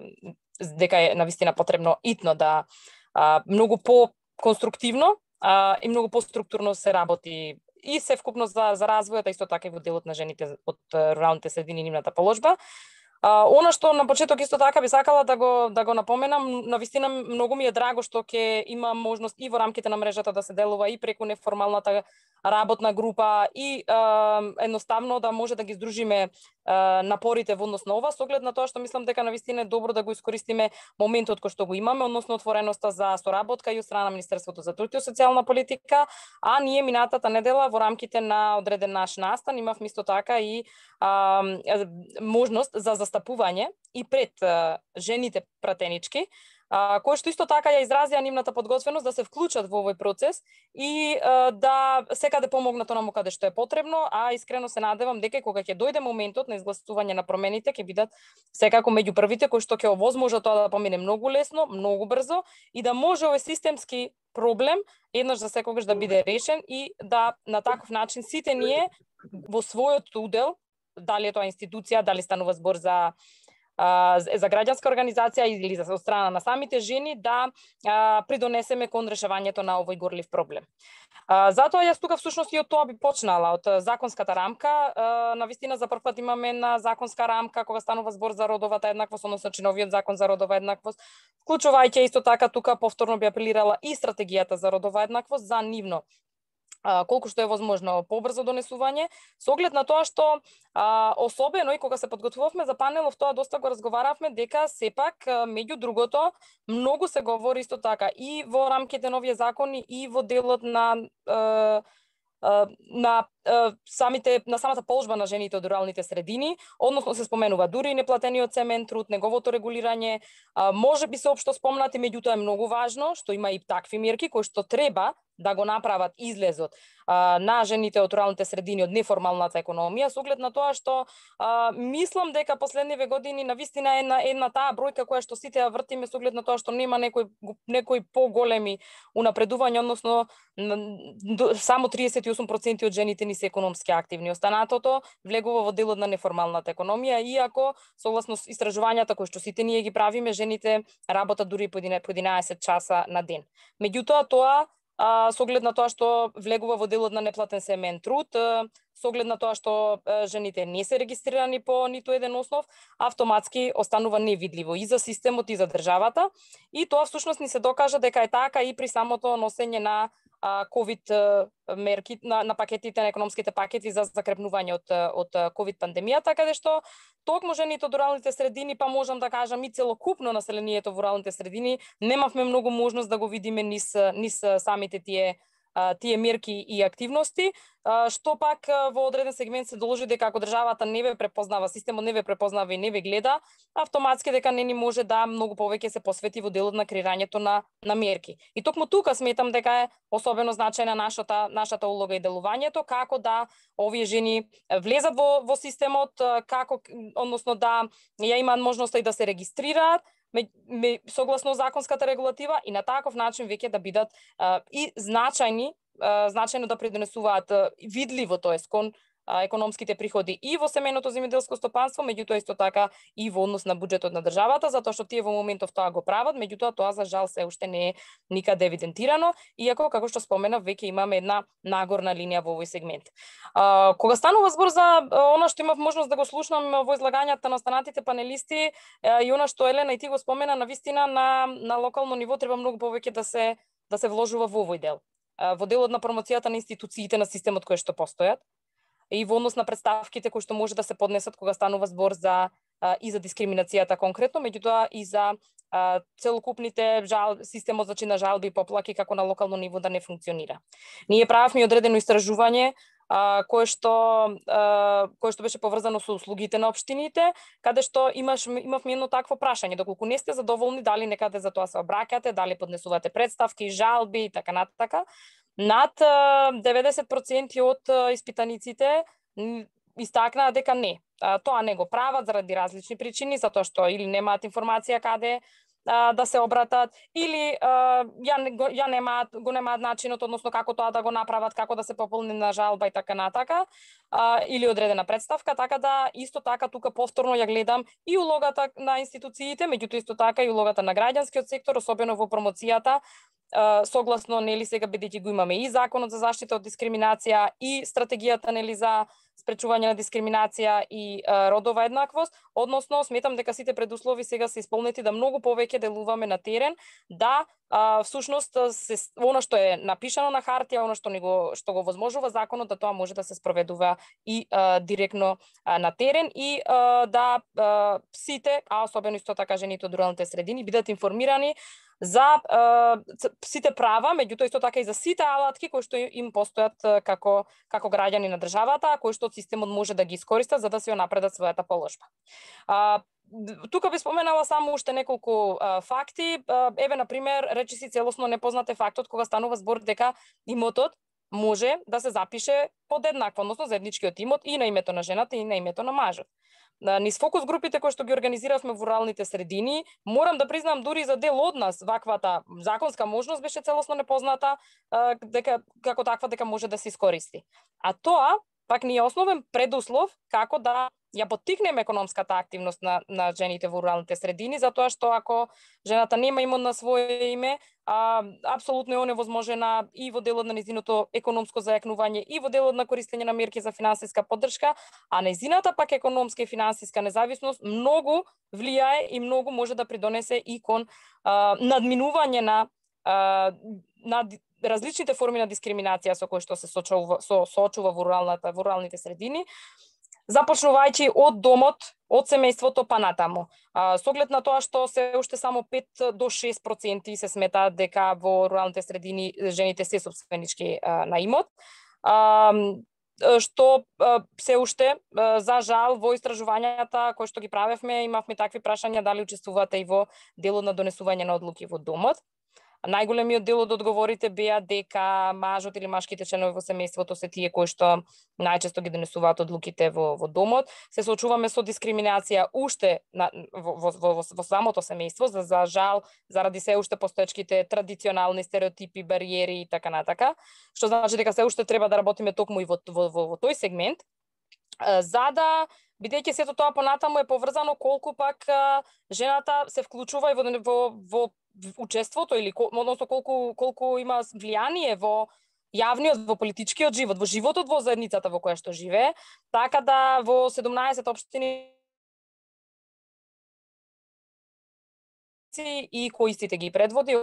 дека е навистина потребно итно да а, многу по конструктивно а, и многу поструктурно се работи и се вкупно за за развојот, исто така и во делот на жените од руралните средини, нивната положба. А, она што на почеток исто така би сакала да го да го напоменам, навистина многу ми е драго што ќе има можност и во рамките на мрежата да се делува и преку неформалната работна група и а, едноставно да може да ги здружиме а, напорите во однос на ова, со оглед на тоа што мислам дека навистина е добро да го искористиме моментот кој што го имаме, односно отвореноста за соработка и од страна на Министерството за труд и социјална политика, а ние минатата недела во рамките на одреден наш настан имавме исто така и а, можност за застапување и пред а, жените пратенички, а, кои што исто така ја изразија нивната подготвеност да се вклучат во овој процес и а, да секаде помогнат онаму каде што е потребно, а искрено се надевам дека кога ќе дојде моментот на изгласување на промените ќе бидат секако меѓу првите кои што ќе овозможат тоа да помине многу лесно, многу брзо и да може овој системски проблем еднаш за секогаш да биде решен и да на таков начин сите ние во својот удел, дали е тоа институција, дали станува збор за за граѓанска организација или за страна на самите жени, да а, придонесеме кон решавањето на овој горлив проблем. А, затоа јас тука всушност и од тоа би почнала, од законската рамка. А, навистина за прв пат имаме една законска рамка кога станува збор за родовата еднаквост, односно чиновиот закон за родова еднаквост, вклучувајќи исто така тука повторно би апелирала и стратегијата за родова еднаквост за нивно Uh, колку што е возможно побрзо донесување, со оглед на тоа што uh, особено и кога се подготвувавме за панелов, тоа доста го разговаравме дека сепак uh, меѓу другото многу се говори исто така и во рамките на овие закони и во делот на uh, на самите на самата положба на жените од руралните средини, односно се споменува дури и неплатениот семеен труд, неговото регулирање, може би се општо спомнати, меѓутоа е многу важно што има и такви мерки кои што треба да го направат излезот а, на жените од руралните средини од неформалната економија, со оглед на тоа што а, мислам дека последниве години навистина е една, една таа бројка која што сите ја вртиме, со оглед на тоа што нема некои некои поголеми унапредувања, односно само триесет и осум проценти од жените ни се економски активни. Останатото влегува во делот на неформалната економија, иако согласно истражувањата кои што сите ние ги правиме, жените работат дури по единаесет часа на ден. Меѓутоа тоа А, со оглед на тоа што влегува во делот на неплатен семеен труд, а, со оглед на тоа што а, жените не се регистрирани по ниту еден основ, автоматски останува невидливо и за системот и за државата. И тоа всушност ни се докажа дека е така и при самото носење на а, ковид мерки, на, на пакетите, на економските пакети за закрепнување од, од ковид пандемијата, каде што токму жените од руралните средини, па можам да кажам и целокупно населението во руралните средини, немавме многу можност да го видиме низ, низ самите тие тие мерки и активности, што пак во одреден сегмент се доложи дека ако државата не ве препознава, системот не ве препознава и не ве гледа, автоматски дека не ни може да многу повеќе се посвети во делот на креирањето на на мерки. И токму тука сметам дека е особено значајна нашата нашата улога и делувањето, како да овие жени влезат во во системот, како односно да ја имаат можноста и да се регистрираат Ме, ме, согласно законската регулатива и на таков начин веќе да бидат а, и значајни, а, значајно да придонесуваат а, видливо, тоест кон а, економските приходи и во семејното земјоделско стопанство, меѓутоа исто така и во однос на буџетот на државата, затоа што тие во моментов тоа го прават, меѓутоа тоа за жал се уште не е никаде евидентирано, иако како што споменав веќе имаме една нагорна линија во овој сегмент. А, кога станува збор за а, она што имав можност да го слушнам во излагањата на останатите панелисти а, и она што Елена и ти го спомена, навистина на на локално ниво треба многу повеќе да се да се вложува во овој дел. А, во делот на промоцијата на институциите на системот кои што постојат и во однос на представките кои што може да се поднесат кога станува збор за а, и за дискриминацијата конкретно, меѓутоа и за а, целокупните жал, системот значи на жалби и поплаки како на локално ниво да не функционира. Ние правевме одредено истражување а, кое што а, кое што беше поврзано со услугите на општините, каде што имаш имавме едно такво прашање, доколку не сте задоволни, дали некаде за тоа се обраќате, дали поднесувате претставки, жалби и така натака. Над деветдесет проценти од испитаниците истакнаа дека не. Тоа не го прават заради различни причини, затоа што или немаат информација каде да се обратат, или а, ја, ја немаат, го немаат начинот, односно како тоа да го направат, како да се пополни на жалба и така натака, а, или одредена представка, така да исто така тука повторно ја гледам и улогата на институциите, меѓутоа исто така и улогата на граѓанскиот сектор, особено во промоцијата, а, согласно нели сега бидејќи го имаме и законот за заштита од дискриминација и стратегијата нели за спречување на дискриминација и а, родова еднаквост, односно сметам дека сите предуслови сега се исполнети да многу повеќе делуваме на терен, да а, всушност се она што е напишано на хартија, она што ни го што го возможува законот, да тоа може да се спроведува и а, директно а, на терен и а, да а, сите, а особено исто така жените од руралните средини бидат информирани за а, сите права, меѓутоа исто така и за сите алатки кои што им постојат како како граѓани на државата, кои што системот може да ги искористат за да се напредат својата положба. А, тука би споменала само уште неколку а, факти. А, еве на пример, речиси целосно непознат е фактот кога станува збор дека имотот може да се запише подеднакво, односно заедничкиот имот и на името на жената и на името на мажот. Низ фокус групите кои што ги организиравме во руралните средини, морам да признам дури за дел од нас ваквата законска можност беше целосно непозната, дека како таква дека може да се искористи. А тоа пак ни е основен предуслов како да ја поттикнеме економската активност на, на жените во руралните средини, затоа што ако жената нема имот на свое име, а, апсолутно е оневозможена и во делот на незиното економско зајакнување и во делот на користење на мерки за финансиска поддршка, а незината пак економска и финансиска независност многу влијае и многу може да придонесе и кон а, надминување на, а, на различните форми на дискриминација со кои што се соочува, со, соочува во руралната, во руралните средини, започнувајќи од домот, од семејството па натаму. А, со оглед на тоа што се уште само пет до шест проценти се сметаат дека во руралните средини жените се собственички а, на имот, а, што а, се уште а, за жал во истражувањата кои што ги правевме имавме такви прашања дали учествувате и во делот на донесување на одлуки во домот. Најголемиот дел од одговорите беа дека мажот или машките членови во семејството се тие кои што најчесто ги донесуваат одлуките во, во домот. Се соочуваме со дискриминација уште на, во, во, во, во самото семејство, за, за жал, заради се уште постоечките традиционални стереотипи, бариери и така натака, што значи дека се уште треба да работиме токму и во, во, во, во тој сегмент, за да бидејќи сето тоа понатаму е поврзано колку пак жената се вклучува и во, во, во учеството или односно колку колку има влијание во јавниот, во политичкиот живот, во животот во заедницата во која што живее, така да во седумнаесет општини и кои истите ги предводи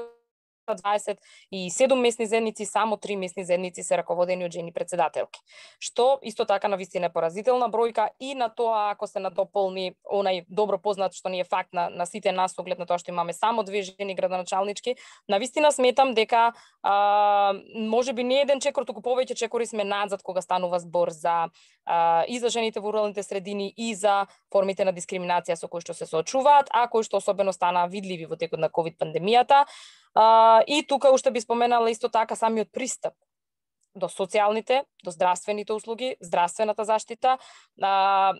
дваесет и седум месни заедници, само три месни заедници се раководени од жени председателки. Што исто така навистина е поразителна бројка и на тоа ако се надополни онај добро познат што ни е факт на, на сите нас, оглед на тоа што имаме само две жени градоначалнички, навистина сметам дека а, може би не еден чекор, туку повеќе чекори сме надзад кога станува збор за а, и за жените во руралните средини и за формите на дискриминација со кои што се соочуваат, а кои што особено стана видливи во текот на ковид пандемијата. Uh, и тука уште би споменала исто така самиот пристап до социјалните, до здравствените услуги, здравствената заштита, uh,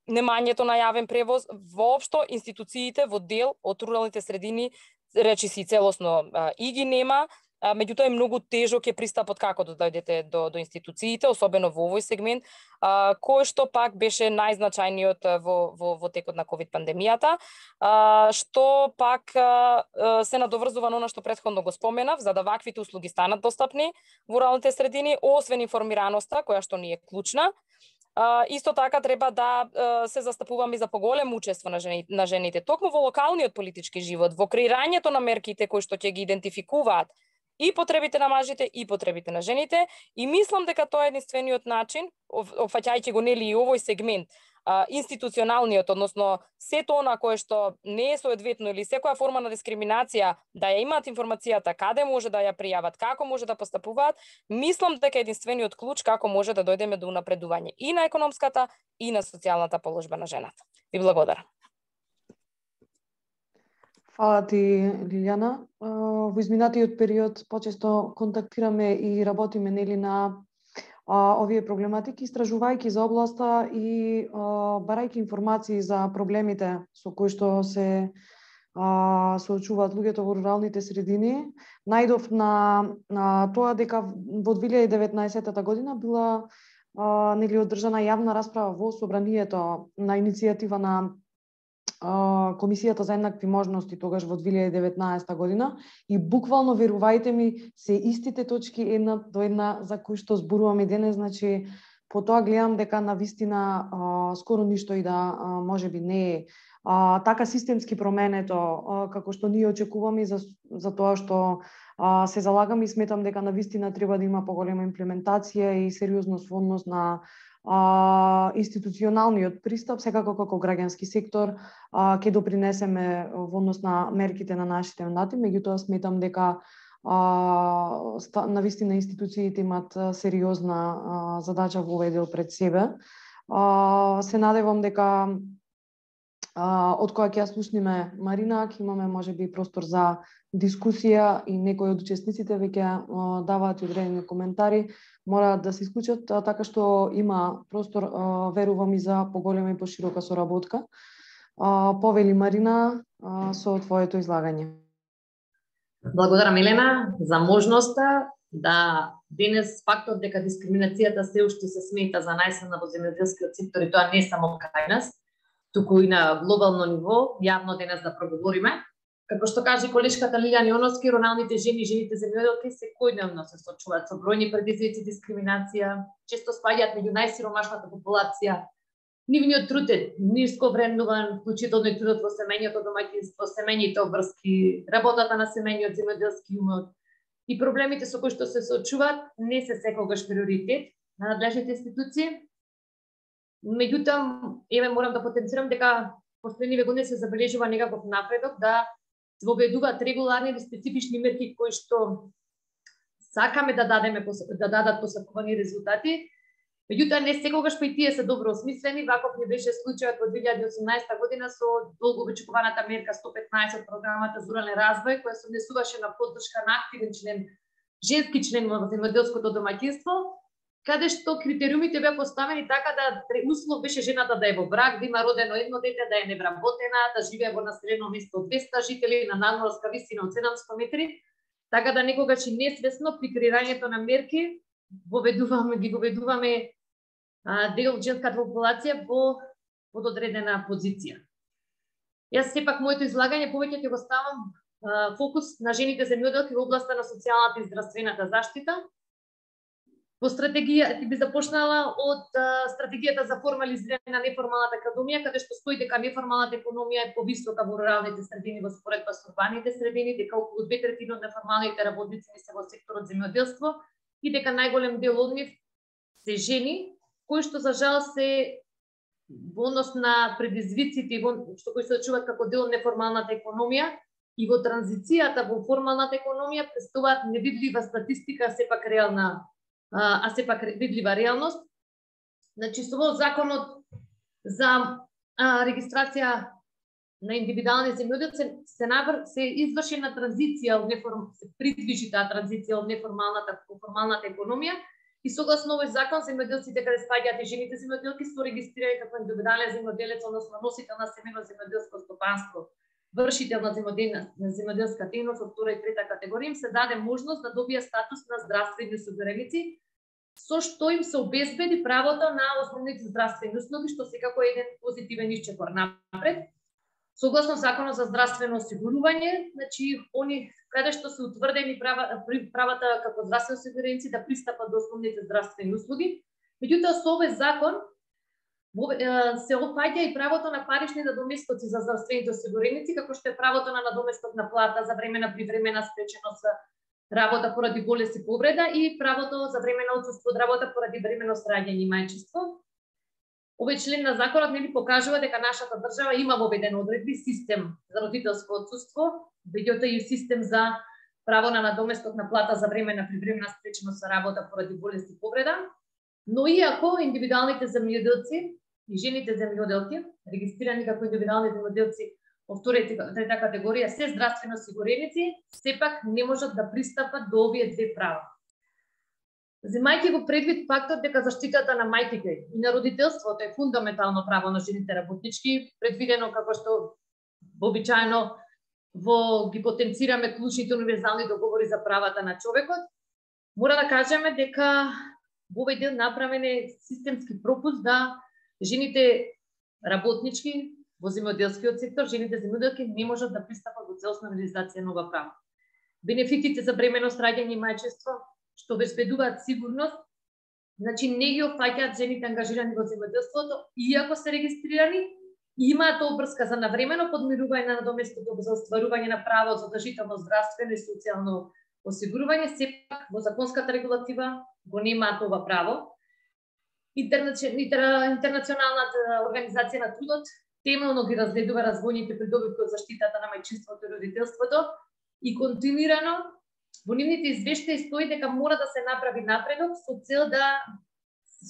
немањето на јавен превоз, воопшто институциите во дел од руралните средини речиси целосно uh, и ги нема, uh, меѓутоа е многу тежок е пристапот како да дојдете до, до институциите, особено во овој сегмент, uh, кој што пак беше најзначајниот во, во, во текот на ковид пандемијата, uh, што пак uh, се надоврзува на она што претходно го споменав, за да ваквите услуги станат достапни во руралните средини, освен информираноста, која што ни е клучна, Uh, исто така треба да uh, се застапуваме за поголемо учество на жените, на жените, токму во локалниот политички живот, во креирањето на мерките кои што ќе ги идентификуваат и потребите на мажите и потребите на жените, и мислам дека тоа е единствениот начин, опфаќајќи го нели и овој сегмент, а, институционалниот, односно сето она кое што не е соодветно или секоја форма на дискриминација да ја имаат информацијата каде може да ја пријават, како може да постапуваат, мислам дека единствениот клуч како може да дојдеме до унапредување и на економската и на социјалната положба на жената. Ви благодарам. Фала ти, Лилјана. Во изминатиот период почесто контактираме и работиме нели на а, овие проблематики, истражувајќи за областа и а, барајќи информации за проблемите со кои што се а, соочуваат луѓето во руралните средини. Најдов на, на тоа дека во две илјади и деветнаесетта година била а, нели одржана јавна расправа во собранието на иницијатива на Комисијата за еднакви можности тогаш во две илјади и деветнаесетта година и буквално, верувајте ми, се истите точки една до една за кои што зборуваме денес, значи по тоа гледам дека на вистина а, скоро ништо и да а, можеби не е а, така системски променето а, како што ние очекуваме за, за тоа што а, се залагам и сметам дека на вистина треба да има поголема имплементација и сериозност во однос на а, институционалниот пристап, секако како граѓански сектор а, ќе допринесеме во однос на мерките на нашите мандати, меѓутоа сметам дека а, ста, на вистина институциите имат сериозна а, задача во овој дел пред себе. А, се надевам дека а, од која ќе ја слушниме Марина, ќе имаме можеби простор за дискусија и некои од учесниците веќе даваат и одредени коментари, мораат да се исклучат, така што има простор, верувам, и за поголема и поширока соработка. Повели Марина со твоето излагање. Благодарам, Елена, за можноста да денес фактот дека дискриминацијата се уште се смета за најсилна во земјоделскиот сектор и тоа не само кај нас, туку и на глобално ниво, јавно денес да проговориме. Како што каже колешката Лилјана Јоновски, руралните жени и жените земјоделки секојдневно се соочуваат со бројни предизвици, дискриминација, често спаѓаат меѓу најсиромашната популација. Нивниот труд е ниско вреднуван, вклучително и трудот во семејното домаќинство, семејните обврски, работата на семејниот земјоделски умот и проблемите со кои што се соочуваат не се секогаш приоритет на надлежните институции. Меѓутоа, еве морам да потенцирам дека последниве години се забележува некаков напредок да се воведуваат регуларни или специфични мерки кои што сакаме да дадеме да дадат посакувани резултати. Меѓутоа не секогаш па и тие се добро осмислени, ваков не беше случајот во две илјади и осумнаесетта година со долго очекуваната мерка сто петнаесет програмата за рурален развој, која се внесуваше на поддршка на активен член, женски член во земјоделското домаќинство, каде што критериумите беа поставени така да услов беше жената да е во брак, да има родено едно дете, да е невработена, да живее во населено место од двеста жители на надморска висина од седумстотини метри, така да некогаш и несвесно при креирањето на мерки воведуваме ги воведуваме а, дел од женската популација во пододредена позиција. Јас сепак моето излагање повеќе ќе го ставам а, фокус на жените земјоделки во областа на социјалната и здравствената заштита. Во стратегија би започнала од а, стратегијата за формализирање на неформалната економија, каде што стои дека неформалната економија е повисока во руралните средини во споредба со урбаните средини, дека околу две третини од неформалните работници не се во секторот земјоделство и дека најголем дел од нив се жени, кои што за жал се во однос на предизвиците што кои се очуваат како дел од неформалната економија и во транзицијата во формалната економија представуваат невидлива статистика, сепак реална а сепак видлива реалност. Значи, со овој законот за а, регистрација на индивидуални земјоделци се, навр... се извршена транзиција од неформ... се придвижи таа транзиција од неформалната во формалната економија и согласно овој закон земјоделците каде спаѓаат и жените земјоделки се регистрирани како индивидуален земјоделец, односно носител на семено земјоделско стопанство, вршител на земјоделска дејност од втора и трета категорија, им се даде можност да добија статус на здравствени осигуреници, со што им се обезбеди правото на основните здравствени услуги, што секако е еден позитивен исчекор напред. Согласно Законот за здравствено осигурување, значи они каде што се утврдени права, правата како здравствени осигуреници да пристапат до основните здравствени услуги. Меѓутоа со овој закон се опаѓа и правото на парични надоместоци за здравствените осигуреници, како што е правото на надоместок на плата за времена привремена спреченост работа поради болест и повреда и правото за време на отсуство од работа поради временно раѓање и мајчинство. Овој член на законот нели покажува дека нашата држава има воведен одредби систем за родителско отсуство, меѓутоа и систем за право на надоместок на плата за време на привремена спреченост за работа поради болест и повреда, но иако индивидуалните земјоделци и жените земјоделки, регистрирани како индивидуални земјоделци во втора и трета категорија се здравствено осигуреници, сепак не можат да пристапат до овие две права. Земајќи го предвид фактот дека заштитата на мајките и на родителството е фундаментално право на жените работнички, предвидено како што вообичаено во ги потенцираме клучните универзални договори за правата на човекот, мора да кажеме дека во овој дел направен е системски пропуст да жените работнички во земјоделскиот сектор, жените земјоделки не можат да пристапат до целосна реализација на ова право. Бенефитите за бременост, раѓање и мајчинство, што обезбедуваат сигурност, значи не ги опфаќаат жените ангажирани во земјоделството, иако се регистрирани, имаат обврска за навремено подмирување на надоместокот за остварување на право за задолжително здравствено и социјално осигурување, сепак во законската регулатива го немаат ова право. Интернационалната организација на трудот темелно ги разгледува развојните придобивки од заштитата на мајчинството и родителството и континуирано во нивните извештаи стои дека мора да се направи напредок со цел да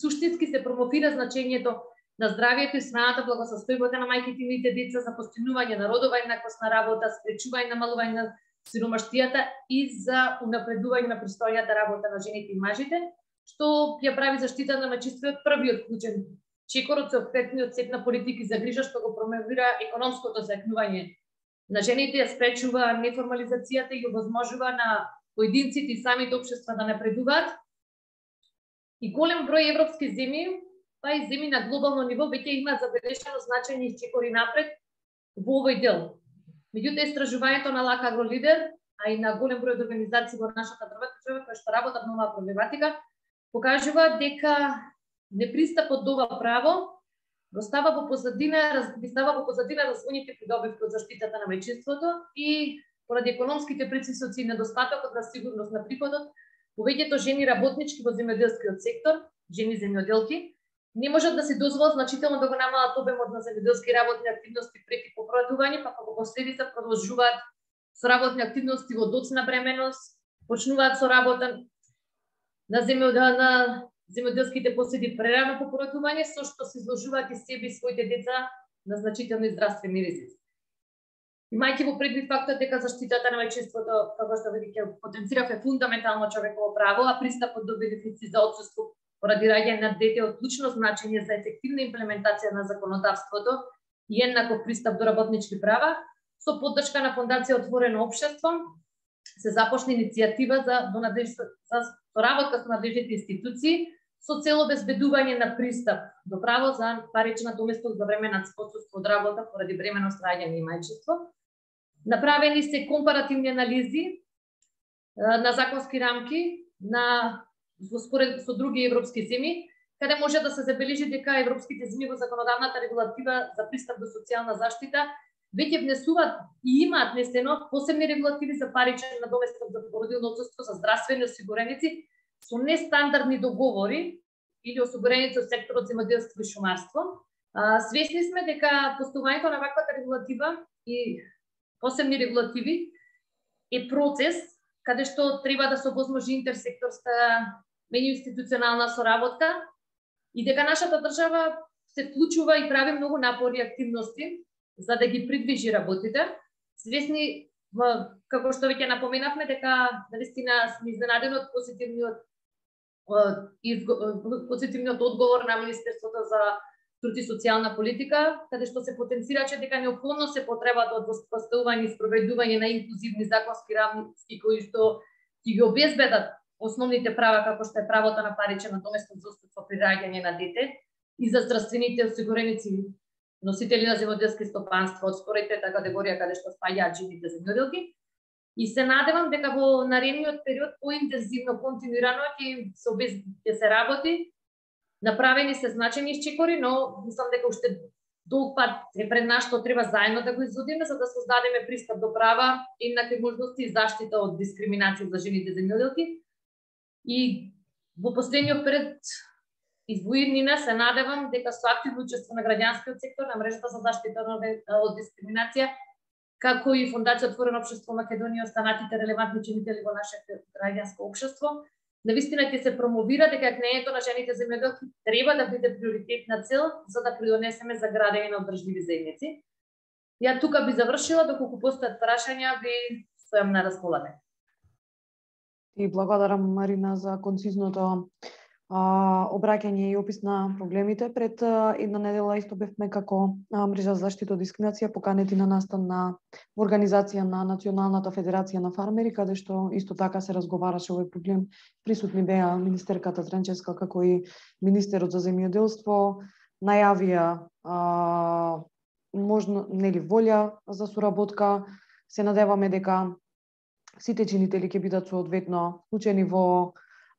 суштински се промовира значењето на здравието и снаната благосостојбата на мајките и нивните деца за постигнување на родова еднаквост на работа, спречување на намалување на сиромаштијата и за унапредување на пристојната работа на жените и мажите, што ја прави заштита на мајчинството првиот клучен чекор од сеопфетниот сет на политики за грижа што го промовира економското зајакнување на жените, ја спречува неформализацијата и овозможува на поединците и самите општества да напредуваат. И голем број европски земји, па и земји на глобално ниво веќе имаат забележано значајни чекори напред во овој дел. Меѓутоа истражувањето на Лак Агролидер, а и на голем број организации во нашата држава кои што работат на оваа проблематика, покажува дека непристапот до ова право го става во позадина, ги става во позадина развојните придобивки од заштитата на мајчинството и поради економските притисоци и недостатокот на сигурност на приходот, повеќето жени работнички во земјоделскиот сектор, жени земјоделки, не можат да се дозволат значително да го намалат обемот на земјоделски работни активности преки попратување, па како последица продолжуваат со работни активности во доцна бременост, почнуваат со работа на земјоделна земјоделските поседи прерано по породување, со што се изложуваат и себе и своите деца на значителни здравствени ризици. Имајќи во предвид фактот дека заштитата на мајчинството, како што веќе потенцирав, е фундаментално човеково право, а пристапот до бенефици за отсуство поради раѓање на дете од клучно значење за ефективна имплементација на законодавството и еднаков пристап до работнички права, со поддршка на Фондација Отворено општество, се започна иницијатива за, за соработка со надлежните институции со цел обезбедување на пристап до право за парична доместок за време на отсуство од работа поради бременост, раѓање и мајчинство. Направени се компаративни анализи на законски рамки на според со други европски земји, каде може да се забележи дека европските земји во законодавната регулатива за пристап до социјална заштита веќе внесуваат и имаат внесено посебни регулативи за паричен надоместок за породилно отсуство за здравствени осигуреници со нестандардни договори или осигуреници од секторот земјоделство и шумарство. Свесни сме дека постувањето на ваквата регулатива и посебни регулативи е процес каде што треба да се овозможи интерсекторска меѓуинституционална соработка и дека нашата држава се вклучува и прави многу напори и активности за да ги придвижи работите. Свесни, како што веќе напоменавме, дека навистина сме изненадени од позитивниот позитивниот одговор на Министерството за труд и социјална политика, каде што се потенцираше дека неопходно се потребата од воспоставување и спроведување на инклузивни законски рамки кои што ќе ги обезбедат основните права како што е правото на паричен надоместок за отсуство при раѓање на дете и за здравствените осигуреници носители на земјоделски стопанства од втора и трета категорија каде што спаѓаат жените земјоделки. И се надевам дека во наредниот период поинтензивно, континуирано ќе се обез... ќе се работи. Направени се значајни исчекори, но мислам дека уште долг пат е пред нас што треба заедно да го изодиме за да создадеме пристап до права, еднакви можности и заштита од дискриминација за жените земјоделки. И во последниот период Извоиднина се надевам дека со активно учество на граѓанскиот сектор, на мрежата за заштита од дискриминација, како и Фондација Отворено општество Македонија, останатите релевантни чинители во нашето граѓанско општество, навистина ќе се промовира дека кнењето на жените земјоделки треба да биде приоритетна цел за да придонесеме за градење на одржливи заедници. Ја тука би завршила, доколку постојат прашања, ви стојам на располагање. И благодарам, Марина, за концизното а, обраќање и опис на проблемите. Пред а, една недела исто бевме како а, мрежа за заштита од дискриминација поканети на настан на организација на Националната федерација на фармери, каде што исто така се разговараше овој проблем. Присутни беа министерката Тренчевска како и министерот за земјоделство, најавија а, можно, нели, волја за соработка. Се надеваме дека сите чинители ќе бидат соодветно вклучени во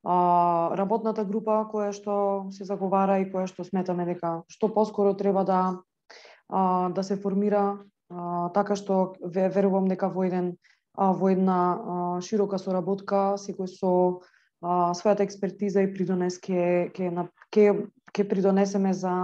а, работната група која што се заговара и која што сметаме дека што поскоро треба да а, да се формира, а, така што верувам дека во еден а, во една а, широка соработка секој со а, својата експертиза и придонес ќе ќе ќе ќе придонесеме за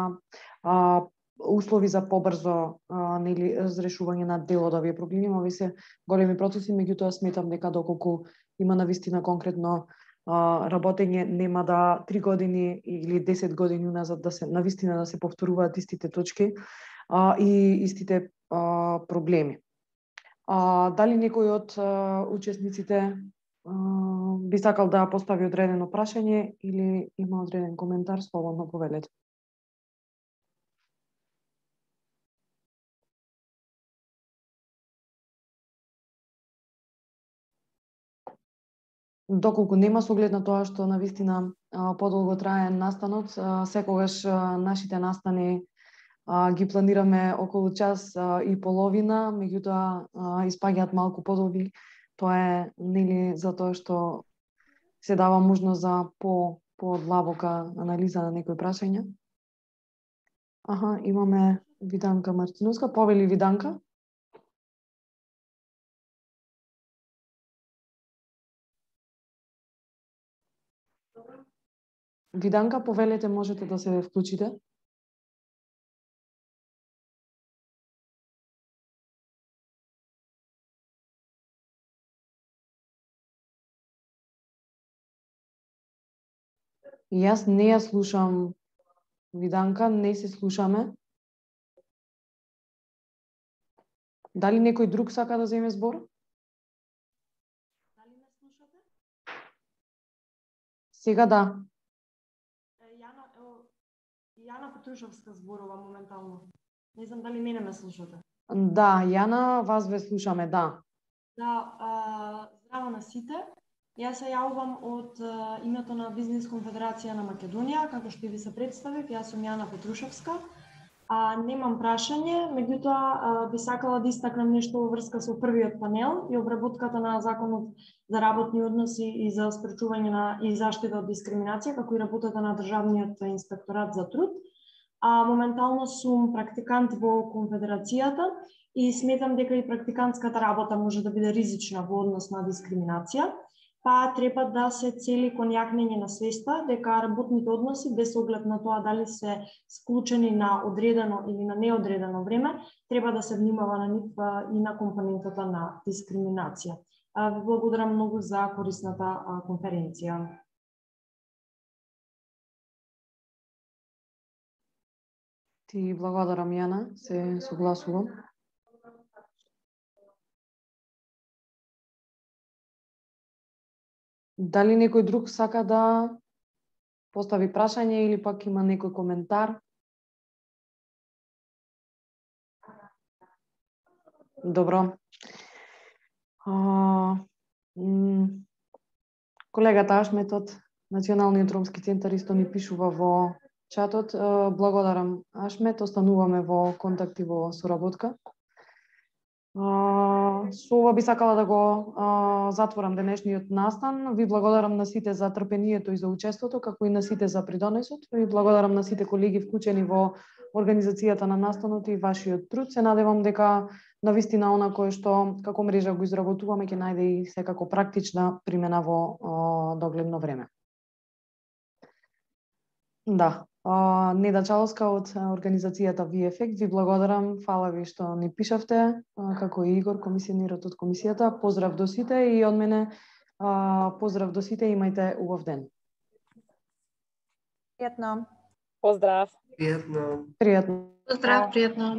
а, услови за побрзо а, нели разрешување на дел од овие проблеми. Овие се големи процеси, меѓутоа сметам дека доколку има навистина конкретно а, работење, нема да три години или десет години уназад да се навистина да се повторуваат истите точки а, и истите а, проблеми. А, дали некој од а, учесниците а, би сакал да постави одредено прашање или има одреден коментар, слободно повелете. Доколку нема, со оглед на тоа што навистина подолго трае настанот, секогаш нашите настани ги планираме околу час и половина, меѓутоа испаѓаат малку подолги. Тоа е нели затоа што се дава можност за по подлабока анализа на некои прашања. Аха, имаме Виданка Мартиновска. Повели Виданка. Виданка, повелете, можете да се вклучите. И јас не ја слушам Виданка, не се слушаме. Дали некој друг сака да земе збор? Дали ме слушате? Сега да. Јана, ево, Јана Петрушевска зборува моментално. Не знам дали мене ме слушате. Да, Јана, вас ве слушаме, да. Да, а, здраво на сите. Јас се јавувам од а, името на Бизнес конфедерација на Македонија, како што ви се представив, јас сум Јана Петрушевска. А, немам прашање, меѓутоа би сакала да истакнам нешто во врска со првиот панел и обработката на законот за работни односи и за спречување на и заштита од дискриминација, како и работата на Државниот инспекторат за труд. А моментално сум практикант во конфедерацијата и сметам дека и практикантската работа може да биде ризична во однос на дискриминација, па треба да се цели кон јакнење на свеста дека работните односи, без оглед на тоа дали се склучени на одредено или на неодредено време, треба да се внимава на нив и на компонентата на дискриминација. Ви благодарам многу за корисната конференција. Ти благодарам, Јана, се согласувам. Дали некој друг сака да постави прашање или пак има некој коментар? Добро. А, колегата Ашмет од Националниот ромски центар исто ни пишува во чатот. Благодарам, Ашмет, остануваме во контакт и во соработка. Со ова би сакала да го а, затворам денешниот настан. Ви благодарам на сите за трпението и за учеството, како и на сите за придонесот. Ви благодарам на сите колеги вклучени во организацијата на настанот и вашиот труд. Се надевам дека навистина она кое што како мрежа го изработуваме ќе најде и секако практична примена во а, догледно време. Да. А, Неда Чаловска од организацијата V-Effect, ви благодарам, фала ви што ни пишавте, а, како и Игор, комисионерот од комисијата. Поздрав до сите и од мене а, поздрав до сите, имајте убав ден. Пријатно. Поздрав. Пријатно. Пријатно. Поздрав, пријатно.